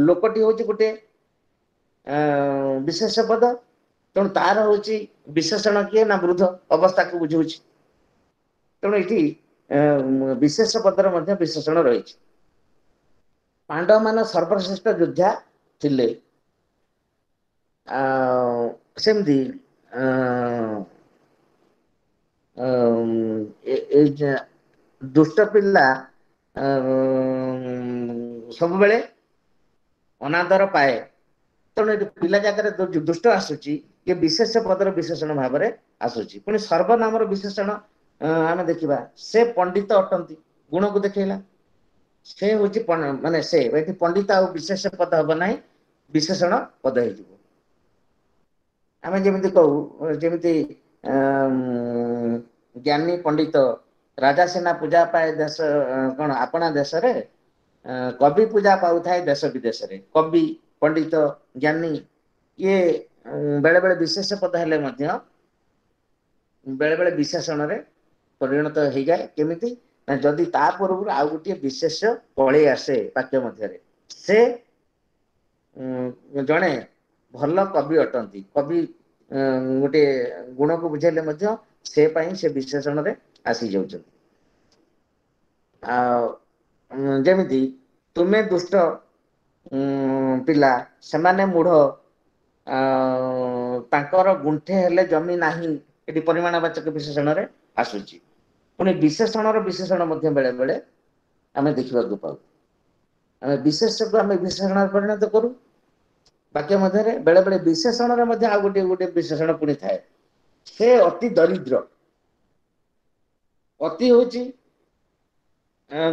ଲୋକଟି ହଉଛି ଗୋଟେ ବିଶେଷ ପଦ, ତେଣୁ ତାର ହଉଛି ବିଶେଷଣ କିଏ ନା ବୃଦ୍ଧ, ଅବସ୍ଥାକୁ ବୁଝଉଛି। ତେଣୁ ଏଠି ବିଶେଷ ପଦର ମଧ୍ୟ ବିଶେଷଣ ରହିଛି। ପାଣ୍ଡବମାନେ ସର୍ବଶ୍ରେଷ୍ଠ ଯୋଦ୍ଧା ଥିଲେ। ଆଉ ସେମିତି ଦୁଷ୍ଟ ପିଲା ସବୁବେଳେ ଅନାଦର ପାଏ, ତେଣୁ ଏଠି ପିଲା ଜାଗାରେ ଦୁଷ୍ଟ ଆସୁଛି, ଇଏ ବିଶେଷ ପଦର ବିଶେଷଣ ଭାବରେ ଆସୁଛି। ପୁଣି ସର୍ବନାମର ବିଶେଷଣ ଆମେ ଦେଖିବା, ସେ ପଣ୍ଡିତ ଅଟନ୍ତି, ଗୁଣକୁ ଦେଖେଇଲା, ସେ ହଉଛି ମାନେ ସେ ଏଠି ପଣ୍ଡିତ ଆଉ ବିଶେଷ ପଦ ହବ ନାହିଁ, ବିଶେଷଣ ପଦ ହେଇଯିବ। ଆମେ ଯେମିତି କହୁ, ଯେମିତି ଜ୍ଞାନୀ ପଣ୍ଡିତ, ରାଜା ସେନା ପୂଜା ପାଏ ଦେଶ କଣ ଆପଣା ଦେଶରେ, କବି ପୂଜା ପାଉଥାଏ ଦେଶ ବିଦେଶରେ। କବି, ପଣ୍ଡିତ, ଜ୍ଞାନୀ ଇଏ ବେଳେ ବେଳେ ବିଶେଷ ପଦ ହେଲେ ମଧ୍ୟ ବେଳେ ବେଳେ ବିଶେଷଣରେ ପରିଣତ ହେଇଯାଏ। କେମିତି ନା ଯଦି ତା ପୂର୍ବରୁ ଆଉ ଗୋଟିଏ ବିଶେଷ ପଳେଇ ଆସେ ବାକ୍ୟ ମଧ୍ୟରେ। ସେ ଜଣେ ଭଲ କବି ଅଟନ୍ତି, କବି ଗୋଟିଏ ଗୁଣକୁ ବୁଝେଇଲେ ମଧ୍ୟ ସେ ପାଇଁ ସେ ବିଶେଷଣରେ ଆସି ଯାଉଛନ୍ତି। ଆଉ ଯେମିତି ତୁମେ ଦୁଷ୍ଟ ପିଲା, ସେମାନେ ମୂଢ, ତାଙ୍କର ଗୁଣ୍ଠେ ହେଲେ ଜମି ନାହିଁ, ଏଠି ପରିମାଣବାଚକ ବିଶେଷଣରେ ଆସୁଛି। ପୁଣି ବିଶେଷଣର ବିଶେଷଣ ମଧ୍ୟ ବେଳେ ବେଳେ ଆମେ ଦେଖିବାକୁ ପାଉ। ଆମେ ବିଶେଷକୁ ଆମେ ବିଶେଷଣରେ ପରିଣତ କରୁ ବାକ୍ୟ ମଧ୍ୟରେ, ବେଳେ ବେଳେ ବିଶେଷଣରେ ମଧ୍ୟ ଆଉ ଗୋଟିଏ ଗୋଟିଏ ବିଶେଷଣ ପୁଣି ଥାଏ। ସେ ଅତି ଦରିଦ୍ର, ଅତି ହଉଛି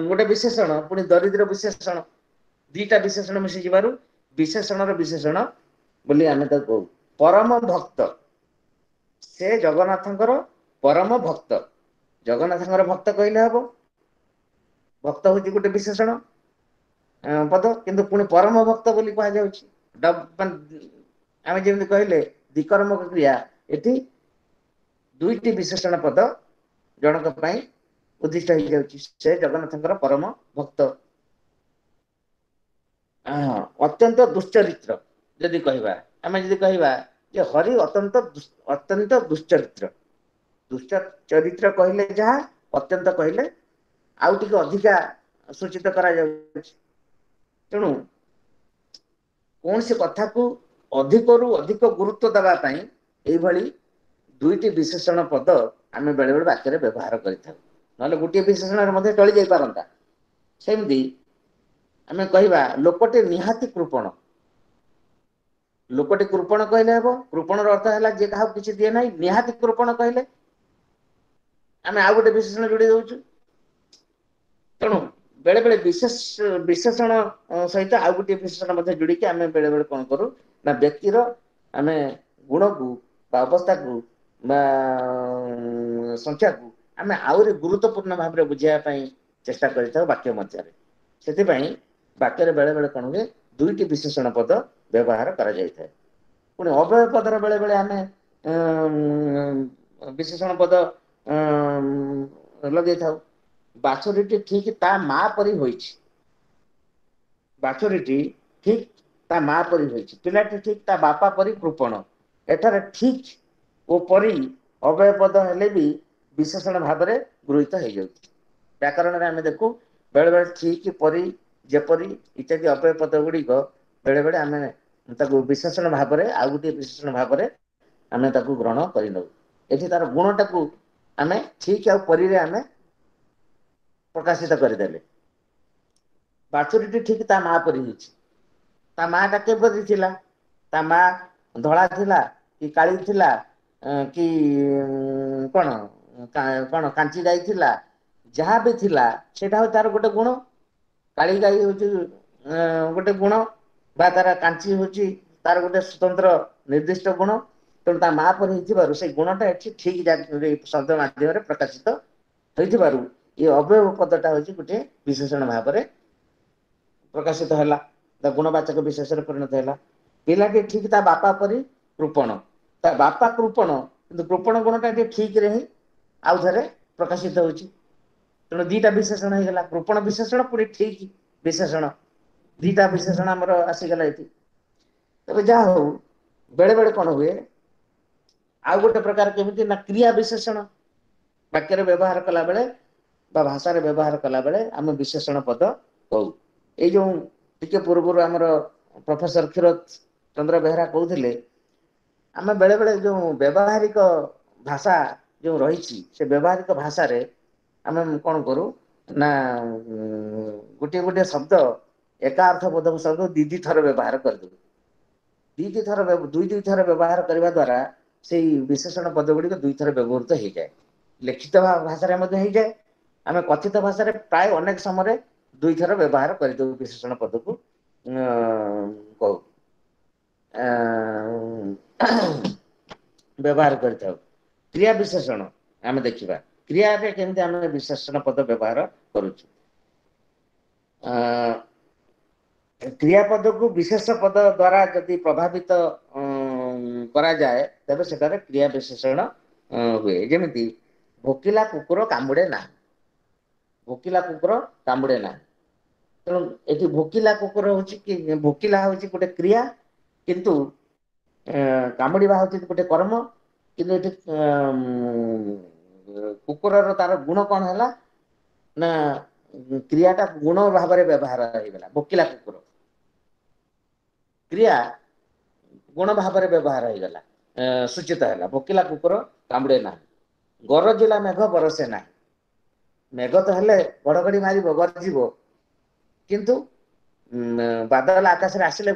ଗୋଟେ ବିଶେଷଣ, ପୁଣି ଦରିଦ୍ର ବିଶେଷଣ, ଦିଟା ବିଶେଷଣ ମିଶିଯିବାରୁ ବିଶେଷଣର ବିଶେଷଣ ବୋଲି ଆମେ ତାକୁ କହୁ। ପରମ ଭକ୍ତ, ସେ ଜଗନ୍ନାଥଙ୍କର ପରମ ଭକ୍ତ, ଜଗନ୍ନାଥଙ୍କର ଭକ୍ତ କହିଲେ ହବ, ଭକ୍ତ ହଉଛି ଗୋଟେ ବିଶେଷଣ ପଦ, କିନ୍ତୁ ପୁଣି ପରମ ଭକ୍ତ ବୋଲି କୁହାଯାଉଛି। ଆମେ ଯେମିତି କହିଲେ ଦ୍ୱିକର୍ମକ କ୍ରିୟା, ଏଠି ଦୁଇଟି ବିଶେଷଣ ପଦ ଜଣଙ୍କ ପାଇଁ ଉଦ୍ଦିଷ୍ଟ ହେଇଯାଉଛି, ସେ ଜଗନ୍ନାଥଙ୍କର ପରମ ଭକ୍ତ। ଅତ୍ୟନ୍ତ ଦୁଶ୍ଚରିତ୍ର ଯଦି କହିବା, ଆମେ ଯଦି କହିବା ଯେ ହରି ଅତ୍ୟନ୍ତ ଅତ୍ୟନ୍ତ ଦୁଶ୍ଚରିତ୍ର, ଦୁଷ୍ଟ ଚରିତ୍ର କହିଲେ ଯାହା, ଅତ୍ୟନ୍ତ କହିଲେ ଆଉ ଟିକେ ଅଧିକା ସୂଚିତ କରାଯାଉଛି। ତେଣୁ କୌଣସି କଥାକୁ ଅଧିକରୁ ଅଧିକ ଗୁରୁତ୍ୱ ଦେବା ପାଇଁ ଏଇଭଳି ଦୁଇଟି ବିଶେଷଣ ପଦ ଆମେ ବେଳେବେଳେ ବାକ୍ୟରେ ବ୍ୟବହାର କରିଥାଉ। ନହେଲେ ଗୋଟିଏ ବିଶେଷଣରେ ମଧ୍ୟ ଚଳି ଯାଇପାରନ୍ତା। ସେମିତି ଆମେ କହିବା ଲୋକଟି ନିହାତି କୃପଣ। ଲୋକଟି କୃପଣ କହିଲେ ହେବ, କୃପଣର ଅର୍ଥ ହେଲା ଯିଏ କାହାକୁ କିଛି ଦିଏ ନାହିଁ। ନିହାତି କୃପଣ କହିଲେ ଆମେ ଆଉ ଗୋଟେ ବିଶେଷଣ ଯୋଡି ଦଉଛୁ। ତେଣୁ ବେଳେ ବେଳେ ବିଶେଷ ବିଶେଷଣ ସହିତ ଆଉ ଗୋଟିଏ ବିଶେଷଣ ମଧ୍ୟ ଯୋଡିକି ଆମେ ବେଳେ ବେଳେ କଣ କରୁ ନା ବ୍ୟକ୍ତିର ଆମେ ଗୁଣକୁ ବା ଅବସ୍ଥାକୁ ବା ସଂଖ୍ୟାକୁ ଆମେ ଆହୁରି ଗୁରୁତ୍ୱପୂର୍ଣ୍ଣ ଭାବରେ ବୁଝେଇବା ପାଇଁ ଚେଷ୍ଟା କରିଥାଉ ବାକ୍ୟ ମଧ୍ୟରେ। ସେଥିପାଇଁ ବାକ୍ୟରେ ବେଳେ ବେଳେ କଣ ହୁଏ, ଦୁଇଟି ବିଶେଷଣ ପଦ ବ୍ୟବହାର କରାଯାଇଥାଏ। ପୁଣି ଅବ୍ୟୟ ପଦର ବେଳେ ବେଳେ ଆମେ ବିଶେଷଣ ପଦ ଲଗେଇଥାଉ। ବାଛୁରୀଟି ଠିକ ତା ମା ପରି ହୋଇଛି, ବାଛୁରୀଟି ଠିକ ତା ମା ପରି ହୋଇଛି, ପିଲାଟି ଠିକ ତା ବାପା ପରି କୃପଣ। ଏଠାରେ ଠିକ ଓ ପରି ଅବ୍ୟୟ ପଦ ହେଲେ ବି ବିଶେଷଣ ଭାବରେ ଗୃହୀତ ହେଇଯାଉଛି। ବ୍ୟାକରଣରେ ଆମେ ଦେଖୁ ବେଳେ ବେଳେ ଠିକ, ପରି, ଯେପରି ଇତ୍ୟାଦି ଅବ୍ୟୟ ପଦ ଗୁଡ଼ିକ ବେଳେ ବେଳେ ଆମେ ତାକୁ ବିଶେଷଣ ଭାବରେ ଆଉ ଗୋଟିଏ ବିଶେଷଣ ଭାବରେ ଆମେ ତାକୁ ଗ୍ରହଣ କରିନେଉ। ଏଠି ତାର ଗୁଣଟାକୁ ଆମେ ଠିକ ଆଉ ପରିରେ ଆମେ ପ୍ରକାଶିତ କରିଦେଲେ। ବାଛୁରୀଟି ଠିକ ତା ମା ପରି ହେଇଛି। ତା ମା ଟା କେପରି ଥିଲା? ତା ମା ଧଳା ଥିଲା କି କାଳି ଥିଲା କି କଣ କଣ କାଞ୍ଚି ଗାଈ ଥିଲା, ଯାହା ବି ଥିଲା ସେଇଟା ହଉଛି ତାର ଗୋଟେ ଗୁଣ। କାଳି ଗାଈ ହଉଛି ଗୋଟେ ଗୁଣ, ବା ତାର କାଞ୍ଚି ହଉଛି ତାର ଗୋଟେ ସ୍ୱତନ୍ତ୍ର ନିର୍ଦ୍ଦିଷ୍ଟ ଗୁଣ। ତେଣୁ ତା ମା ପରି ହେଇଥିବାରୁ ସେଇ ଗୁଣଟା ଏଠି ଠିକ ଶବ୍ଦ ମାଧ୍ୟମରେ ପ୍ରକାଶିତ ହୋଇଥିବାରୁ ଏ ଅବ୍ୟୟ ପଦଟା ହଉଛି ଗୋଟେ ବିଶେଷଣ ଭାବରେ ପ୍ରକାଶିତ ହେଲା, ତା ଗୁଣବାଚକ ବିଶେଷରେ ପରିଣତ ହେଲା। ପିଲାଟି ଠିକ ତା ବାପା ପରି କୃପଣ, ତା ବାପା କୃପଣ, କିନ୍ତୁ କୃପଣ ଗୁଣଟା ଏଠି ଠିକରେ ହିଁ ଆଉ ଥରେ ପ୍ରକାଶିତ ହଉଛି। ତେଣୁ ଦିଟା ବିଶେଷଣ ହେଇଗଲା, କୃପଣ ବିଶେଷଣ ପୁଣି ଠିକ ବିଶେଷଣ, ଦିଟା ବିଶେଷଣ ଆମର ଆସିଗଲା ଏଠି। ତେବେ ଯାହା ହଉ, ବେଳେ ବେଳେ କଣ ହୁଏ ଆଉ ଗୋଟେ ପ୍ରକାର କେମିତି ନା କ୍ରିୟା ବିଶେଷଣ ବାକ୍ୟରେ ବ୍ୟବହାର କଲା ବେଳେ ବା ଭାଷାରେ ବ୍ୟବହାର କଲା ବେଳେ ଆମେ ବିଶେଷଣ ପଦ କହୁ। ଏଇ ଯୋଉ ଟିକେ ପୂର୍ବରୁ ଆମର ପ୍ରଫେସର କ୍ଷୀରୋଦ ଚନ୍ଦ୍ର ବେହେରା କହୁଥିଲେ, ଆମେ ବେଳେ ବେଳେ ଯୋଉ ବ୍ୟବହାରିକ ଭାଷା ଯୋଉ ରହିଛି ସେ ବ୍ୟବହାରିକ ଭାଷାରେ ଆମେ କଣ କରୁ ନା ଗୋଟିଏ ଗୋଟିଏ ଶବ୍ଦ ଏକା ଅର୍ଥବୋଧକ ଶବ୍ଦ ଦି ଦି ଥର ବ୍ୟବହାର କରିଦଉ। ଦି ଦି ଥର ଦୁଇ ଦୁଇ ଥର ବ୍ୟବହାର କରିବା ଦ୍ଵାରା ସେଇ ବିଶେଷଣ ପଦ ଗୁଡ଼ିକ ଦୁଇଥର ବ୍ୟବହୃତ ହେଇଯାଏ। ଲିଖିତ ଭାଷାରେ ମଧ୍ୟ ହେଇଯାଏ, ଆମେ କଥିତ ଭାଷାରେ ପ୍ରାୟ ଅନେକ ସମୟରେ ଦୁଇଥର ବ୍ୟବହାର କରିଦଉ ବିଶେଷଣ ପଦକୁ କହୁ ବ୍ୟବହାର କରିଥାଉ। କ୍ରିୟା ବିଶେଷଣ ଆମେ ଦେଖିବା କ୍ରିୟାରେ କେମିତି ଆମେ ବିଶେଷଣ ପଦ ବ୍ୟବହାର କରୁଛୁ। କ୍ରିୟାପଦକୁ ବିଶେଷ ପଦ ଦ୍ଵାରା ଯଦି ପ୍ରଭାବିତ କରାଯାଏ ତେବେ ସେଠାରେ କ୍ରିୟା ବିଶେଷଣ ହୁଏ। ଯେମିତି ଭୋକିଲା କୁକୁର କାମୁଡେ ନାହିଁ, ଭୋକିଲା କୁକୁର କାମୁଡେ ନାହିଁ। ତେଣୁ ଏଠି ଭୋକିଲା କୁକୁର ହଉଛି କି ଭୋକିଲା ହଉଛି ଗୋଟେ କ୍ରିୟା, କିନ୍ତୁ କାମୁଡିବା ହଉଛି ଗୋଟେ କର୍ମ। କିନ୍ତୁ ଏଠି କୁକୁରର ତାର ଗୁଣ କଣ ହେଲା ନା କ୍ରିୟାଟା ଗୁଣ ଭାବରେ ବ୍ୟବହାର ହେଇଗଲା। ଭୋକିଲା କୁକୁର କ୍ରିୟା ଗୁଣ ଭାବରେ ବ୍ୟବହାର ହେଇଗଲା, ସୂଚିତ ହେଲା। ଭୋକିଲା କୁକୁର କାମୁଡେ ନାହିଁ। ଗରଜିଲା ମେଘ ବରସେ ନାହିଁ। ମେଘ ତ ହେଲେ ଘଡଘଡି ମାରିବ, ଗର୍ଜିବ, କିନ୍ତୁ ବାଦଲ ଆକାଶରେ ଆସିଲେ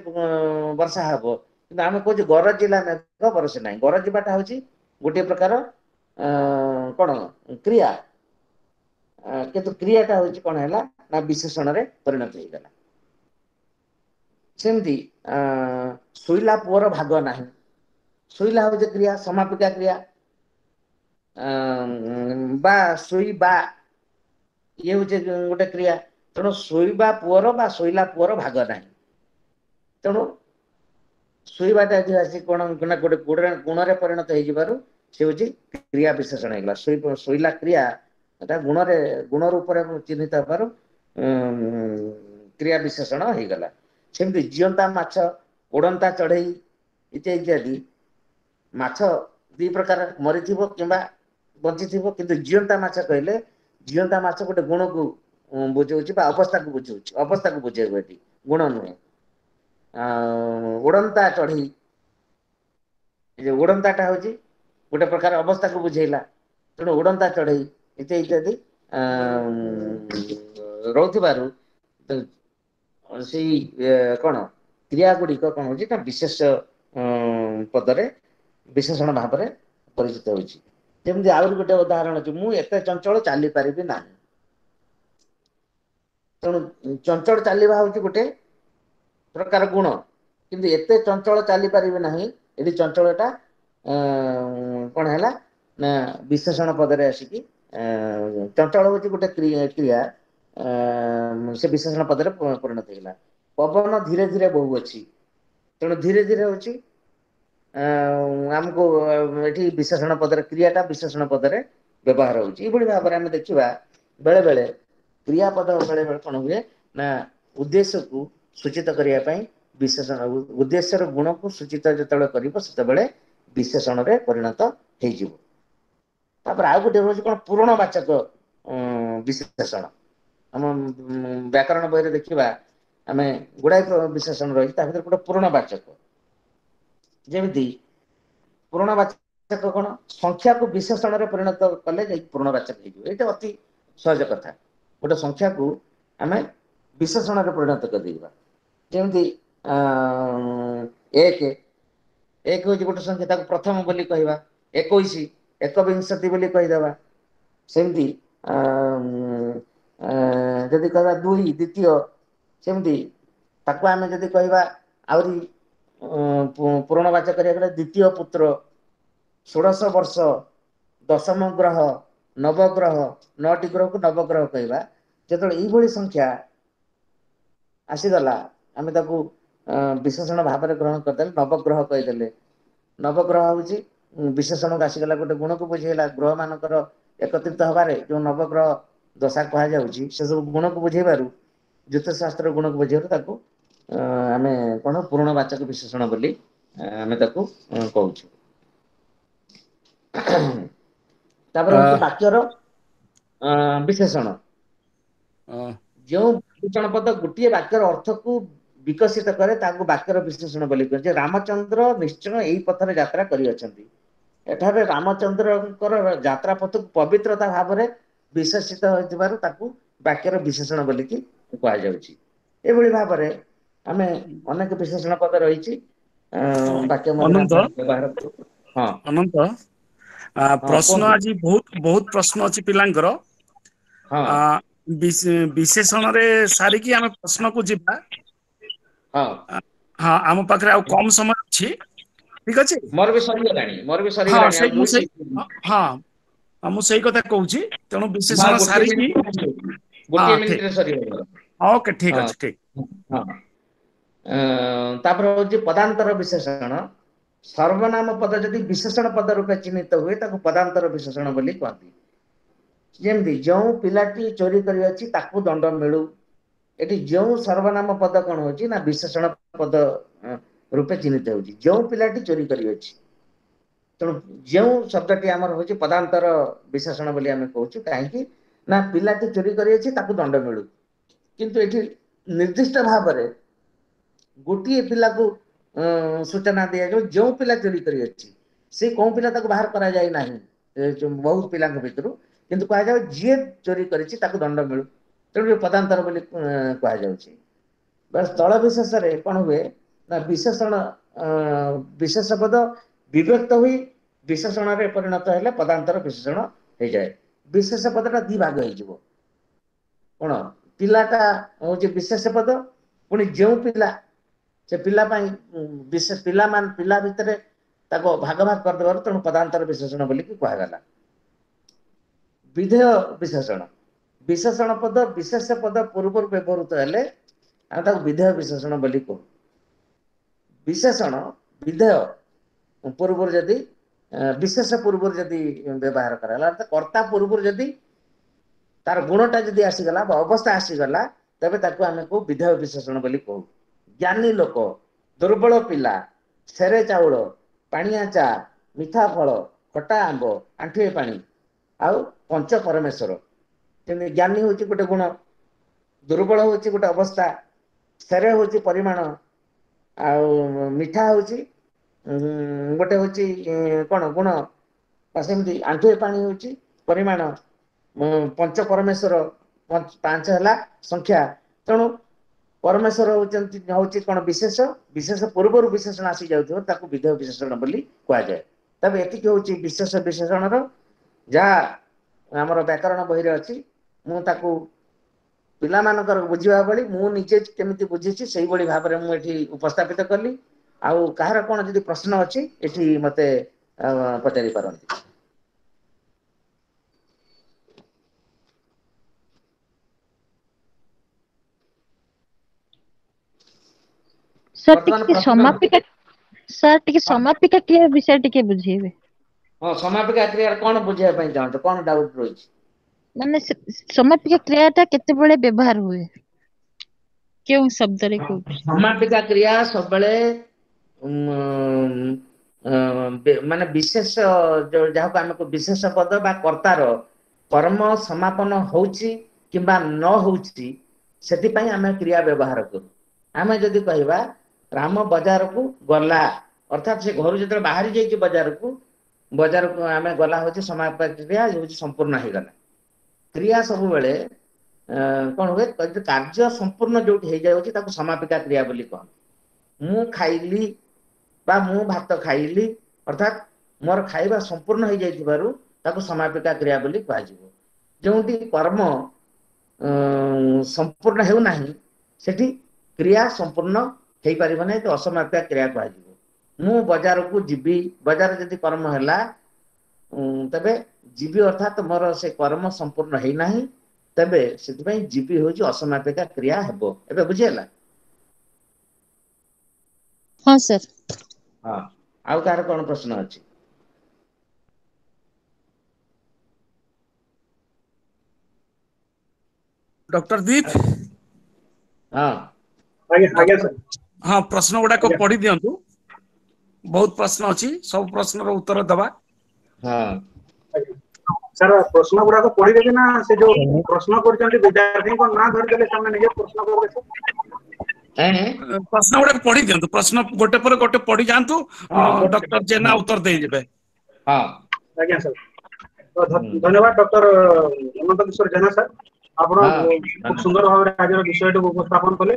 ବର୍ଷା ହବ। କିନ୍ତୁ ଆମେ କହୁଛୁ ଗରଜିଲା ମେଘ ବରସେ ନାହିଁ। ଗରଜିବାଟା ହଉଛି ଗୋଟିଏ ପ୍ରକାର କଣ କ୍ରିୟା, କିନ୍ତୁ କ୍ରିୟାଟା ହଉଛି କଣ ହେଲା ନା ବିଶେଷଣରେ ପରିଣତ ହେଇଗଲା। ସେମିତି ଶୋଇଲା ପୁଅର ଭାଗ ନାହିଁ। ଶୋଇଲା ହଉଛି କ୍ରିୟା, ସମାପିକା କ୍ରିୟା, ବା ଶୋଇବା ଇଏ ହଉଛି ଗୋଟେ କ୍ରିୟା। ତେଣୁ ଶୋଇବା ପୁଅର ବା ଶୋଇଲା ପୁଅର ଭାଗ ନାହିଁ। ତେଣୁ ଶୋଇବାଟା ଏଠି ଆସି କଣ ନା ଗୋଟେ ଗୁଣରେ ପରିଣତ ହେଇଯିବାରୁ ସେ ହଉଛି କ୍ରିୟା ବିଶେଷଣ ହେଇଗଲା। ଶୋଇଲା କ୍ରିୟା ଏଟା ଗୁଣରେ ଗୁଣ ରୂପରେ ଚିହ୍ନିତ ହେବାରୁ କ୍ରିୟା ବିଶେଷଣ ହେଇଗଲା। ସେମିତି ଜିଅନ୍ତା ମାଛ, ଉଡ଼ନ୍ତା ଚଢେଇ ଇତ୍ୟାଦି ଇତ୍ୟାଦି। ମାଛ ଦି ପ୍ରକାର, ମରିଥିବ କିମ୍ବା ବଞ୍ଚିଥିବ। କିନ୍ତୁ ଜିଅନ୍ତା ମାଛ କହିଲେ ଜିଅନ୍ତା ମାଛ ଗୋଟେ ଗୁଣକୁ ବୁଝଉଛି ବା ଅବସ୍ଥାକୁ ବୁଝଉଛି, ଅବସ୍ଥାକୁ ବୁଝେଇବ, ଏଠି ଗୁଣ ନୁହେଁ। ଉଡ଼ନ୍ତା ଚଢେଇ, ଏ ଉଡ଼ନ୍ତାଟା ହଉଛି ଗୋଟେ ପ୍ରକାର ଅବସ୍ଥାକୁ ବୁଝେଇଲା। ତେଣୁ ଉଡ଼ନ୍ତା ଚଢେଇ ଇତ୍ୟାଦି ଇତ୍ୟାଦି ରହୁଥିବାରୁ ସେଇ କଣ କ୍ରିୟା ଗୁଡିକ କଣ ହଉଛି ନା ବିଶେଷ ପଦରେ ବିଶେଷଣ ଭାବରେ ପରିଚିତ ହଉଛି। ଯେମିତି ଆହୁରି ଗୋଟେ ଉଦାହରଣ ଅଛି, ମୁଁ ଏତେ ଚଞ୍ଚଳ ଚାଲି ପାରିବି ନାହିଁ। ତେଣୁ ଚଞ୍ଚଳ ଚାଲିବା ହଉଛି ଗୋଟେ ପ୍ରକାର ଗୁଣ, କିନ୍ତୁ ଏତେ ଚଞ୍ଚଳ ଚାଲି ପାରିବି ନାହିଁ, ଏଠି ଚଞ୍ଚଳଟା କଣ ହେଲା ନା ବିଶେଷଣ ପଦରେ ଆସିକି, ଚଞ୍ଚଳ ହଉଛି ଗୋଟେ କ୍ରିୟା, ସେ ବିଶେଷଣ ପଦରେ ପରିଣତ ହେଇଗଲା। ପବନ ଧୀରେ ଧୀରେ ବହୁଅଛି, ତେଣୁ ଧୀରେ ଧୀରେ ହଉଛି ଆମକୁ ଏଠି ବିଶେଷଣ ପଦରେ କ୍ରିୟାଟା ବିଶେଷଣ ପଦରେ ବ୍ୟବହାର ହଉଛି। ଏଇଭଳି ଭାବରେ ଆମେ ଦେଖିବା ବେଳେ ବେଳେ କ୍ରିୟାପଦ ବେଳେ ବେଳେ କଣ ହୁଏ ନା ଉଦ୍ଦେଶ୍ୟକୁ ସୂଚିତ କରିବା ପାଇଁ ବିଶେଷଣ, ଉଦ୍ଦେଶ୍ୟର ଗୁଣକୁ ସୂଚିତ ଯେତେବେଳେ କରିବ ସେତେବେଳେ ବିଶେଷଣରେ ପରିଣତ ହେଇଯିବ। ତାପରେ ଆଉ ଗୋଟେ ହଉଛି କଣ ପୂରଣ ବାଚକ ବିଶେଷଣ। ଆମ ବ୍ୟାକରଣ ବହିରେ ଦେଖିବା ଆମେ ଗୁଡାଏ ବିଶେଷଣ ରହିଛି, ତା ଭିତରେ ଗୋଟେ ପୂରଣ ବାଚକ। ଯେମିତି ପୂରଣ ବାଚକ କଣ, ସଂଖ୍ୟାକୁ ବିଶେଷଣରେ ପରିଣତ କଲେ ଯାଇ ପୂରଣ ବାଚକ ହେଇଯିବ। ଏଇଟା ଅତି ସହଜ କଥା। ଗୋଟେ ସଂଖ୍ୟାକୁ ଆମେ ବିଶେଷଣରେ ପରିଣତ କରିଦେଇବା। ଯେମିତି ଏକ, ଏକ ହଉଛି ଗୋଟେ ସଂଖ୍ୟା, ତାକୁ ପ୍ରଥମ ବୋଲି କହିବା। ଏକୋଇଶ, ଏକବିଂଶତି ବୋଲି କହିଦେବା। ସେମିତି ଯଦି କହିବା ଦୁଇ, ଦ୍ୱିତୀୟ, ସେମିତି ତାକୁ ଆମେ ଯଦି କହିବା ଆହୁରି ପୂରଣବାଚକ କରିବାକୁ ଗଲେ ଦ୍ୱିତୀୟ ପୁତ୍ର, ଷୋଡ଼ଶ ବର୍ଷ, ଦଶମ ଗ୍ରହ, ନବଗ୍ରହ, ନଅଟି ଗ୍ରହକୁ ନବଗ୍ରହ କହିବା। ଯେତେବେଳେ ଏଇଭଳି ସଂଖ୍ୟା ଆସିଗଲା ଆମେ ତାକୁ ବିଶେଷଣ ଭାବରେ ଗ୍ରହଣ କରିଦେଲେ, ନବଗ୍ରହ କହିଦେଲେ। ନବଗ୍ରହ ହଉଛି ବିଶେଷଣକୁ ଆସିଗଲା, ଗୋଟେ ଗୁଣକୁ ବୁଝେଇଲା। ଗ୍ରହ ମାନଙ୍କର ଏକତ୍ରିତ ହବାରେ ଯୋଉ ନବଗ୍ରହ ଦଶା କୁହାଯାଉଛି ସେ ସବୁ ଗୁଣକୁ ବୁଝେଇବାରୁ, ଜ୍ୟୋତିଷ ଶାସ୍ତ୍ର ଗୁଣକୁ ବୁଝେଇବାରୁ ତାକୁ ଆମେ କଣ ପୂରଣ ବାଚକ ବିଶେଷଣ ବୋଲି ଆମେ ତାକୁ କହୁଛୁ। ତାପରେ ହଉଛି ବାକ୍ୟର ବିଶେଷଣ। ଯେଉଁ ବିଶେଷଣ ପଦ ଗୋଟିଏ ବାକ୍ୟର ଅର୍ଥକୁ ବିକଶିତ କରେ ତାକୁ ବାକ୍ୟର ବିଶେଷଣ ବୋଲି କୁହାଯାଏ। ରାମଚନ୍ଦ୍ର ନିଶ୍ଚୟ ଏଇ ପଥରେ ଯାତ୍ରା କରିଅଛନ୍ତି। ଏଠାରେ ରାମଚନ୍ଦ୍ରଙ୍କର ଯାତ୍ରା ପଥକୁ ପବିତ୍ରତା ଭାବରେ ବିଶେଷିତ ହୋଇଥିବାରୁ ତାକୁ ବାକ୍ୟର ବିଶେଷଣ ବୋଲିକି କୁହାଯାଉଛି। ଏଭଳି ଭାବରେ ଆମେ ଅନେକ ବିଶେଷଣ ପଦ ରହିଛି ବାକ୍ୟ ବ୍ୟବହାର କରୁ। ହଁ ଅନନ୍ତ, ପ୍ରଶ୍ନ ଆଜି ବହୁତ ବହୁତ ପ୍ରଶ୍ନ ଅଛି ପିଲାଙ୍କର। ବିଶେଷଣରେ ସାରିକି ଆମେ ପ୍ରଶ୍ନକୁ ଯିବା। ହଁ ହଁ, ଆମ ପାଖରେ ଆଉ କମ ସମୟ ଅଛି, ଠିକ ଅଛି? ମୋର ବି ସରିଗଲାଣି, ମୋର ବି ସରିଗଲାଣି। ହଁ, ମୁଁ ସେଇ କଥା କହୁଛି। ତେଣୁ ବିଶେଷଣ ସାରିକି ଗୋଟିଏ ମିନିଟରେ ସରିଗଲା। ଓକେ, ଠିକ ଅଛି, ଠିକ। ହଁ, ତାପରେ ହଉଛି ପଦାନ୍ତର ବିଶେଷଣ। ସର୍ବନାମ ପଦ ଯଦି ବିଶେଷଣ ପଦ ରୂପେ ଚିହ୍ନିତ ହୁଏ ତାକୁ ପଦାନ୍ତର ବିଶେଷଣ ବୋଲି କୁହନ୍ତି। ଯେମିତି ଯେଉଁ ପିଲାଟି ଚୋରି କରିଅଛି ତାକୁ ଦଣ୍ଡ ମିଳୁ। ଏଠି ଯେଉଁ ସର୍ବନାମ ପଦ କଣ ହଉଛି ନା ବିଶେଷଣ ପଦ ରୂପେ ଚିହ୍ନିତ ହଉଛି, ଯେଉଁ ପିଲାଟି ଚୋରି କରିଅଛି। ତେଣୁ ଯେଉଁ ଶବ୍ଦଟି ଆମର ହଉଛି ପଦାନ୍ତର ବିଶେଷଣ ବୋଲି ଆମେ କହୁଛୁ। କାହିଁକି ନା ପିଲାଟି ଚୋରି କରିଅଛି ତାକୁ ଦଣ୍ଡ ମିଳୁ, କିନ୍ତୁ ଏଠି ନିର୍ଦ୍ଦିଷ୍ଟ ଭାବରେ ଗୋଟିଏ ପିଲାକୁ ସୂଚନା ଦିଆଯାଉ ଯେଉଁ ପିଲା ଚୋରି କରିଅଛି, ସେ କୋଉ ପିଲା ତାକୁ ବାହାର କରାଯାଇ ନାହିଁ ବହୁତ ପିଲାଙ୍କ ଭିତରୁ, କିନ୍ତୁ କୁହାଯାଉ ଯିଏ ଚୋରି କରିଛି ତାକୁ ଦଣ୍ଡ ମିଳୁ। ତେଣୁ ପଦାନ୍ତର ବୋଲି କୁହାଯାଉଛି। ସ୍ଥଳ ବିଶେଷରେ କଣ ହୁଏ ନା ବିଶେଷଣ ବିଶେଷ ପଦ ବିଭକ୍ତ ହୋଇ ବିଶେଷଣରେ ପରିଣତ ହେଲେ ପଦାନ୍ତର ବିଶେଷଣ ହେଇଯାଏ। ବିଶେଷ ପଦଟା ଦି ଭାଗ ହେଇଯିବ। କଣ ପିଲାଟା ହଉଛି ବିଶେଷ ପଦ, ପୁଣି ଯେଉଁ ପିଲା ସେ ପିଲା ପାଇଁ ବିଶେଷ ପିଲାମାନେ ପିଲା ଭିତରେ ତାକୁ ଭାଗ ଭାଗ କରିଦେବାରୁ ତେଣୁ ପଦାନ୍ତର ବିଶେଷଣ ବୋଲିକି କୁହାଗଲା। ବିଧେୟ ବିଶେଷଣ, ବିଶେଷଣ ପଦ ବିଶେଷ ପଦ ପୂର୍ବରୁ ବ୍ୟବହୃତ ହେଲେ ଆମେ ତାକୁ ବିଧେୟ ବିଶେଷଣ ବୋଲି କହୁ। ବିଶେଷଣ ବିଧେୟ ପୂର୍ବରୁ ଯଦି ବିଶେଷ ପୂର୍ବରୁ ଯଦି ବ୍ୟବହାର କରାଗଲା, ଅର୍ଥାତ କର୍ତ୍ତା ପୂର୍ବରୁ ଯଦି ତାର ଗୁଣଟା ଯଦି ଆସିଗଲା ବା ଅବସ୍ଥା ଆସିଗଲା, ତେବେ ତାକୁ ଆମେ କହୁ ବିଧେୟ ବିଶେଷଣ ବୋଲି କହୁ। ଜ୍ଞାନୀ ଲୋକ, ଦୁର୍ବଳ ପିଲା, ସେରେ ଚାଉଳ, ପାଣିଆ ଚା, ମିଠା ଫଳ, ଖଟା ଆମ୍ବ, ଆଣ୍ଠୁଏ ପାଣି, ଆଉ ପଞ୍ଚ ପରମେଶ୍ୱର। ଯେମିତି ଜ୍ଞାନୀ ହଉଛି ଗୋଟେ ଗୁଣ, ଦୁର୍ବଳ ହଉଛି ଗୋଟେ ଅବସ୍ଥା, ସ୍ଥେର ହଉଛି ପରିମାଣ, ଆଉ ମିଠା ହଉଛି ଗୋଟେ ହଉଛି କଣ ଗୁଣ, ବା ସେମିତି ଆଣ୍ଠୁଏ ପାଣି ହଉଛି ପରିମାଣ, ପଞ୍ଚ ପରମେଶ୍ୱର ପାଞ୍ଚ ହେଲା ସଂଖ୍ୟା। ତେଣୁ ପରମେଶ୍ୱର ହଉଛନ୍ତି ହଉଛି କଣ ବିଶେଷ, ବିଶେଷ ପୂର୍ବରୁ ବିଶେଷଣ ଆସି ଯାଉଥିବ ତାକୁ ବିଧେୟ ବିଶେଷଣ ବୋଲି କୁହାଯାଏ। ତେବେ ଏତିକି ହଉଛି ବିଶେଷ ବିଶେଷଣର ଯାହା ଆମର ବ୍ୟାକରଣ ବହିରେ ଅଛି। ମୁଁ ତାକୁ ପିଲାମାନଙ୍କର ବୁଝିବା ଭଳି ମୁଁ ନିଜେ କେମିତି ବୁଝିଛି ସେଇଭଳି ଭାବରେ ମୁଁ ଏଠି ଉପସ୍ଥାପିତ କଲି। ଆଉ କାହାର କଣ ଯଦି ପ୍ରଶ୍ନ ଅଛି ଏଠି ମତେ ପଚାରି ପାରନ୍ତି। ସାର୍ ଟିକେ ସମାପିକା, ସାର୍ ଟିକେ ସମାପିକା କ୍ରିୟା ବିଷୟରେ ଟିକେ ବୁଝେଇବେ। ହଁ, ସମାପିକା କ୍ରିୟା କଣ ବୁଝିବା ପାଇଁ ଚାହୁଁଛ, କଣ ଡାଉଟ ରହିଛି? ମାନେ ସମାପିକା କ୍ରିୟା ଟା କେତେବେଳେ ବ୍ୟବହାର ହୁଏ, କେଉଁ ଶବ୍ଦରେ? ସମାପିକା କ୍ରିୟା ସବୁବେଳେ ମାନେ ବିଶେଷ, ଯାହାକୁ ଆମେ ବିଶେଷ ପଦ ବା କର୍ତ୍ତାର କର୍ମ ସମାପନ ହଉଛି କିମ୍ବା ନ ହଉଛି ସେଥିପାଇଁ ଆମେ କ୍ରିୟା ବ୍ୟବହାର କରୁ। ଆମେ ଯଦି କହିବା ରାମ ବଜାରକୁ ଗଲା, ଅର୍ଥାତ୍ ସେ ଘରୁ ଯେତେବେଳେ ବାହାରି ଯାଇଛି ବଜାରକୁ, ବଜାରକୁ ଆମେ ଗଲା ହଉଛି ସମାପିକା କ୍ରିୟା, ହଉଛି ସମ୍ପୂର୍ଣ୍ଣ ହେଇଗଲା। କ୍ରିୟା ସବୁବେଳେ କଣ ହୁଏ, କାର୍ଯ୍ୟ ସମ୍ପୂର୍ଣ୍ଣ ଯୋଉଠି ହେଇଯାଉଛି ତାକୁ ସମାପିକା କ୍ରିୟା ବୋଲି କହନ୍ତି। ମୁଁ ଖାଇଲି ବା ମୁଁ ଭାତ ଖାଇଲି, ଅର୍ଥାତ୍ ମୋର ଖାଇବା ସମ୍ପୂର୍ଣ୍ଣ ହେଇଯାଇଥିବାରୁ ତାକୁ ସମାପିକା କ୍ରିୟା ବୋଲି କୁହାଯିବ। ଯେଉଁଠି କର୍ମ ସମ୍ପୂର୍ଣ୍ଣ ହେଉନାହିଁ ସେଠି କ୍ରିୟା ସମ୍ପୂର୍ଣ୍ଣ ହେଇପାରିବ ନାହିଁ, ତ ଅସମାପିକା କ୍ରିୟା କୁହାଯିବ। ମୁଁ ବଜାରକୁ ଯିବି, ବଜାର ଯଦି କର୍ମ ହେଲା ତେବେ ଯିବି ଅର୍ଥାତ୍ ମୋର ସେ କର୍ମ ସମ୍ପୂର୍ଣ୍ଣ ହେଇନାହିଁ, ତେବେ ସେଥିପାଇଁ ଯିବି ହଉଛି ଅସମାପିକା କ୍ରିୟା ହେବ। ଏବେ ବୁଝିହେଲା? ହଁ ସାର୍। ହଁ, ଆଉ କାହାର କଣ ପ୍ରଶ୍ନ ଅଛି? ଡକ୍ଟର ଦୀପ। ହଁ ଆଜ୍ଞା, ଆଜ୍ଞା ସାର୍। ହଁ, ପ୍ରଶ୍ନ ଗୁଡାକ ପଢି ଦିଅନ୍ତୁ, ବହୁତ ପ୍ରଶ୍ନ ଅଛି, ସବୁ ପ୍ରଶ୍ନର ଉତ୍ତର ଦବା। ହଁ ସାର୍, ପ୍ରଶ୍ନ ଗୁଡାକ ପଢିଦେବେ ନା ସେ ଯୋଉ ପ୍ରଶ୍ନ କରିଛନ୍ତି ବିଦ୍ୟାର୍ଥୀଙ୍କ ନାଁ ଧରିଦେଲେ ସେମାନେ ନିଜେ ପ୍ରଶ୍ନ କରିବେ? ପ୍ରଶ୍ନ ଗୁଡାକ ପଢି ଦିଅନ୍ତୁ, ପ୍ରଶ୍ନ ଗୋଟେ ପରେ ଗୋଟେ ପଢି ଯାଆନ୍ତୁ, ଡକ୍ଟର ଜେନା ଉତ୍ତର ଦେଇଯିବେ। ହଁ ଆଜ୍ଞା ସାର୍, ଧନ୍ୟବାଦ ଡକ୍ଟର ଅନନ୍ତ କିଶୋର ଜେନା ସାର୍, ଆପଣ ଖୁବ ସୁନ୍ଦର ଭାବରେ ଆଜିର ବିଷୟଟିକୁ ଉପସ୍ଥାପନ କଲେ।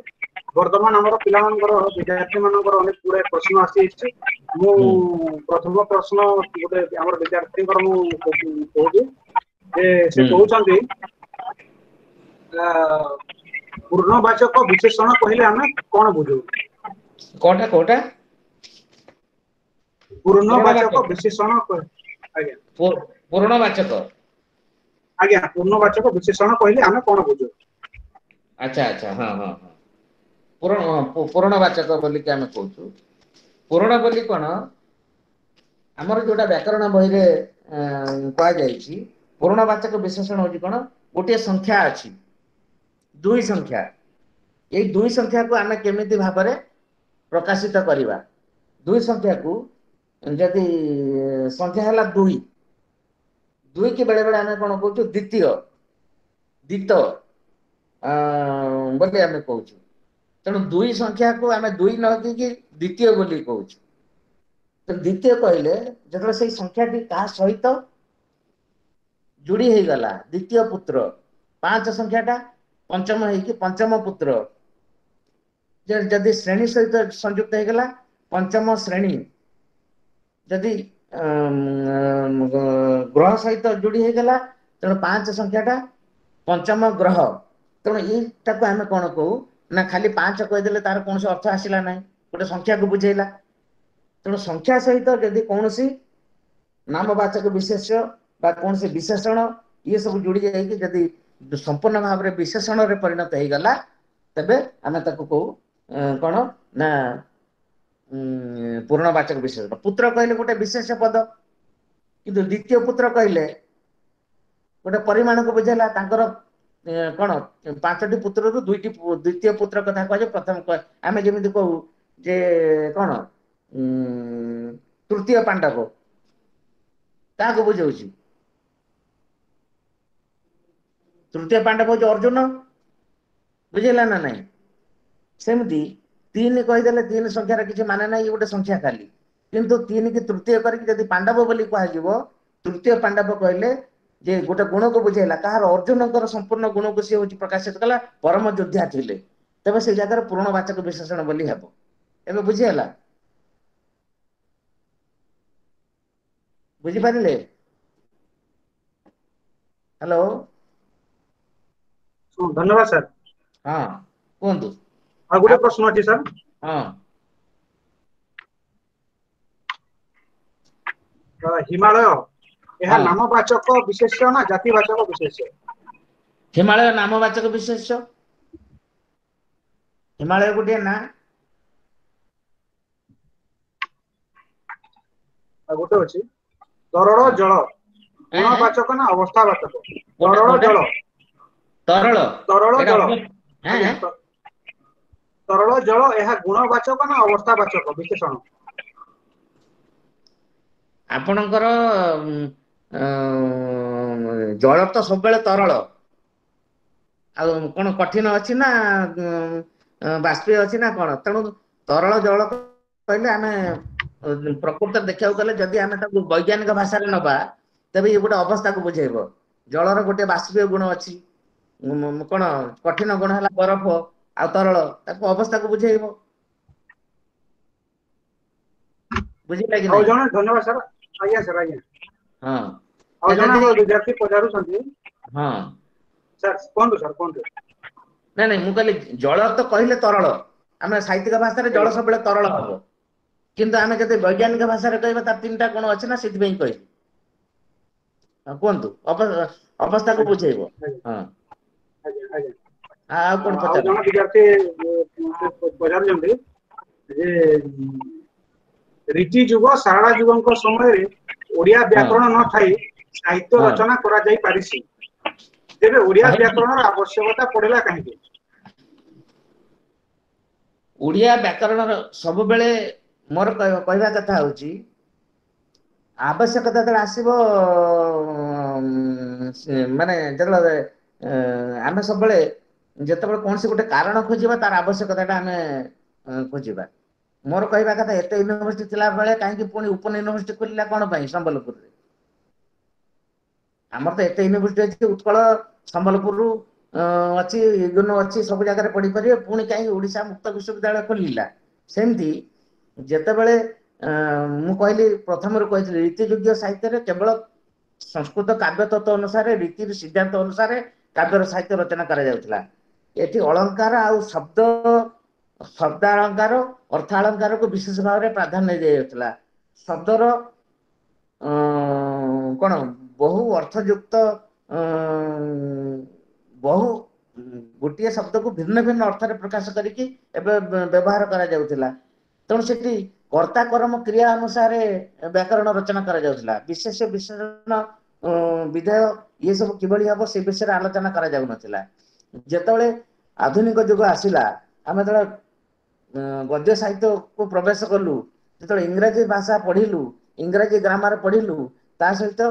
ବର୍ତ୍ତମାନ ଆମର ପିଲାମାନଙ୍କର ବିଦ୍ୟାର୍ଥୀ ମାନଙ୍କର ଅନେକ ଗୁଡାଏ ପ୍ରଶ୍ନ ଆସିଯାଇଛି। ମୁଁ ପ୍ରଥମ ପ୍ରଶ୍ନ ଗୋଟେ ଆମର ବିଦ୍ୟାର୍ଥୀଙ୍କର ମୁଁ କହୁଛି ଯେ ସେ କହୁଛନ୍ତି ପୂର୍ଣ୍ଣବାଚକ ବିଶେଷଣ କହିଲେ ଆମେ କଣ ବୁଝୁ? କୋଉଟା କୋଉଟା? ପୂର୍ଣ୍ଣବାଚକ ବିଶେଷଣ। ଆଜ୍ଞା, ପୂର୍ଣ୍ଣବାଚକ। ଆଜ୍ଞା, ପୂର୍ଣ୍ଣବାଚକ ବିଶେଷଣ କହିଲେ ଆମେ କଣ ବୁଝୁ? ଆଚ୍ଛା ଆଚ୍ଛା, ହଁ ହଁ ହଁ, ପୂରଣ ପୂରଣବାଚକ ବୋଲିକି ଆମେ କହୁଛୁ। ପୂରଣ ବୋଲି କଣ, ଆମର ଯୋଉଟା ବ୍ୟାକରଣ ବହିରେ କୁହାଯାଇଛି ପୂରଣବାଚକ ବିଶେଷଣ ହଉଛି କଣ, ଗୋଟିଏ ସଂଖ୍ୟା ଅଛି, ଦୁଇ ସଂଖ୍ୟା, ଏଇ ଦୁଇ ସଂଖ୍ୟାକୁ ଆମେ କେମିତି ଭାବରେ ପ୍ରକାଶିତ କରିବା। ଦୁଇ ସଂଖ୍ୟାକୁ ଯଦି ସଂଖ୍ୟା ହେଲା ଦୁଇ, ଦୁଇ କି ବେଳେ ବେଳେ ଆମେ କଣ କହୁଛୁ ଦ୍ୱିତୀୟ, ଦ୍ୱିତ ବୋଲି ଆମେ କହୁଛୁ। ତେଣୁ ଦୁଇ ସଂଖ୍ୟାକୁ ଆମେ ଦୁଇ ନ ଦେଇକି ଦ୍ୱିତୀୟ ବୋଲି କହୁଛୁ। ତେଣୁ ଦ୍ୱିତୀୟ କହିଲେ ଯେତେବେଳେ ସେଇ ସଂଖ୍ୟାଟି କାହା ସହିତ ଯୋଡି ହେଇଗଲା, ଦ୍ୱିତୀୟ ପୁତ୍ର, ପାଞ୍ଚ ସଂଖ୍ୟାଟା ପଞ୍ଚମ ହେଇକି ପଞ୍ଚମ ପୁତ୍ର, ଯଦି ଶ୍ରେଣୀ ସହିତ ସଂଯୁକ୍ତ ହେଇଗଲା ପଞ୍ଚମ ଶ୍ରେଣୀ, ଯଦି ଗ୍ରହ ସହିତ ଯୋଡି ହେଇଗଲା ତେଣୁ ପାଞ୍ଚ ସଂଖ୍ୟାଟା ପଞ୍ଚମ ଗ୍ରହ। ତେଣୁ ଏଇଟାକୁ ଆମେ କଣ କହୁ ନା, ଖାଲି ପାଞ୍ଚ କହିଦେଲେ ତାର କୌଣସି ଅର୍ଥ ଆସିଲା ନାହିଁ, ଗୋଟେ ସଂଖ୍ୟାକୁ ବୁଝେଇଲା। ତେଣୁ ସଂଖ୍ୟା ସହିତ ଯଦି କୌଣସି ନାମବାଚକ ବିଶେଷ୍ୟ ବା କୌଣସି ବିଶେଷଣ ଇଏ ସବୁ ଯୋଡି ଯାଇକି ଯଦି ସମ୍ପୂର୍ଣ୍ଣ ଭାବରେ ବିଶେଷଣରେ ପରିଣତ ହେଇଗଲା, ତେବେ ଆମେ ତାକୁ କହୁ କଣ ନା ପୂର୍ଣ୍ଣବାଚକ ବିଶେଷଣ। ପୁତ୍ର କହିଲେ ଗୋଟେ ବିଶେଷ ପଦ, କିନ୍ତୁ ଦ୍ୱିତୀୟ ପୁତ୍ର କହିଲେ ଗୋଟେ ପରିମାଣକୁ ବୁଝେଇଲା। ତାଙ୍କର କଣ ପାଞ୍ଚଟି ପୁତ୍ରରୁ ଦୁଇଟି ଦ୍ୱିତୀୟ ପୁତ୍ର କଥା କୁହାଯାଏ। ପ୍ରଥମ ଆମେ ଯେମିତି କହୁ ଯେ କଣ ଉଁ ତୃତୀୟ ପାଣ୍ଡବ, କାହାକୁ ବୁଝଉଛି? ତୃତୀୟ ପାଣ୍ଡବ ହଉଛି ଅର୍ଜୁନ। ବୁଝିଲା ନା ନାଇଁ? ସେମିତି ତିନି କହିଦେଲେ ତିନି ସଂଖ୍ୟାର କିଛି ମାନେ ନାହିଁ, ଗୋଟେ ସଂଖ୍ୟା ଖାଲି। କିନ୍ତୁ ତିନି କି ତୃତୀୟ କରିକି ଯଦି ପାଣ୍ଡବ ବୋଲି କୁହାଯିବ, ତୃତୀୟ ପାଣ୍ଡବ କହିଲେ ଯେ ଗୋଟେ ଗୁଣକୁ ବୁଝେଇଲା। କାହାର? ଅର୍ଜୁନଙ୍କର ସମ୍ପୂର୍ଣ୍ଣ ଗୁଣକୁ ସିଏ ହଉଛି ପ୍ରକାଶିତ କଲା, ପରମ ଯୋଦ୍ଧା ଥିଲେ। ତେବେ ସେଇ ଜାଗାରେ ପୂର୍ଣ୍ଣବାଚକ ବିଶେଷଣ ବୋଲି ହେବ। ଏବେ ବୁଝିହେଲା? ବୁଝିପାରିଲେ? ହ୍ୟାଲୋ। ଧନ୍ୟବାଦ ସାର୍। ହଁ, କୁହନ୍ତୁ। ଆଉ ଗୋଟେ ପ୍ରଶ୍ନ ଅଛି ସାର୍। ହଁ। ହିମାଳୟ ଏହା ନାମବାଚକ ବିଶେଷ୍ୟ ନା ଜାତିବାଚକ ବିଶେଷ୍ୟ? ହିମାଳୟ ନାମବାଚକ ବିଶେଷ୍ୟ। ହିମାଳୟ ଗୋଟିଏ ନାଁ। ଆଉ ଗୋଟେ ଅଛି ତରଳ ଜଳ ଗୁଣବାଚକ ନା ଅବସ୍ଥାବାଚକ? ତରଳ ଜଳ, ତରଳ ତରଳ ଜଳ, ତରଳ ଜଳ ଏହା ଗୁଣବାଚକ ନା ଅବସ୍ଥାବାଚକ ବିଶେଷଣ? ଆପଣଙ୍କର ଜଳ ତ ସବୁବେଳେ ତରଳ, ଆଉ କଣ କଠିନ ଅଛି ନା ବାଷ୍ପୀୟ ଅଛି ନା କଣ? ତେଣୁ ତରଳ ଜଳ କହିଲେ ଆମେ ପ୍ରକୃତରେ ଦେଖିବାକୁ ଗଲେ ଯଦି ଆମେ ତାକୁ ବୈଜ୍ଞାନିକ ଭାଷାରେ ନବା, ତେବେ ଇଏ ଗୋଟେ ଅବସ୍ଥାକୁ ବୁଝେଇବ। ଜଳର ଗୋଟେ ବାଷ୍ପୀୟ ଗୁଣ ଅଛି, କଣ କଠିନ ଗୁଣ ହେଲା ବରଫ, ଆଉ ତରଳ ତାକୁ ଅବସ୍ଥାକୁ ବୁଝେଇବ। ବୁଝିଲା କି? ଆଉ ଜଣେ, ଧନ୍ୟବାଦ ସାର୍। ଆଜ୍ଞା ସାର୍, ଆଜ୍ଞା। ହଁ, ଆଉ ଜଣେ ଆମର ବିଦ୍ୟାର୍ଥୀ ପଚାରୁଛନ୍ତି। ହଁ ସାର୍, କୁହନ୍ତୁ ସାର୍, କୁହନ୍ତୁ। ନାଇଁ ନାଇଁ, ମୁଁ କହିଲି ଜଳ ତ କହିଲେ ତରଳ, ଆମେ ସାହିତ୍ୟିକ ଭାଷାରେ ଜଳ ସବୁବେଳେ ତରଳ ହବ, କିନ୍ତୁ ଆମେ ଯଦି ବୈଜ୍ଞାନିକ ଭାଷାରେ କହିବା ତାର ତିନିଟା ଗୁଣ ଅଛି ନା, ସେଥିପାଇଁ କହିଲି। କୁହନ୍ତୁ, ଅବସ୍ଥାକୁ ବୁଝେଇବ। ହଁ, ଆଉ କଣ? ଆଉ ଜଣେ ବିଦ୍ୟାର୍ଥୀ ପଚାରୁଛନ୍ତି ଯେ ରୀତି ଯୁଗ ଶାରଳା ଯୁଗଙ୍କ ସମୟରେ ଓଡିଆ ବ୍ୟାକରଣ ନଥାଇ ସାହିତ୍ୟ ରଚନା କରାଯାଇ ପାରିଛି, ତେବେ ଓଡିଆ ବ୍ୟାକରଣର ଆବଶ୍ୟକତା ପଡିଲା କାହିଁକି? ଓଡିଆ ବ୍ୟାକରଣର ସବୁବେଳେ ମୋର କହିବା କଥା ହଉଛି, ଆବଶ୍ୟକତା ଯେତେବେଳେ ଆସିବ, ମାନେ ଯେତେବେଳେ ଆମେ ସବୁବେଳେ ଯେତେବେଳେ କୌଣସି ଗୋଟେ କାରଣ ଖୋଜିବା, ତାର ଆବଶ୍ୟକତାଟା ଆମେ ଖୋଜିବା। ମୋର କହିବା କଥା, ଏତେ ୟୁନିଭର୍ସିଟି ଥିଲା ବେଳେ କାହିଁକି ପୁଣି ଓପନ ୟୁନିଭର୍ସିଟି ଖୋଲିଲା କଣ ପାଇଁ ସମ୍ବଲପୁରରେ? ଆମର ତ ଏତେ ୟୁନିଭର୍ସିଟି ଅଛି, ଉତ୍କଳ ସମ୍ବଲପୁରରୁ ଅଛି, ଇଗ୍ନୋ ଅଛି, ସବୁ ଜାଗାରେ ପଢିପାରିବେ, ପୁଣି କାହିଁକି ଓଡ଼ିଶା ମୁକ୍ତ ବିଶ୍ୱବିଦ୍ୟାଳୟ ଖୋଲିଲା? ସେମିତି ଯେତେବେଳେ ମୁଁ କହିଲି, ପ୍ରଥମରୁ କହିଥିଲି, ରୀତିଯୁଗୀୟ ସାହିତ୍ୟରେ କେବଳ ସଂସ୍କୃତ କାବ୍ୟ ତତ୍ତ୍ୱ ଅନୁସାରେ, ରୀତି ସିଦ୍ଧାନ୍ତ ଅନୁସାରେ କାବ୍ୟର ସାହିତ୍ୟ ରଚନା କରାଯାଉଥିଲା। ଏଠି ଅଳଙ୍କାର ଆଉ ଶବ୍ଦ, ଶବ୍ଦାଳଙ୍କାର, ଅର୍ଥାଳଙ୍କାରକୁ ବିଶେଷ ଭାବରେ ପ୍ରାଧାନ୍ୟ ଦିଆଯାଉଥିଲା। ଶବ୍ଦର କଣ ବହୁ ଅର୍ଥଯୁକ୍ତ, ବହୁ ଗୋଟିଏ ଶବ୍ଦକୁ ଭିନ୍ନ ଭିନ୍ନ ଅର୍ଥରେ ପ୍ରକାଶ କରିକି ଏବେ ବ୍ୟବହାର କରାଯାଉଥିଲା। ତେଣୁ ସେଠି କର୍ତ୍ତା କର୍ମ କ୍ରିୟା ଅନୁସାରେ ବ୍ୟାକରଣ ରଚନା କରାଯାଉଥିଲା। ବିଶେଷ ବିଶେଷଣ ବିଧେୟ ଇଏ ସବୁ କିଭଳି ହବ ସେ ବିଷୟରେ ଆଲୋଚନା କରାଯାଉନଥିଲା। ଯେତେବେଳେ ଆଧୁନିକ ଯୁଗ ଆସିଲା, ଆମେ ଯେତେବେଳେ ଗଦ୍ୟ ସାହିତ୍ୟକୁ ପ୍ରବେଶ କଲୁ, ଯେତେବେଳେ ଇଂରାଜୀ ଭାଷା ପଢିଲୁ, ଇଂରାଜୀ ଗ୍ରାମାର ପଢିଲୁ, ତା ସହିତ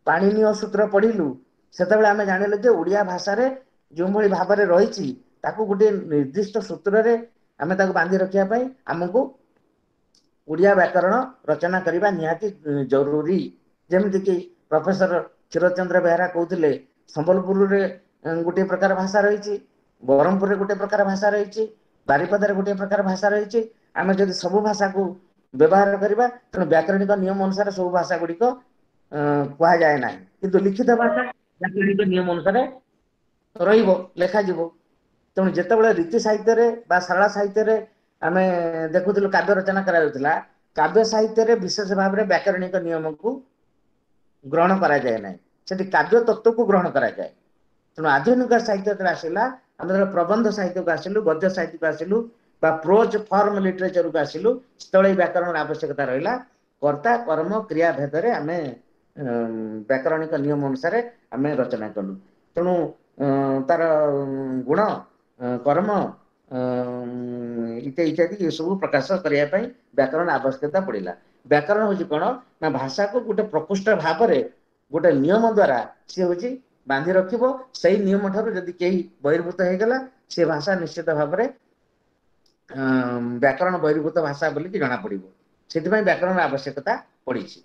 ପାଣିନୀୟ ସୂତ୍ର ପଢିଲୁ, ସେତେବେଳେ ଆମେ ଜାଣିଲୁ ଯେ ଓଡ଼ିଆ ଭାଷାରେ ଯେଉଁଭଳି ଭାବରେ ରହିଛି ତାକୁ ଗୋଟିଏ ନିର୍ଦ୍ଦିଷ୍ଟ ସୂତ୍ରରେ ଆମେ ତାକୁ ବାନ୍ଧି ରଖିବା ପାଇଁ ଆମକୁ ଓଡ଼ିଆ ବ୍ୟାକରଣ ରଚନା କରିବା ନିହାତି ଜରୁରୀ। ଯେମିତିକି ପ୍ରଫେସର କ୍ଷୀରଚନ୍ଦ୍ର ବେହେରା କହୁଥିଲେ, ସମ୍ବଲପୁରରେ ଗୋଟିଏ ପ୍ରକାର ଭାଷା ରହିଛି, ବ୍ରହ୍ମପୁରରେ ଗୋଟିଏ ପ୍ରକାର ଭାଷା ରହିଛି, ବାରିପଦାରେ ଗୋଟିଏ ପ୍ରକାର ଭାଷା ରହିଛି। ଆମେ ଯଦି ସବୁ ଭାଷାକୁ ବ୍ୟବହାର କରିବା, ତେଣୁ ବ୍ୟାକରଣିକ ନିୟମ ଅନୁସାରେ ସବୁ ଭାଷା ଗୁଡ଼ିକ କୁହାଯାଏ ନାହିଁ, କିନ୍ତୁ ଲିଖିତ ଭାଷା ବ୍ୟାକରଣିକ ନିୟମ ଅନୁସାରେ ରହିବ, ଲେଖାଯିବ। ତେଣୁ ଯେତେବେଳେ ରୀତି ସାହିତ୍ୟରେ ବା ସରଳ ସାହିତ୍ୟରେ ଆମେ ଦେଖୁଥିଲୁ କାବ୍ୟ ରଚନା କରାଯାଉଥିଲା, କାବ୍ୟ ସାହିତ୍ୟରେ ବିଶେଷ ଭାବରେ ବ୍ୟାକରଣିକ ନିୟମକୁ ଗ୍ରହଣ କରାଯାଏ ନାହିଁ, ସେଠି କାବ୍ୟ ତତ୍ତ୍ୱକୁ ଗ୍ରହଣ କରାଯାଏ। ତେଣୁ ଆଧୁନିକ ସାହିତ୍ୟ ଯେତେବେଳେ ଆସିଲା, ଆମେ ଯେତେବେଳେ ପ୍ରବନ୍ଧ ସାହିତ୍ୟକୁ ଆସିଲୁ, ଗଦ୍ୟ ସାହିତ୍ୟକୁ ଆସିଲୁ ବା ପ୍ରୋଜ ଫର୍ମ ଲିଟରେଚରକୁ ଆସିଲୁ, ସେତେବେଳେ ଏଇ ବ୍ୟାକରଣର ଆବଶ୍ୟକତା ରହିଲା। କର୍ତ୍ତା କର୍ମ କ୍ରିୟା ଭେଦରେ ଆମେ ବ୍ୟାକରଣିକ ନିୟମ ଅନୁସାରେ ଆମେ ରଚନା କଲୁ। ତେଣୁ ତାର ଗୁଣ, କର୍ମ ଇତ୍ୟାଦି ଇତ୍ୟାଦି ଏସବୁ ପ୍ରକାଶ କରିବା ପାଇଁ ବ୍ୟାକରଣ ଆବଶ୍ୟକତା ପଡ଼ିଲା। ବ୍ୟାକରଣ ହଉଛି କଣ ନା ଭାଷାକୁ ଗୋଟେ ପ୍ରକୃଷ୍ଟ ଭାବରେ ଗୋଟେ ନିୟମ ଦ୍ଵାରା ସିଏ ହଉଛି ବାନ୍ଧି ରଖିବ। ସେଇ ନିୟମ ଠାରୁ ଯଦି କେହି ବହିର୍ଭୂତ ହେଇଗଲା, ସେ ଭାଷା ନିଶ୍ଚିତ ଭାବରେ ବ୍ୟାକରଣ ବହିର୍ଭୂତ ଭାଷା ବୋଲିକି ଜଣା ପଡିବ। ସେଥିପାଇଁ ବ୍ୟାକରଣର ଆବଶ୍ୟକତା ପଡିଛି।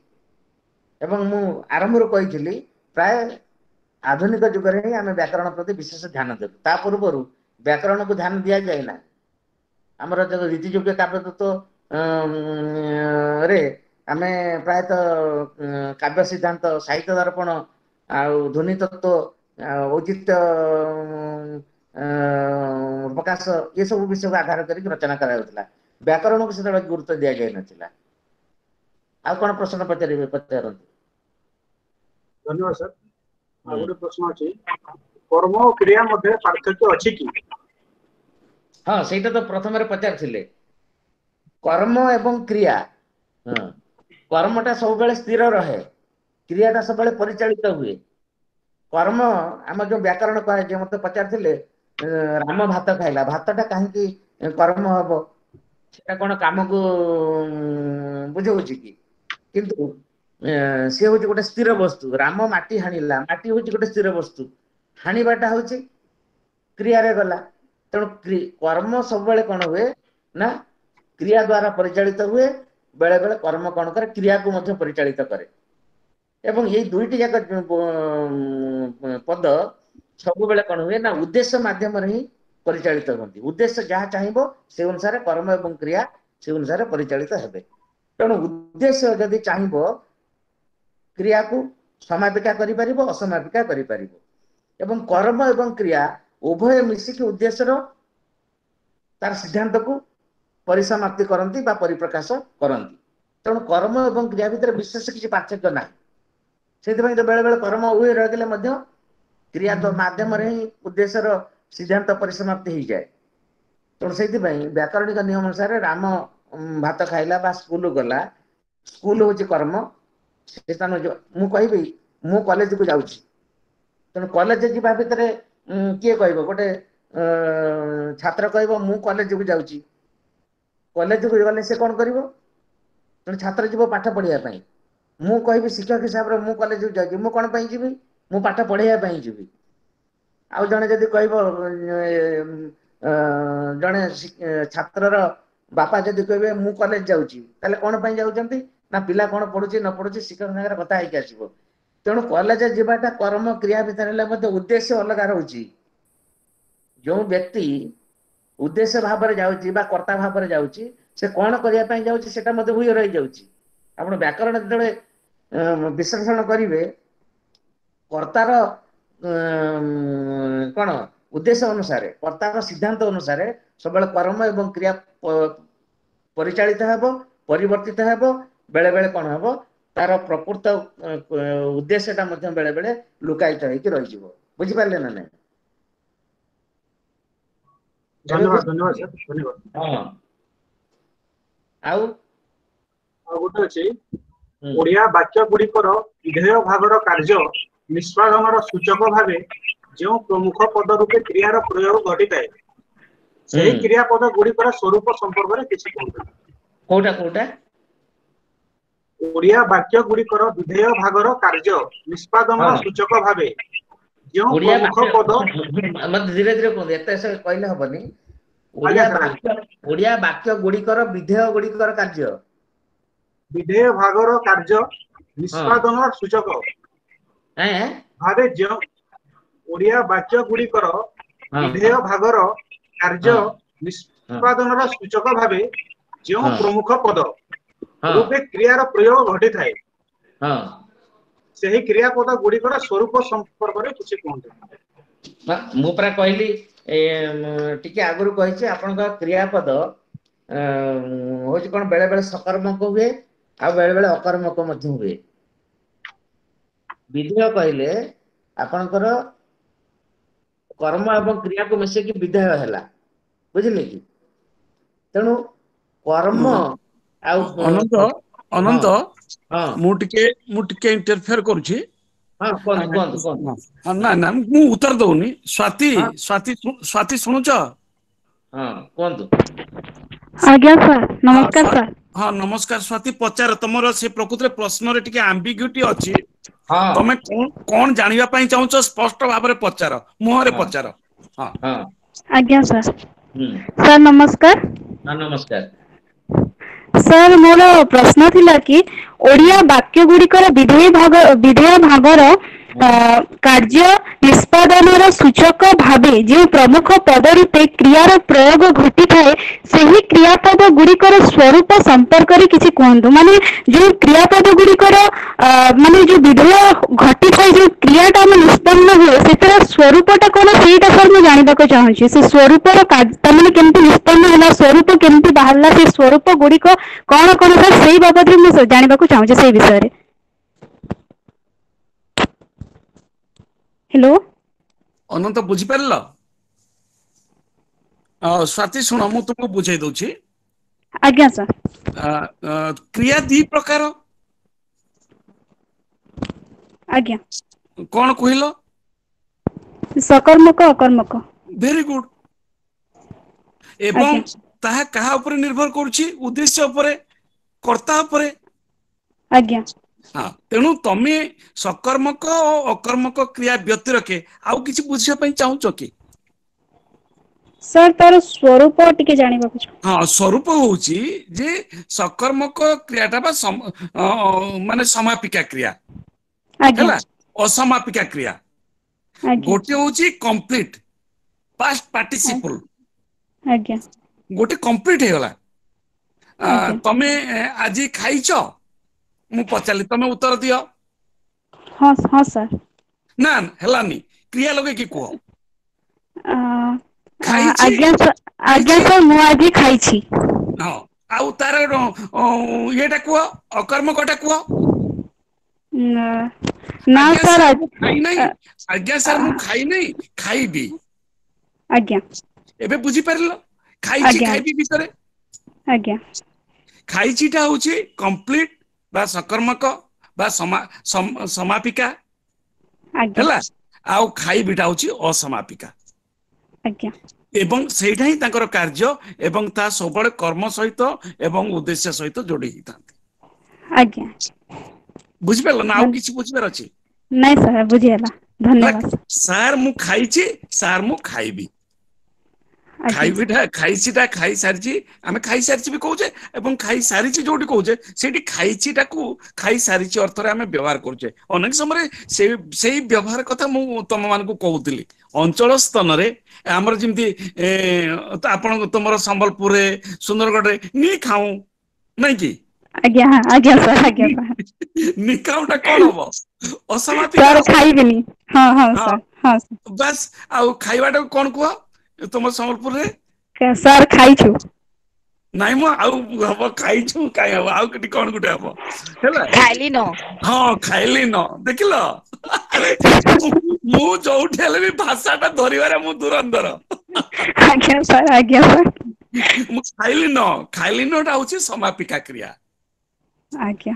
ଏବଂ ମୁଁ ଆରମ୍ଭରୁ କହିଥିଲି, ପ୍ରାୟ ଆଧୁନିକ ଯୁଗରେ ହିଁ ଆମେ ବ୍ୟାକରଣ ପ୍ରତି ବିଶେଷ ଧ୍ୟାନ ଦେଲୁ। ତା ପୂର୍ବରୁ ବ୍ୟାକରଣକୁ ଧ୍ୟାନ ଦିଆଯାଏ ନାହିଁ। ଆମର ଯୋଉ ରୀତିଯୁଗ୍ୟ କାବ୍ୟ ତତ୍ତ୍ୱ ରେ ଆମେ ପ୍ରାୟତଃ କାବ୍ୟ ସିଦ୍ଧାନ୍ତ, ସାହିତ୍ୟ ଦର୍ପଣ, ଆଉ ଧ୍ୱନି ତତ୍ତ୍ୱ, ଔଚିତ୍ୟ ପ୍ରକାଶ, ଏସବୁ ବିଷୟକୁ ଆଧାର କରିକି ରଚନା କରାଯାଉଥିଲା। ବ୍ୟାକରଣକୁ ସେତେବେଳେ ଗୁରୁତ୍ୱ ଦିଆଯାଇନଥିଲା। ଆଉ କଣ ପ୍ରଶ୍ନ ପଚାରିବେ, ପଚାରନ୍ତୁ। ଧନ୍ୟବାଦ ସାର୍। ଆଉ ଗୋଟେ ପ୍ରଶ୍ନ ଅଛି, କର୍ମ ଓ କ୍ରିୟା ମଧ୍ୟରେ ପାର୍ଥକ୍ୟ ଅଛି କି? ହଁ, ସେଇଟା ତ ପ୍ରଥମରେ ପଚାରିଥିଲେ, କର୍ମ ଏବଂ କ୍ରିୟା। ହଁ, କର୍ମଟା ସବୁବେଳେ ସ୍ଥିର ରହେ, କ୍ରିୟାଟା ସବୁବେଳେ ପରିଚାଳିତ ହୁଏ। କର୍ମ ଆମ ଯୋଉ ବ୍ୟାକରଣ କୁହାଯାଏ, ମତେ ପଚାରିଥିଲେ ରାମ ଭାତ ଖାଇଲା, ଭାତଟା କାହିଁକି କର୍ମ ହବ? ସେଟା କଣ କାମକୁ ବୁଝଉଛି କି? କିନ୍ତୁ ସିଏ ହଉଛି ଗୋଟେ ସ୍ଥିର ବସ୍ତୁ। ରାମ ମାଟି ହାଣିଲା, ମାଟି ହଉଛି ଗୋଟେ ସ୍ଥିର ବସ୍ତୁ, ହାଣିବାଟା ହଉଛି କ୍ରିୟାରେ ଗଲା। ତେଣୁ କର୍ମ ସବୁବେଳେ କଣ ହୁଏ ନା କ୍ରିୟା ଦ୍ଵାରା ପରିଚାଳିତ ହୁଏ। ବେଳେ ବେଳେ କର୍ମ କଣ କରେ? କ୍ରିୟାକୁ ମଧ୍ୟ ପରିଚାଳିତ କରେ। ଏବଂ ଏଇ ଦୁଇଟି ଯାକ ପଦ ସବୁବେଳେ କଣ ହୁଏ ନା ଉଦ୍ଦେଶ୍ୟ ମାଧ୍ୟମରେ ହିଁ ପରିଚାଳିତ ହୁଅନ୍ତି। ଉଦ୍ଦେଶ୍ୟ ଯାହା ଚାହିଁବ ସେ ଅନୁସାରେ କର୍ମ ଏବଂ କ୍ରିୟା ସେ ଅନୁସାରେ ପରିଚାଳିତ ହେବେ। ତେଣୁ ଉଦ୍ଦେଶ୍ୟ ଯଦି ଚାହିଁବ କ୍ରିୟାକୁ ସମାପିକା କରିପାରିବ, ଅସମାପିକା କରିପାରିବ। ଏବଂ କର୍ମ ଏବଂ କ୍ରିୟା ଉଭୟ ମିଶିକି ଉଦ୍ଦେଶ୍ୟର ତାର ସିଦ୍ଧାନ୍ତକୁ ପରିସମାପ୍ତି କରନ୍ତି ବା ପରିପ୍ରକାଶ କରନ୍ତି। ତେଣୁ କର୍ମ ଏବଂ କ୍ରିୟା ଭିତରେ ବିଶେଷ କିଛି ପାର୍ଥକ୍ୟ ନାହିଁ। ସେଥିପାଇଁ ତ ବେଳେ ବେଳେ କର୍ମ ଉଭୟ ରହିଗଲେ ମଧ୍ୟ କ୍ରିୟା ମାଧ୍ୟମରେ ହିଁ ଉଦ୍ଦେଶ୍ୟର ସିଦ୍ଧାନ୍ତ ପରିସମାପ୍ତି ହେଇଯାଏ। ତେଣୁ ସେଇଥିପାଇଁ ବ୍ୟାକରଣିକ ନିୟମ ଅନୁସାରେ ରାମ ଭାତ ଖାଇଲା ବା ସ୍କୁଲ ଗଲା, ସ୍କୁଲ ହଉଛି କର୍ମ। ସେ ସ୍ଥାନ ମୁଁ କହିବି ମୁଁ କଲେଜକୁ ଯାଉଛି, ତେଣୁ କଲେଜ ଯିବା ଭିତରେ କିଏ କହିବ? ଗୋଟେ ଛାତ୍ର କହିବ ମୁଁ କଲେଜକୁ ଯାଉଛି। କଲେଜକୁ ଗଲେ ସେ କଣ କରିବ? ତେଣୁ ଛାତ୍ର ଯିବ ପାଠ ପଢିବା ପାଇଁ। ମୁଁ କହିବି ଶିକ୍ଷକ ହିସାବରେ ମୁଁ କଲେଜକୁ ଯାଉଛି, ମୁଁ କଣ ପାଇଁ ଯିବି? ମୁଁ ପାଠ ପଢେଇବା ପାଇଁ ଯିବି। ଆଉ ଜଣେ ଯଦି କହିବ, ଜଣେ ଛାତ୍ରର ବାପା ଯଦି କହିବେ ମୁଁ କଲେଜ ଯାଉଛି, ତାହେଲେ କଣ ପାଇଁ ଯାଉଛନ୍ତି? ନା ପିଲା କଣ ପଢୁଛି ନ ପଢୁଛି ଶିକ୍ଷକ ସାଙ୍ଗରେ କଥା ହେଇକି ଆସିବ। ତେଣୁ କଲେଜ ଯିବାଟା କର୍ମ କ୍ରିୟା ଭିତରେ ହେଲେ ମଧ୍ୟ ଉଦ୍ଦେଶ୍ୟ ଅଲଗା ରହୁଛି। ଯୋଉ ବ୍ୟକ୍ତି ଉଦ୍ଦେଶ୍ୟ ଭାବରେ ଯାଉଛି ବା କର୍ତ୍ତା ଭାବରେ ଯାଉଛି, ସେ କଣ କରିବା ପାଇଁ ଯାଉଛି ସେଟା ମଧ୍ୟ ହୁଏ ରହିଯାଉଛି। ଆପଣ ବ୍ୟାକରଣ ଯେତେବେଳେ ବିଶ୍ଳେଷଣ କରିବେ, କର୍ତ୍ତାର କଣ ଉଦ୍ଦେଶ୍ୟ ଅନୁସାରେ, କର୍ତ୍ତାର ସିଦ୍ଧାନ୍ତ ଅନୁସାରେ ସବୁବେଳେ କର୍ମ ଏବଂ କ୍ରିୟା ପରିଚାଳିତ ହେବ, ପରିବର୍ତ୍ତିତ ହେବ। ବେଳେ ବେଳେ କଣ ହବ, ତାର ପ୍ରକୃତ ଉଦ୍ଦେଶ୍ୟଟା ମଧ୍ୟ ବେଳେ ବେଳେ ଲୁକାୟିତ ହେଇକି ରହିଯିବ। ବୁଝିପାରିଲେ ନା ନାଇଁ? ଧନ୍ୟବାଦ, ଧନ୍ୟବାଦ ସାର୍, ଧନ୍ୟବାଦ। ହଁ, ଆଉ ଆଉ ଗୋଟେ ଅଛି, ଓଡିଆ ବାକ୍ୟ ଗୁଡିକର ବିଧେୟ ଭାଗର କାର୍ଯ୍ୟ ନିଷ୍ପାଦନର ସୂଚକ ଭାବେ ଯେଉଁ ପ୍ରମୁଖ ପଦ ରୂପେ କ୍ରିୟାର ପ୍ରୟୋଗ ଘଟିଥାଏ, ସେହି କ୍ରିୟାପଦ ଗୁଡିକର ସ୍ୱରୂପ ସମ୍ପର୍କରେ କିଛି କୁହନ୍ତୁ। କୋଉଟା କୋଉଟା? ଓଡିଆ ବାକ୍ୟ ଗୁଡିକର ବିଧେୟ ଭାଗର କାର୍ଯ୍ୟ ନିଷ୍ପାଦନର ସୂଚକ ଭାବେ ଯେଉଁ ପ୍ରମୁଖ ପଦ। ମତେ ଧୀରେ ଧୀରେ କୁହନ୍ତୁ, ଏତେ କହିଲେ ହବନି। ଓଡିଆ ବାକ୍ୟ ଓଡିଆ ବାକ୍ୟ ଗୁଡିକର ବିଧେୟ ଗୁଡିକର କାର୍ଯ୍ୟ, ବିଧେୟ ଭାଗର କାର୍ଯ୍ୟ ନିଷ୍ପାଦନର ସୂଚକ ଭାବେ ଯେଉଁ ଓଡିଆ ବାକ୍ୟ ଗୁଡିକର ବିଧେୟ ଭାଗର କାର୍ଯ୍ୟ ନିଷ୍ପାଦନର ସୂଚକ ଭାବେ ଯେଉଁ ପ୍ରମୁଖ ପଦ ରୂପେ କ୍ରିୟାର ପ୍ରୟୋଗ ଘଟିଥାଏ, ସେହି କ୍ରିୟାପଦ ଗୁଡିକର ସ୍ୱରୂପ ସମ୍ପର୍କରେ କିଛି କୁହନ୍ତୁ। ମୁଁ ପରା କହିଲି ଟିକେ ଆଗରୁ କହିଛି, ଆପଣଙ୍କ କ୍ରିୟାପଦ ହଉଛି କଣ ବେଳେ ବେଳେ ସକର୍ମକ ହୁଏ ଆଉ ବେଳେ ବେଳେ ଅକର୍ମକ ମଧ୍ୟ ହୁଏ। ବିଧେୟ କହିଲେ ଆପଣଙ୍କର କର୍ମ ଏବଂ କ୍ରିୟାକୁ ମିଶେଇକି ବିଧେୟ ହେଲା, ବୁଝିଲେ କି? ତେଣୁ କର୍ମ ଆଉ ଅନନ୍ତ, ଅନନ୍ତ, ମୁଁ ଟିକେ ମୁଁ ଟିକେ ଇଣ୍ଟରଫିୟର କରୁଛି। ନା ନା, ମୁଁ ଉତ୍ତର ଦଉନି। ସ୍ୱାତି, ସ୍ୱାତି, ସ୍ୱାତି ଶୁଣୁଛ? ହଁ କୁହନ୍ତୁ। ଆଜ୍ଞା ସାର୍, ନମସ୍କାର ସାର୍। ହଁ ନମସ୍କାର ସ୍ୱାତି, ପଚାର। ତମର ସେ ପ୍ରକୃତରେ ପ୍ରଶ୍ନରେ ଟିକେ ଆମ୍ବିଗ୍ୟୁଟି ଅଛି, ତମେ କଣ ଜାଣିବା ପାଇଁ ଚାହୁଁଛ ସ୍ପଷ୍ଟ ଭାବରେ ପଚାର, ମୁହଁରେ ପଚାର। ହଁ ଆଜ୍ଞା ସାର୍। ସାର୍ ନମସ୍କାର। ନମସ୍କାର ସାର୍, ମୋର ପ୍ରଶ୍ନ ଥିଲା କି ଓଡିଆ ବାକ୍ୟ ଗୁଡିକର ବିଧେୟ ଭାଗ ବିଧେୟ ଭାଗର କାର୍ଯ୍ୟ ନିଷ୍ପାଦନର ସୂଚକ ଭାବେ ଯେଉଁ ପ୍ରମୁଖ ପଦ ରୂପେ କ୍ରିୟାର ପ୍ରୟୋଗ ଘଟିଥାଏ, ସେହି କ୍ରିୟାପଦ ଗୁଡିକର ସ୍ୱରୂପ ସମ୍ପର୍କରେ କିଛି କୁହନ୍ତୁ। ମାନେ ଯୋଉ କ୍ରିୟାପଦ ଗୁଡିକର ମାନେ ଯୋଉ ବିଧେୟ ଘଟିଥାଏ, ଯୋଉ କ୍ରିୟାଟା ଆମେ ନିଷ୍ପନ୍ନ ହୁଏ, ସେଥିର ସ୍ୱରୂପଟା କଣ, ସେଇଟା ସାର୍ ମୁଁ ଜାଣିବାକୁ ଚାହୁଁଛି। ସେ ସ୍ୱରୂପର ତାମାନେ କେମିତି ନିଷ୍ପନ୍ନ ହେଲା, ସ୍ୱରୂପ କେମିତି ବାହାରିଲା, ସେ ସ୍ୱରୂପ ଗୁଡିକ କଣ କଣ ସାର୍, ସେଇ ବାବଦରେ ମୁଁ ଜାଣିବାକୁ ଚାହୁଁଛି, ସେଇ ବିଷୟରେ। ହ୍ୟାଲୋ ଅନନ୍ତ, ବୁଝିପାରିଲ? ସ୍ୱାତି ଶୁଣ, ମୁଁ ତୁମକୁ ବୁଝେଇ ଦଉଛି। ଆଜ୍ଞା ସାର୍। କ୍ରିୟା ଦି ପ୍ରକାର। ଆଜ୍ଞା। କଣ କହିଲ? ସକର୍ମକ, ଅକର୍ମକ। Very good. ଏବଂ ତାହା କାହା ଉପରେ ନିର୍ଭର କରୁଛି? ଉଦ୍ଦେଶ୍ୟ ଉପରେ, କର୍ତ୍ତା ଉପରେ। ଆଜ୍ଞା। ହଁ, ତେଣୁ ତମେ ସକର୍ମକ ଓ ଅକର୍ମକ କ୍ରିୟା ବ୍ୟତିରକେ ଆଉ କିଛି ବୁଝିବା ପାଇଁ ଚାହୁଁଛ କି? ସାର୍, ତାର ସ୍ୱରୂପ ଟିକେ ଜାଣିବାକୁ। ହଁ, ସ୍ୱରୂପ ହଉଛି ଯେ ସକର୍ମକ କ୍ରିୟାଟା ବା ମାନେ ସମାପିକା କ୍ରିୟା ହେଲା, ଅସମାପିକା କ୍ରିୟା। ଗୋଟେ ହଉଛି କମ୍ପ୍ଲିଟ ପାଷ୍ଟ ପାର୍ଟିସିପଲ, ଆଜ୍ଞା, ଗୋଟେ କମ୍ପ୍ଲିଟ ହେଇଗଲା। ତମେ ଆଜି ଖାଇଛ, ମୁଁ ପଚାରିଲି, ତମେ ଉତ୍ତର ଦିଅ। ହଁ ହଁ ସାର୍। ନା ହେଲାନି, କ୍ରିୟା ଲଗେଇକି କୁହ। ଆଜ୍ଞା ଆଜ୍ଞା ସାର୍, ମୁଁ ଆଜି ଖାଇଛି। ହଁ, ଆଉ ତାର ଇଏଟା କୁହ, ଅକର୍ମକଟା କୁହ। ନା ସାର୍, ଖାଇନାହିଁ। ଆଜ୍ଞା ସାର୍, ମୁଁ ଖାଇନାହିଁ, ଖାଇବି। ଆଜ୍ଞା। ଏବେ ବୁଝିପାରିଲ ଖାଇଛି ଖାଇବି ଭିତରେ? ଆଜ୍ଞା। ଖାଇଛିଟା ହଉଛି କମ୍ପ୍ଲିଟ ବା ସକର୍ମକ ବା ସମାପିକା ହେଲା, ଆଉ ଖାଇବିଟା ହଉଛି ଅସମାପିକା। ଆଜ୍ଞା। ଏବଂ ସେଇଟା ହିଁ ତାଙ୍କର କାର୍ଯ୍ୟ, ଏବଂ ତା ସବୁବେଳେ କର୍ମ ସହିତ ଏବଂ ଉଦ୍ଦେଶ୍ୟ ସହିତ ଯୋଡି ହେଇଥାନ୍ତି। ଆଜ୍ଞା, ବୁଝିପାରିଲ ନା ଆଉ କିଛି ବୁଝିବାର ଅଛି? ନାଇଁ ସାର୍, ବୁଝିଗଲା, ଧନ୍ୟବାଦ ସାର୍। ମୁଁ ଖାଇଛି ସାର୍, ମୁଁ ଖାଇବି। ଖାଇବିଟା ଖାଇଛିଟା ଖାଇସାରିଛି, ଆମେ ଖାଇସାରିଛି ବି କହୁଛେ, ଏବଂ ଖାଇସାରିଛି ଯୋଉଠି କହୁଛେ ସେଇଠି ଖାଇଛିଟାକୁ ଖାଇସାରିଛି ଅର୍ଥରେ ଆମେ ବ୍ୟବହାର କରୁଛେ ଅନେକ ସମୟରେ। ସେଇ ସେଇ ବ୍ୟବହାର କଥା ମୁଁ ତମ ମାନଙ୍କୁ କହୁଥିଲି। ଅଞ୍ଚଳ ସ୍ଥାନରେ ଆମର ଯେମିତି ଆପଣ ତୁମର ସମ୍ବଲପୁରରେ, ସୁନ୍ଦରଗଡ଼ରେ ନି ଖାଉ ନାଇଁ କି? ଆଜ୍ଞା ଆଜ୍ଞା ସାର୍, ଆଜ୍ଞା ସାର୍। ନିକାଉଟା କଣ ହବ? ଅସମାପିକା। ଖାଇବିନି। ହଁ ହଁ ସାର୍, ହଁ ବାସ୍। ଆଉ ଖାଇବାଟାକୁ କଣ କୁହ ତୁମ ସମ୍ବଲପୁରରେ? ସାର୍ ଖାଇଛୁ। ନାଇଁ ମୁଁ ଆଉ ହବ ଖାଇଛୁ କାଇଁ ହବ, ଆଉ କେଠି କଣ ଗୋଟେ ହବ? ହେଲା ଖାଇଲି ନ। ହଁ, ଖାଇଲି ନ। ଦେଖିଲ, ମୁଁ ଯୋଉଠି ହେଲେ ବି ଭାଷାଟା ଧରିବାରେ ମୁଁ ଦୁରନ୍ଧର। ଆଜ୍ଞା ସାର୍, ଆଜ୍ଞା ସାର୍। ମୁଁ ଖାଇଲି ନ, ଖାଇଲି ନଟା ହଉଛି ସମାପିକା କ୍ରିୟା। ଆଜ୍ଞା।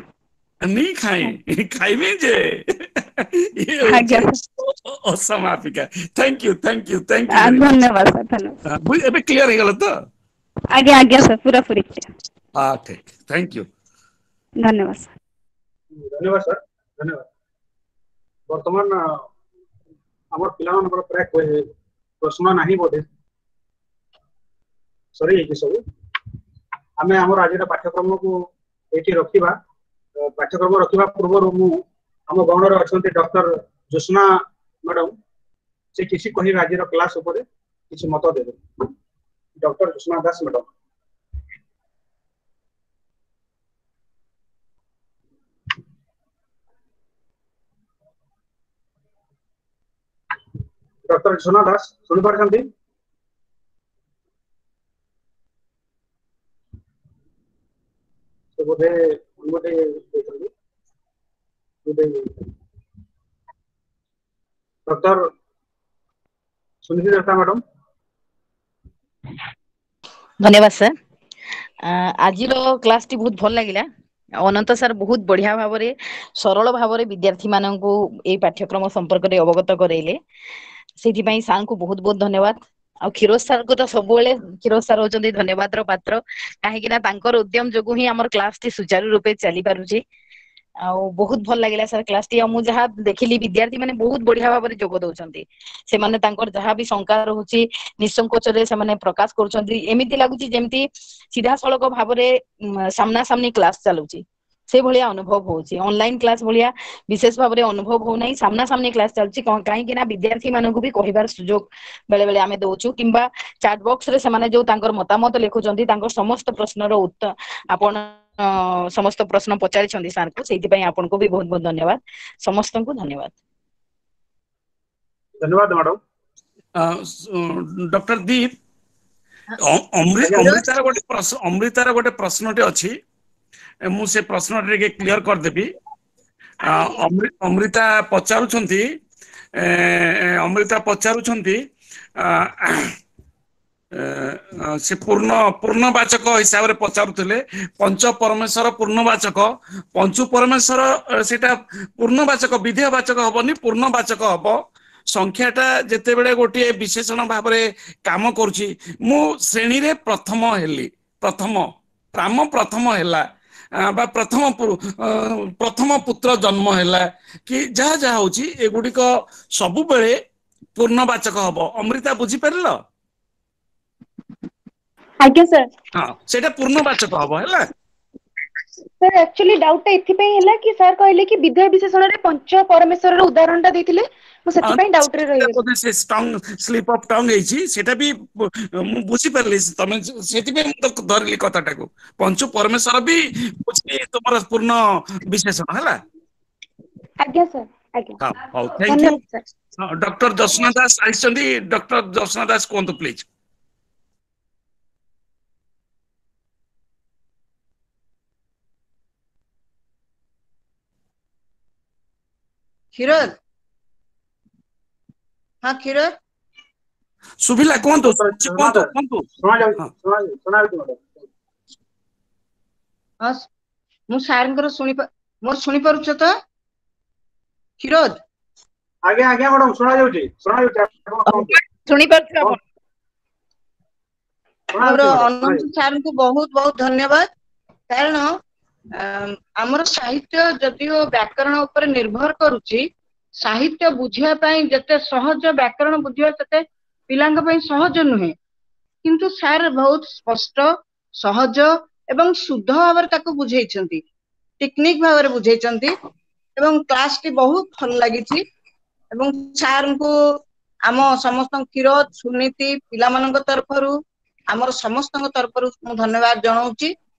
ନି ଖାଇ, ଖାଇବି ଯେ ଅସମାପିକା। Thank you, thank you, thank you, ଧନ୍ୟବାଦ ସାର୍, ଧନ୍ୟବାଦ। ଏବେ କ୍ଲିୟର ହେଇଗଲା ତ? ଆଜ୍ଞା ଆଜ୍ଞା ସାର୍, ପୁରାପୁରି। ହଁ ଠିକ, thank you, ଧନ୍ୟବାଦ ସାର୍। ଧନ୍ୟବାଦ ସାର୍, ଧନ୍ୟବାଦ। ବର୍ତ୍ତମାନ ଆମର ପିଲାମାନଙ୍କର ପ୍ରାୟ ପ୍ରଶ୍ନ ନାହିଁ ବୋଧେ, ସରିଯାଇଛି ସବୁ। ଆମେ ଆମର ଆଜିର ପାଠ୍ୟକ୍ରମକୁ ଏଇଠି ରଖିବା। ପାଠ୍ୟକ୍ରମ ରଖିବା ପୂର୍ବରୁ ମୁଁ ଆମ ଗଣରେ ଅଛନ୍ତି ଡକ୍ଟର ଜ୍ୟୋତ୍ସ୍ନା ମ୍ୟାଡମ, ସେ କିଛି କହିବେ ଆଜିର କ୍ଲାସ ଉପରେ, କିଛି ମତ ଦେବେ। Doctor Jyotsna Das madam. Doctor Jyotsna Das, ଶୁଣିପାରୁଛନ୍ତି? ସେ ବୋଧେ ବୋଧେ ଡକ୍ଟର ସୁନିଧି ଦତ୍ତା ମ୍ୟାଡମ। ଧନ୍ୟବାଦ ସାର୍। ଆଜିର କ୍ଲାସଟି ବହୁତ ଭଲ ଲାଗିଲା। ଅନନ୍ତ ସାର୍ ବହୁତ ବଢିଆ ଭାବରେ, ସରଳ ଭାବରେ ବିଦ୍ୟାର୍ଥୀ ମାନଙ୍କୁ ଏଇ ପାଠ୍ୟକ୍ରମ ସମ୍ପର୍କରେ ଅବଗତ କରେଇଲେ, ସେଥିପାଇଁ ସାର୍ଙ୍କୁ ବହୁତ ବହୁତ ଧନ୍ୟବାଦ। ଆଉ କ୍ଷୀରୋଜ ସାର୍ଙ୍କୁ ତ ସବୁବେଳେ, କ୍ଷୀରୋଜ ସାର୍ ହଉଛନ୍ତି ଧନ୍ୟବାଦର ପାତ୍ର, କାହିଁକି ନା ତାଙ୍କର ଉଦ୍ୟମ ଯୋଗୁ ହିଁ ଆମର କ୍ଲାସଟି ସୁଚାରୁ ରୂପେ ଚାଲି ପାରୁଛି। ଆଉ ବହୁତ ଭଲ ଲାଗିଲା ସାର୍ କ୍ଲାସଟି। ଆଉ ମୁଁ ଯାହା ଦେଖିଲି ବିଦ୍ୟାର୍ଥୀ ମାନେ ବହୁତ ବଢିଆ ଭାବରେ ଯୋଗ ଦଉଛନ୍ତି। ସେମାନେ ତାଙ୍କର ଯାହା ବି ଶଙ୍କା ରହୁଛି ନିଃସଙ୍କୋଚରେ ସେମାନେ ପ୍ରକାଶ କରୁଛନ୍ତି। ଏମିତି ଲାଗୁଛି ଯେମିତି ସିଧାସଳଖ ଭାବରେ ସାମ୍ନା ସାମ୍ନି କ୍ଲାସ ଚାଲୁଛି, ସେଇଭଳିଆ ଅନୁଭବ ହଉଛି। ଅନଲାଇନ କ୍ଲାସ ଭଳିଆ ବିଶେଷ ଭାବରେ ଅନୁଭବ ହଉନାହିଁ, ସାମ୍ନା ସାମ୍ନି କ୍ଲାସ ଚାଲୁଛି। କାହିଁକି ନା ବିଦ୍ୟାର୍ଥୀ ମାନଙ୍କୁ ବି କହିବାର ସୁଯୋଗ ବେଳେ ବେଳେ ଆମେ ଦଉଛୁ, କିମ୍ବା ଚାଟ ବକ୍ସ ରେ ସେମାନେ ଯୋଉ ତାଙ୍କର ମତାମତ ଲେଖୁଛନ୍ତି, ତାଙ୍କର ସମସ୍ତ ପ୍ରଶ୍ନର ଉତ୍ତର ଆପଣ ସମସ୍ତ ପ୍ରଶ୍ନ ପଚାରିଛନ୍ତି ସାର୍ଙ୍କୁ, ସେଇଥିପାଇଁ ଆପଣଙ୍କୁ ବି ବହୁତ ବହୁତ ଧନ୍ୟବାଦ। ସମସ୍ତଙ୍କୁ ଧନ୍ୟବାଦ। ଧନ୍ୟବାଦ ମ୍ୟାଡାମ। ଡକ୍ଟର ଦୀପ, ଅମୃତାର ଗୋଟେ ଅମୃତାର ଗୋଟେ ପ୍ରଶ୍ନଟେ ଅଛି, ମୁଁ ସେ ପ୍ରଶ୍ନଟା ଟିକେ କ୍ଲିୟର କରିଦେବି। ଅମୃତା ପଚାରୁଛନ୍ତି, ଅମୃତା ପଚାରୁଛନ୍ତି ସେ ପୂର୍ଣ୍ଣ ପୂର୍ଣ୍ଣବାଚକ ହିସାବରେ ପଚାରୁଥିଲେ, ପଞ୍ଚ ପରମେଶ୍ୱର ପୂର୍ଣ୍ଣବାଚକ, ପଞ୍ଚୁ ପରମେଶ୍ୱର ସେଇଟା ପୂର୍ଣ୍ଣବାଚକ ବିଧେୟବାଚକ ହବନି, ପୂର୍ଣ୍ଣବାଚକ ହବ। ସଂଖ୍ୟାଟା ଯେତେବେଳେ ଗୋଟିଏ ବିଶେଷଣ ଭାବରେ କାମ କରୁଛି, ମୁଁ ଶ୍ରେଣୀରେ ପ୍ରଥମ ହେଲି, ପ୍ରଥମ ରାମ ପ୍ରଥମ ହେଲା ବା ପ୍ରଥମ ପ୍ରଥମ ପୁତ୍ର ଜନ୍ମ ହେଲା କି ଯାହା ଯାହା ହଉଛି, ଏଗୁଡିକ ସବୁବେଳେ ପୂର୍ଣ୍ଣବାଚକ ହବ। ଅମୃତା ବୁଝିପାରିଲ? ଆଜ୍ଞା ସାର୍। ହଁ, ସେଇଟା ପୂର୍ଣ୍ଣବାଚକ ହବ। ହେଲା ସାର୍, ଆକ୍ଚୁଆଲି ଡାଉଟ୍ ଟା ଏଥିପାଇଁ ହେଲା କି ସାର୍ କହିଲେ କି ବିଧେୟ ବିଶେଷଣରେ ପଞ୍ଚ ପରମେଶ୍ୱରର ଉଦାହରଣ ଟା ଦେଇଥିଲେ, ମୁଁ ସେଥିପାଇଁ ଡାଉଟ୍ ରେ ରହିଗଲି। ସେ ଟଙ୍ଗ ସ୍ଲିପ୍ ଅଫ୍ ଟଙ୍ଗ ହେଇଛି, ସେଇଟା ବି ମୁଁ ବୁଝିପାରିଲି, ତମେ ସେଥିପାଇଁ ମୁଁ ତ ଧରିଲି କଥାଟାକୁ। ପଞ୍ଚୁ ପରମେଶ୍ୱର ବି ତୁମର ପୂର୍ଣ୍ଣ ବିଶେଷଣ ହେଲା। ଆଜ୍ଞା ସାର୍, ଆଜ୍ଞା। ହଉ, thank you. Doctor Jyotsna Das ଆସିଛନ୍ତି, ଡକ୍ଟର ଜ୍ୟୋତ୍ସ୍ନା ଦାସ କୁହନ୍ତୁ ପ୍ଲିଜ। କ୍ଷୀରୋଦ, ହଁ କ୍ଷୀରୋଦ ଶୁଭିଲା? କୁହନ୍ତୁ କୁହନ୍ତୁ କୁହନ୍ତୁ। ହଁ, ମୁଁ ସାରଙ୍କର ଶୁଣି ମୋର ଶୁଣିପାରୁଛ ତ କ୍ଷୀରୋଦ? ଆଜ୍ଞା ଆଜ୍ଞା ମ୍ୟାଡାମ, ଶୁଣା ଯାଉଛି, ଶୁଣା ଯାଉଛି। ଶୁଣିପାରୁଛୁ ଆପଣ? ମୋର ଅନନ୍ତ ସାରଙ୍କୁ ବହୁତ ବହୁତ ଧନ୍ୟବାଦ, କାରଣ ଆମର ସାହିତ୍ୟ ଯଦିଓ ବ୍ୟାକରଣ ଉପରେ ନିର୍ଭର କରୁଛି, ସାହିତ୍ୟ ବୁଝିବା ପାଇଁ ଯେତେ ସହଜ ବ୍ୟାକରଣ ବୁଝିବା ସେତେ ପିଲାଙ୍କ ପାଇଁ ସହଜ ନୁହେଁ, କିନ୍ତୁ ସାର୍ ବହୁତ ସ୍ପଷ୍ଟ, ସହଜ ଏବଂ ଶୁଦ୍ଧ ଭାବରେ ତାକୁ ବୁଝେଇଛନ୍ତି, ଟେକ୍ନିକ ଭାବରେ ବୁଝେଇଛନ୍ତି, ଏବଂ କ୍ଲାସଟି ବହୁତ ଭଲ ଲାଗିଛି। ଏବଂ ସାର୍ଙ୍କୁ ଆମ ସମସ୍ତଙ୍କ କ୍ଷୀରୋଦ, ସୁନୀତି, ପିଲାମାନଙ୍କ ତରଫରୁ, ଆମର ସମସ୍ତଙ୍କ ତରଫରୁ ମୁଁ ଧନ୍ୟବାଦ ଜଣାଉଛି।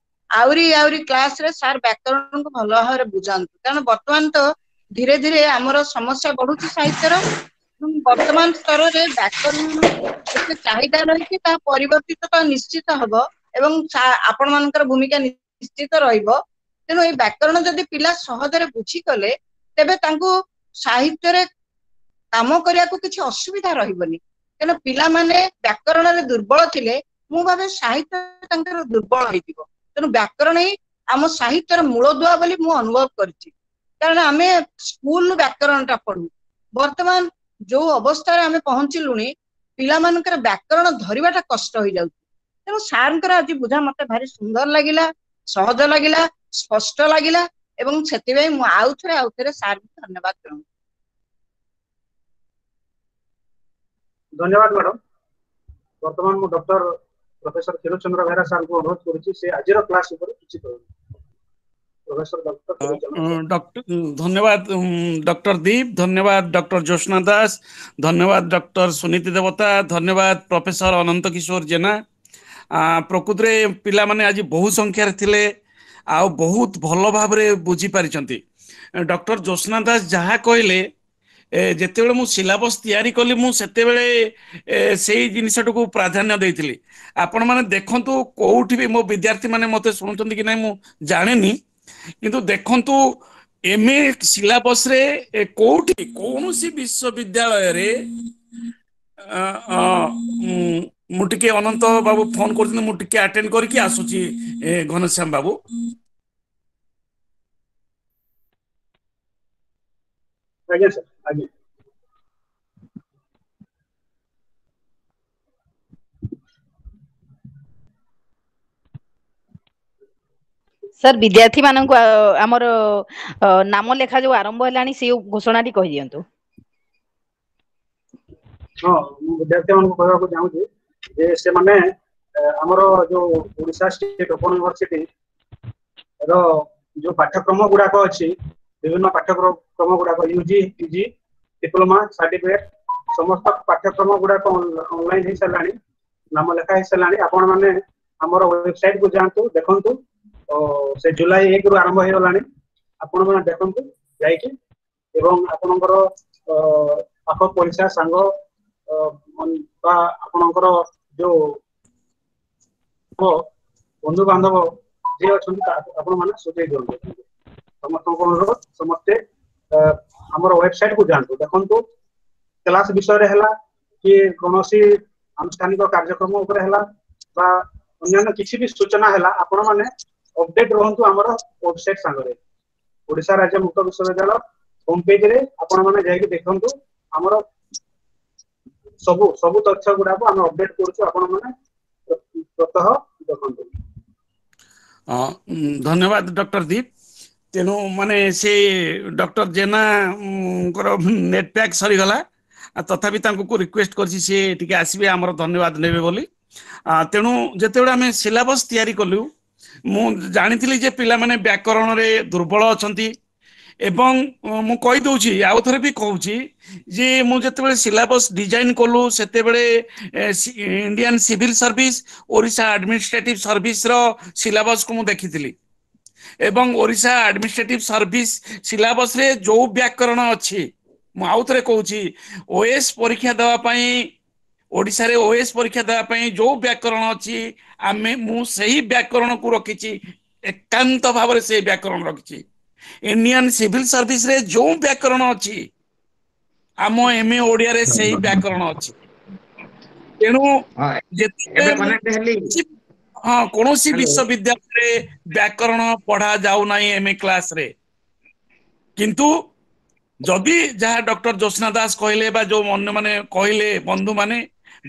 ଆହୁରି ଆହୁରି କ୍ଲାସରେ ସାର୍ ବ୍ୟାକରଣକୁ ଭଲ ଭାବରେ ବୁଝାନ୍ତୁ, କାରଣ ବର୍ତ୍ତମାନ ତ ଧୀରେ ଧୀରେ ଆମର ସମସ୍ୟା ବଢୁଛି ସାହିତ୍ୟର, ବର୍ତ୍ତମାନ ସ୍ତରରେ ବ୍ୟାକରଣ ଯେତେ ଚାହିଦା ରହିଛି ତାହା ପରିବର୍ତ୍ତିତ ତ ନିଶ୍ଚିତ ହବ, ଏବଂ ଆପଣ ମାନଙ୍କର ଭୂମିକା ନିଶ୍ଚିତ ରହିବ। ତେଣୁ ଏଇ ବ୍ୟାକରଣ ଯଦି ପିଲା ସହଜରେ ବୁଝିଗଲେ ତେବେ ତାଙ୍କୁ ସାହିତ୍ୟରେ କାମ କରିବାକୁ କିଛି ଅସୁବିଧା ରହିବନି। କାରଣ ପିଲାମାନେ ବ୍ୟାକରଣରେ ଦୁର୍ବଳ ଥିଲେ ମୁଁ ଭାବେ ସାହିତ୍ୟ ତାଙ୍କର ଦୁର୍ବଳ ହେଇଯିବ। ତେଣୁ ବ୍ୟାକରଣ ହିଁ ଆମ ସାହିତ୍ୟର ମୂଳଦୁଆ ବୋଲି ମୁଁ ଅନୁଭବ କରିଛି, କାରଣ ଆମେ ସ୍କୁଲରୁ ବ୍ୟାକରଣଟା ପଢୁ। ବର୍ତ୍ତମାନ ଯୋଉ ଅବସ୍ଥାରେ ଆମେ ପହଞ୍ଚିଲୁଣି ପିଲାମାନଙ୍କର ବ୍ୟାକରଣ ଧରିବାଟା କଷ୍ଟ ହେଇଯାଉଛି। ତେଣୁ ସାର୍ଙ୍କର ଆଜି ବୁଝା ମତେ ଭାରି ସୁନ୍ଦର ଲାଗିଲା, ସହଜ ଲାଗିଲା, ସ୍ପଷ୍ଟ ଲାଗିଲା, ଏବଂ ସେଥିପାଇଁ ମୁଁ ଆଉ ଥରେ ଆଉ ଥରେ ସାର୍ଙ୍କୁ ଧନ୍ୟବାଦ ଜଣାଉଛି। ଧନ୍ୟବାଦ ମ୍ୟାଡାମ। ବର୍ତ୍ତମାନ ମୁଁ ଡକ୍ଟର ପ୍ରଫେସର କ୍ଷୀରୋଦ ଚନ୍ଦ୍ର ବେହେରା ସାର୍ଙ୍କୁ ଅନୁରୋଧ କରୁଛି ସେ ଆଜିର କ୍ଲାସ ଉପରେ କିଛି କହିବେ। ପ୍ରଫେସର ଡକ୍ଟର ଧନ୍ୟବାଦ ଡକ୍ଟର ଦୀପ, ଧନ୍ୟବାଦ ଡକ୍ଟର ଜ୍ୟୋତ୍ସ୍ନା ଦାସ, ଧନ୍ୟବାଦ ଡକ୍ଟର ସୁନୀତି ଦେବତା, ଧନ୍ୟବାଦ ପ୍ରଫେସର ଅନନ୍ତ କିଶୋର ଜେନା। ପ୍ରକୃତରେ ପିଲାମାନେ ଆଜି ବହୁ ସଂଖ୍ୟାରେ ଥିଲେ ଆଉ ବହୁତ ଭଲ ଭାବରେ ବୁଝିପାରିଛନ୍ତି। ଡକ୍ଟର ଜ୍ୟୋତ୍ସ୍ନା ଦାସ ଯାହା କହିଲେ, ଯେତେବେଳେ ମୁଁ ସିଲାବସ୍ ତିଆରି କଲି ମୁଁ ସେତେବେଳେ ସେଇ ଜିନିଷଟାକୁ ପ୍ରାଧାନ୍ୟ ଦେଇଥିଲି। ଆପଣମାନେ ଦେଖନ୍ତୁ କୋଉଠି ବି ମୋ ବିଦ୍ୟାର୍ଥୀ ମାନେ ମତେ ଶୁଣୁଛନ୍ତି କି ନାଇଁ ମୁଁ ଜାଣେନି, କିନ୍ତୁ ଦେଖନ୍ତୁ ଏମ ଏ ସିଲାବସରେ କୋଉଠି କୌଣସି ବିଶ୍ୱବିଦ୍ୟାଳୟରେ, ମୁଁ ଟିକେ ଅନନ୍ତ ବାବୁ ଫୋନ କରୁଛନ୍ତି, ମୁଁ ଟିକେ ଆଟେଣ୍ଡ କରିକି ଆସୁଛି ଘନଶ୍ୟାମ ବାବୁ। ଆଜ୍ଞା ସାର୍, ଆଜ୍ଞା। ସାର୍ ବିଦ୍ୟାର୍ଥୀ ମାନଙ୍କୁ ଆମର ନାମ ଲେଖା ଯୋଉ ଆରମ୍ଭ ହେଲାଣି ସେ ଘୋଷଣାଟି କହିଦିଅନ୍ତୁ। ହଁ, ମୁଁ ବିଦ୍ୟାର୍ଥୀ ମାନଙ୍କୁ କହିବାକୁ ଚାହୁଁଛି ଯେ ସେମାନେ ଆମର ଯୋଉ ଓଡ଼ିଶା ଷ୍ଟେଟ୍ ଓପନ ୟୁନିଭର୍ସିଟି ର ଯୋଉ ପାଠ୍ୟକ୍ରମ ଗୁଡାକ ଅଛି, ବିଭିନ୍ନ ପାଠ୍ୟକ୍ରମ ଗୁଡାକ ୟୁଜି, ପିଜି, ଡିପ୍ଲୋମା, ସାର୍ଟିଫିକେଟ ସମସ୍ତ ପାଠ୍ୟକ୍ରମ ଗୁଡାକ ଅନଲାଇନ ହେଇସାରିଲାଣି, ନାମ ଲେଖା ହେଇସାରିଲାଣି। ଆପଣ ମାନେ ଆମର ୱେବସାଇଟ କୁ ଯାଆନ୍ତୁ, ଦେଖନ୍ତୁ, ସେ ଜୁଲାଇ ଏକ ରୁ ଆରମ୍ଭ ହେଇଗଲାଣି। ଆପଣ ମାନେ ଦେଖନ୍ତୁ ଯାଇକି, ଏବଂ ଆପଣଙ୍କର ପାଖ ପଡ଼ିଶା ସାଙ୍ଗ ବା ଆପଣଙ୍କର ଯୋଉ ବନ୍ଧୁବାନ୍ଧବ ଯିଏ ଅଛନ୍ତି ଆପଣ ମାନେ ସୁଝେଇ ଦିଅନ୍ତୁ। ସମସ୍ତଙ୍କୁ ଅନୁରୋଧ, ସମସ୍ତେ ଆମର ୱେବସାଇଟ କୁ ଯାଆନ୍ତୁ, ଦେଖନ୍ତୁ କ୍ଲାସ ବିଷୟରେ ହେଲା କି କୌଣସି ଆନୁଷ୍ଠାନିକ କାର୍ଯ୍ୟକ୍ରମ ଉପରେ ହେଲା ବା ଅନ୍ୟାନ୍ୟ କିଛି ବି ସୂଚନା ହେଲା, ଆପଣ ମାନେ ଅପଡେଟ ରୁହନ୍ତୁ ଆମର ୱେବସାଇଟ ସାଙ୍ଗରେ। ଓଡ଼ିଶା ରାଜ୍ୟ ମୁକ୍ତ ବିଶ୍ୱବିଦ୍ୟାଳୟ ହୋମ ପେଜରେ ଆପଣ ମାନେ ଯାଇକି ଦେଖନ୍ତୁ, ଆମର ସବୁ ସବୁ ତଥ୍ୟ ଗୁଡାକୁ ଆମେ ଅପଡେଟ କରୁଛୁ, ଆପଣ ମାନେ ପ୍ରତ୍ୟହ ଦେଖନ୍ତୁ। ଧନ୍ୟବାଦ ଡକ୍ଟର ଦୀପ। ତେଣୁ ମାନେ ସେ ଡକ୍ଟର ଜେନାଙ୍କର ନେଟ୍ ପ୍ୟାକ୍ ସରିଗଲା, ତଥାପି ତାଙ୍କୁ ରିକ୍ୱେଷ୍ଟ କରିଛି ସିଏ ଟିକେ ଆସିବେ, ଆମର ଧନ୍ୟବାଦ ନେବେ ବୋଲି। ତେଣୁ ଯେତେବେଳେ ଆମେ ସିଲାବସ୍ ତିଆରି କଲୁ, ମୁଁ ଜାଣିଥିଲି ଯେ ପିଲାମାନେ ବ୍ୟାକରଣରେ ଦୁର୍ବଳ ଅଛନ୍ତି, ଏବଂ ମୁଁ କହିଦଉଛି ଆଉ ଥରେ ବି କହୁଛି ଯେ ମୁଁ ଯେତେବେଳେ ସିଲାବସ୍ ଡିଜାଇନ କଲୁ ସେତେବେଳେ Indian civil service, Odisha administrative ସର୍ଭିସର ସିଲାବସକୁ ମୁଁ ଦେଖିଥିଲି, ଏବଂ ଓଡ଼ିଶା ଆଡମିନିଷ୍ଟ୍ରେଟିଭ ସର୍ଭିସ ସିଲାବସରେ ଯୋଉ ବ୍ୟାକରଣ ଅଛି, ମୁଁ ଆଉ ଥରେ କହୁଛି, ଓଏସ୍ ପରୀକ୍ଷା ଦେବା ପାଇଁ, ଓଡ଼ିଶାରେ ଓଏସ୍ ପରୀକ୍ଷା ଦେବା ପାଇଁ ଯୋଉ ବ୍ୟାକରଣ ଅଛି, ଆମେ ମୁଁ ସେଇ ବ୍ୟାକରଣକୁ ରଖିଛି, ଏକାନ୍ତ ଭାବରେ ସେଇ ବ୍ୟାକରଣ ରଖିଛି। ଇଣ୍ଡିଆନ ସିଭିଲ ସର୍ଭିସରେ ଯୋଉ ବ୍ୟାକରଣ ଅଛି, ଆମ ଏମ ଏ ଓଡ଼ିଆରେ ସେଇ ବ୍ୟାକରଣ ଅଛି। ତେଣୁ ଯେତେବେଳେ ହଁ କୌଣସି ବିଶ୍ୱବିଦ୍ୟାଳୟରେ ବ୍ୟାକରଣ ପଢା ଯାଉନାହିଁ ଏମ ଏ କ୍ଲାସରେ, କିନ୍ତୁ ଯଦି ଯାହା ଡକ୍ଟର ଜ୍ୟୋତ୍ସ୍ନା ଦାସ କହିଲେ ବା ଯୋଉ ଅନ୍ୟମାନେ କହିଲେ ବନ୍ଧୁମାନେ,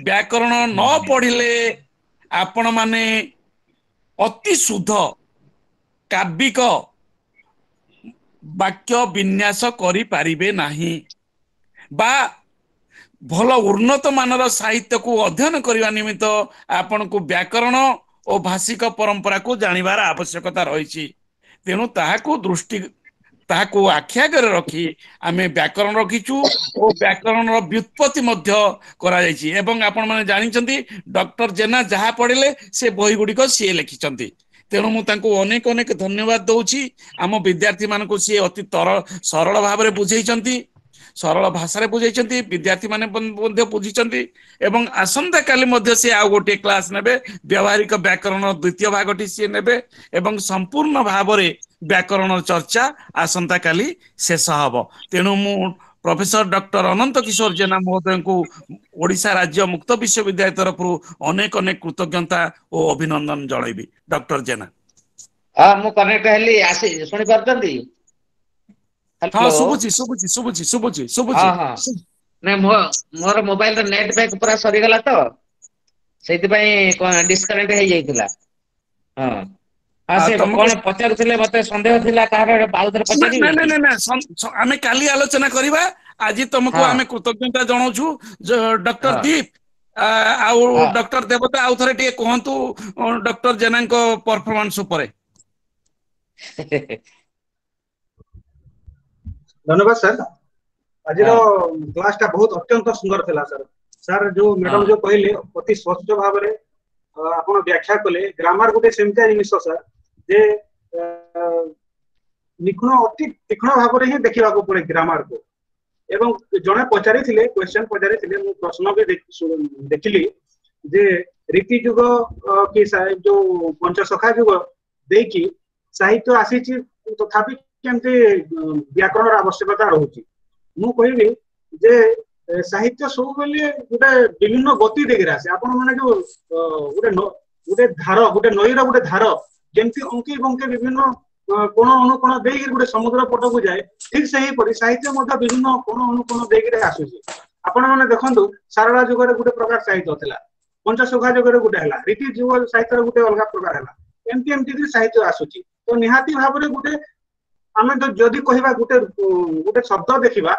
ବ୍ୟାକରଣ ନ ପଢିଲେ ଆପଣମାନେ ଅତି ଶୁଦ୍ଧ କାବ୍ୟିକ ବାକ୍ୟ ବିନ୍ୟାସ କରିପାରିବେ ନାହିଁ, ବା ଭଲ ଉନ୍ନତ ମାନର ସାହିତ୍ୟକୁ ଅଧ୍ୟୟନ କରିବା ନିମିତ୍ତ ଆପଣଙ୍କୁ ବ୍ୟାକରଣ ଓ ଭାଷିକ ପରମ୍ପରାକୁ ଜାଣିବାର ଆବଶ୍ୟକତା ରହିଛି। ତେଣୁ ତାହାକୁ ଦୃଷ୍ଟି ତାହାକୁ ଆଖି ଆଗରେ ରଖି ଆମେ ବ୍ୟାକରଣ ରଖିଛୁ ଓ ବ୍ୟାକରଣର ବ୍ୟୁତ୍ପତ୍ତି ମଧ୍ୟ କରାଯାଇଛି। ଏବଂ ଆପଣମାନେ ଜାଣିଛନ୍ତି ଡକ୍ଟର ଜେନା ଯାହା ପଢିଲେ ସେ ବହି ଗୁଡ଼ିକ ସିଏ ଲେଖିଛନ୍ତି। ତେଣୁ ମୁଁ ତାଙ୍କୁ ଅନେକ ଅନେକ ଧନ୍ୟବାଦ ଦଉଛି। ଆମ ବିଦ୍ୟାର୍ଥୀ ମାନଙ୍କୁ ସିଏ ଅତି ତର ସରଳ ଭାବରେ ବୁଝେଇଛନ୍ତି, ସରଳ ଭାଷାରେ ବୁଝେଇଛନ୍ତି, ବିଦ୍ୟାର୍ଥୀ ମାନେ ମଧ୍ୟ ବୁଝିଛନ୍ତି। ଏବଂ ଆସନ୍ତାକାଲି ମଧ୍ୟ ସିଏ ଆଉ ଗୋଟିଏ କ୍ଲାସ ନେବେ, ବ୍ୟବହାରିକ ବ୍ୟାକରଣ ଦ୍ୱିତୀୟ ଭାଗଟି ସିଏ ନେବେ ଏବଂ ସମ୍ପୂର୍ଣ୍ଣ ଭାବରେ ବ୍ୟାକରଣ ଚର୍ଚ୍ଚା ଆସନ୍ତାକାଲି ଶେଷ ହବ। ତେଣୁ ମୁଁ ପ୍ରଫେସର ଡକ୍ଟର ଅନନ୍ତ କିଶୋର ଜେନା ମହୋଦୟଙ୍କୁ ଓଡ଼ିଶା ରାଜ୍ୟ ମୁକ୍ତ ବିଶ୍ୱବିଦ୍ୟାଳୟ ତରଫରୁ ଅନେକ ଅନେକ କୃତଜ୍ଞତା ଓ ଅଭିନନ୍ଦନ ଜଣାଇବି। ଡକ୍ଟର ଜେନା। ହଁ, ମୁଁ କନେକ୍ଟ ହେଲି, ଆସି ଶୁଣି ପାରୁଛନ୍ତି? ହଁ, ଶୁଭୁଛି ଶୁଭୁଛି ଶୁଭୁଛି ଶୁଭୁଛି ଶୁଭୁଛି। ନାଇଁ, ମୋ ମୋର ମୋବାଇଲର ନେଟ୍ ପ୍ୟାକ୍ ପୁରା ସରିଗଲା ତ, ସେଇଥିପାଇଁ ଡିସକନେକ୍ଟ ହେଇଯାଇଥିଲା। ହଁ ହଁ, ସେ କଣ ପଚାରୁଥିଲେ ମତେ ସନ୍ଦେହ ଥିଲା, କାହାର ଆଉ ଥରେ ପଚାରିବେ? ନାଇଁ ନାଇଁ, ଆମେ କାଲି ଆଲୋଚନା କରିବା। ଆଜି ତମକୁ ଆମେ କୃତଜ୍ଞତା ଜଣାଉଛୁ ଡକ୍ଟର ଦୀପ ଆଉ ଡକ୍ଟର ଦେବତା। ଆଉ ଥରେ ଟିକେ କୁହନ୍ତୁ ଡକ୍ଟର ଜେନାଙ୍କ ପରଫରମାନ୍ସ ଉପରେ। ଧନ୍ୟବାଦ ସାର୍। ଆଜିର କ୍ଲାସ ଟା ବହୁତ ଅତ୍ୟନ୍ତ ସୁନ୍ଦର ଥିଲା ସାର୍। ସାର୍ ଯୋଉ ମ୍ୟାଡମ ଯୋଉ କହିଲେ ଅତି ସ୍ପଷ୍ଟ ଭାବରେ ଆପଣ ବ୍ୟାଖ୍ୟା କଲେ। ଗ୍ରାମାର ଗୋଟେ ସେମିତିଆ ଜିନିଷ ସାର୍ ଯେ ନିଖୁଣ, ଅତି ତୀକ୍ଷ୍ଣ ଭାବରେ ହିଁ ଦେଖିବାକୁ ପଡେ ଗ୍ରାମାରକୁ। ଏବଂ ଜଣେ ପଚାରିଥିଲେ, କ୍ୱେଶ୍ଚନ ପଚାରିଥିଲେ, ମୁଁ ପ୍ରଶ୍ନ ବି ଦେଖିଲି ଯେ ରୀତି ଯୁଗ କି ଯୋଉ ପଞ୍ଚସଖା ଯୁଗ ଦେଇକି ସାହିତ୍ୟ ଆସିଛି, ତଥାପି କେମିତି ବ୍ୟାକରଣର ଆବଶ୍ୟକତା ରହୁଛି? ମୁଁ କହିବି ଯେ ସାହିତ୍ୟ ସବୁବେଳେ ଗୋଟେ ବିଭିନ୍ନ ଗତି ଦେଇକିରି ଆସେ। ଆପଣ ମାନେ ଯୋଉ ଗୋଟେ ଗୋଟେ ଧାର, ଗୋଟେ ନଈର ଗୋଟେ ଧାର ଯେମିତି ଅଙ୍କି ବଙ୍କେ ବିଭିନ୍ନ କୋଣ ଅନୁକୋଣ ଦେଇକିରି ଗୋଟେ ସମୁଦ୍ର ପଟକୁ ଯାଏ, ଠିକ ସେହିପରି ସାହିତ୍ୟ ମଧ୍ୟ ବିଭିନ୍ନ କୋଣ ଅନୁକୋଣ ଦେଇକିରି ଆସୁଛି। ଆପଣ ମାନେ ଦେଖନ୍ତୁ, ସାରଳା ଯୁଗରେ ଗୋଟେ ପ୍ରକାର ସାହିତ୍ୟ ଥିଲା, ପଞ୍ଚସଖା ଯୁଗରେ ଗୋଟେ ହେଲା, ରୀତି ଯୁଗ ସାହିତ୍ୟର ଗୋଟେ ଅଲଗା ପ୍ରକାର ହେଲା, ଏମିତି ଏମିତି ସାହିତ୍ୟ ଆସୁଛି। ତ ନିହାତି ଭାବରେ ଗୋଟେ ଆମେ ଯଦି କହିବା ଗୋଟେ ଗୋଟେ ଶବ୍ଦ ଦେଖିବା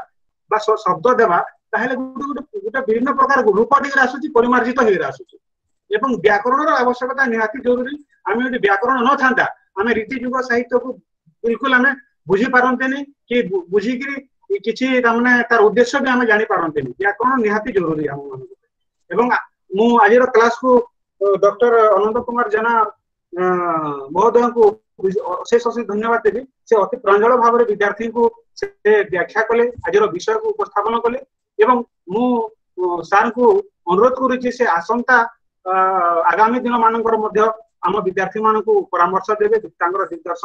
ବା ଶବ୍ଦ ଦେବା, ତାହେଲେ ଗୋଟେ ଗୋଟେ ଗୋଟେ ବିଭିନ୍ନ ପ୍ରକାର ରୂପ ଦିଗରେ ଆସୁଛି, ପରିମାର୍ଜିତ ହେଇକି ଆସୁଛି। ଏବଂ ବ୍ୟାକରଣର ଆବଶ୍ୟକତା ନିହାତି ଜରୁରୀ। ଆମେ ଯଦି ବ୍ୟାକରଣ ନଥାନ୍ତା, ଆମେ ରୀତି ଯୁଗ ସାହିତ୍ୟକୁ ବିଲକୁଲ ଆମେ ବୁଝି ପାରନ୍ତେନି କି ବୁଝିକିରି କିଛି ତାମାନେ ତାର ଉଦ୍ଦେଶ୍ୟ ବି ଆମେ ଜାଣିପାରନ୍ତେନି। ବ୍ୟାକରଣ ନିହାତି ଜରୁରୀ ଆମ ମାନଙ୍କ। ଏବଂ ମୁଁ ଆଜିର କ୍ଲାସକୁ ଡକ୍ଟର ଅନନ୍ତ କୁମାର ଜେନା ମହୋଦୟଙ୍କୁ ଅଶେଷ ଅଶେଷ ଧନ୍ୟବାଦ ଦେବି। ସେ ଅତି ପ୍ରାଞ୍ଜଳ ଭାବରେ ବିଦ୍ୟାର୍ଥୀଙ୍କୁ ସେ ବ୍ୟାଖ୍ୟା କଲେ, ଆଜିର ବିଷୟକୁ ଉପସ୍ଥାପନ କଲେ। ଏବଂ ମୁଁ ସାର୍ଙ୍କୁ ଅନୁରୋଧ କରୁଛି, ସେ ଆସନ୍ତା ଆଗାମୀ ଦିନ ମାନଙ୍କର ମଧ୍ୟ ଆମ ବିଦ୍ୟାର୍ଥୀ ମାନଙ୍କୁ ପରାମର୍ଶ ଦେବେ, ତାଙ୍କର ଦିଗ୍ଦର୍ଶନ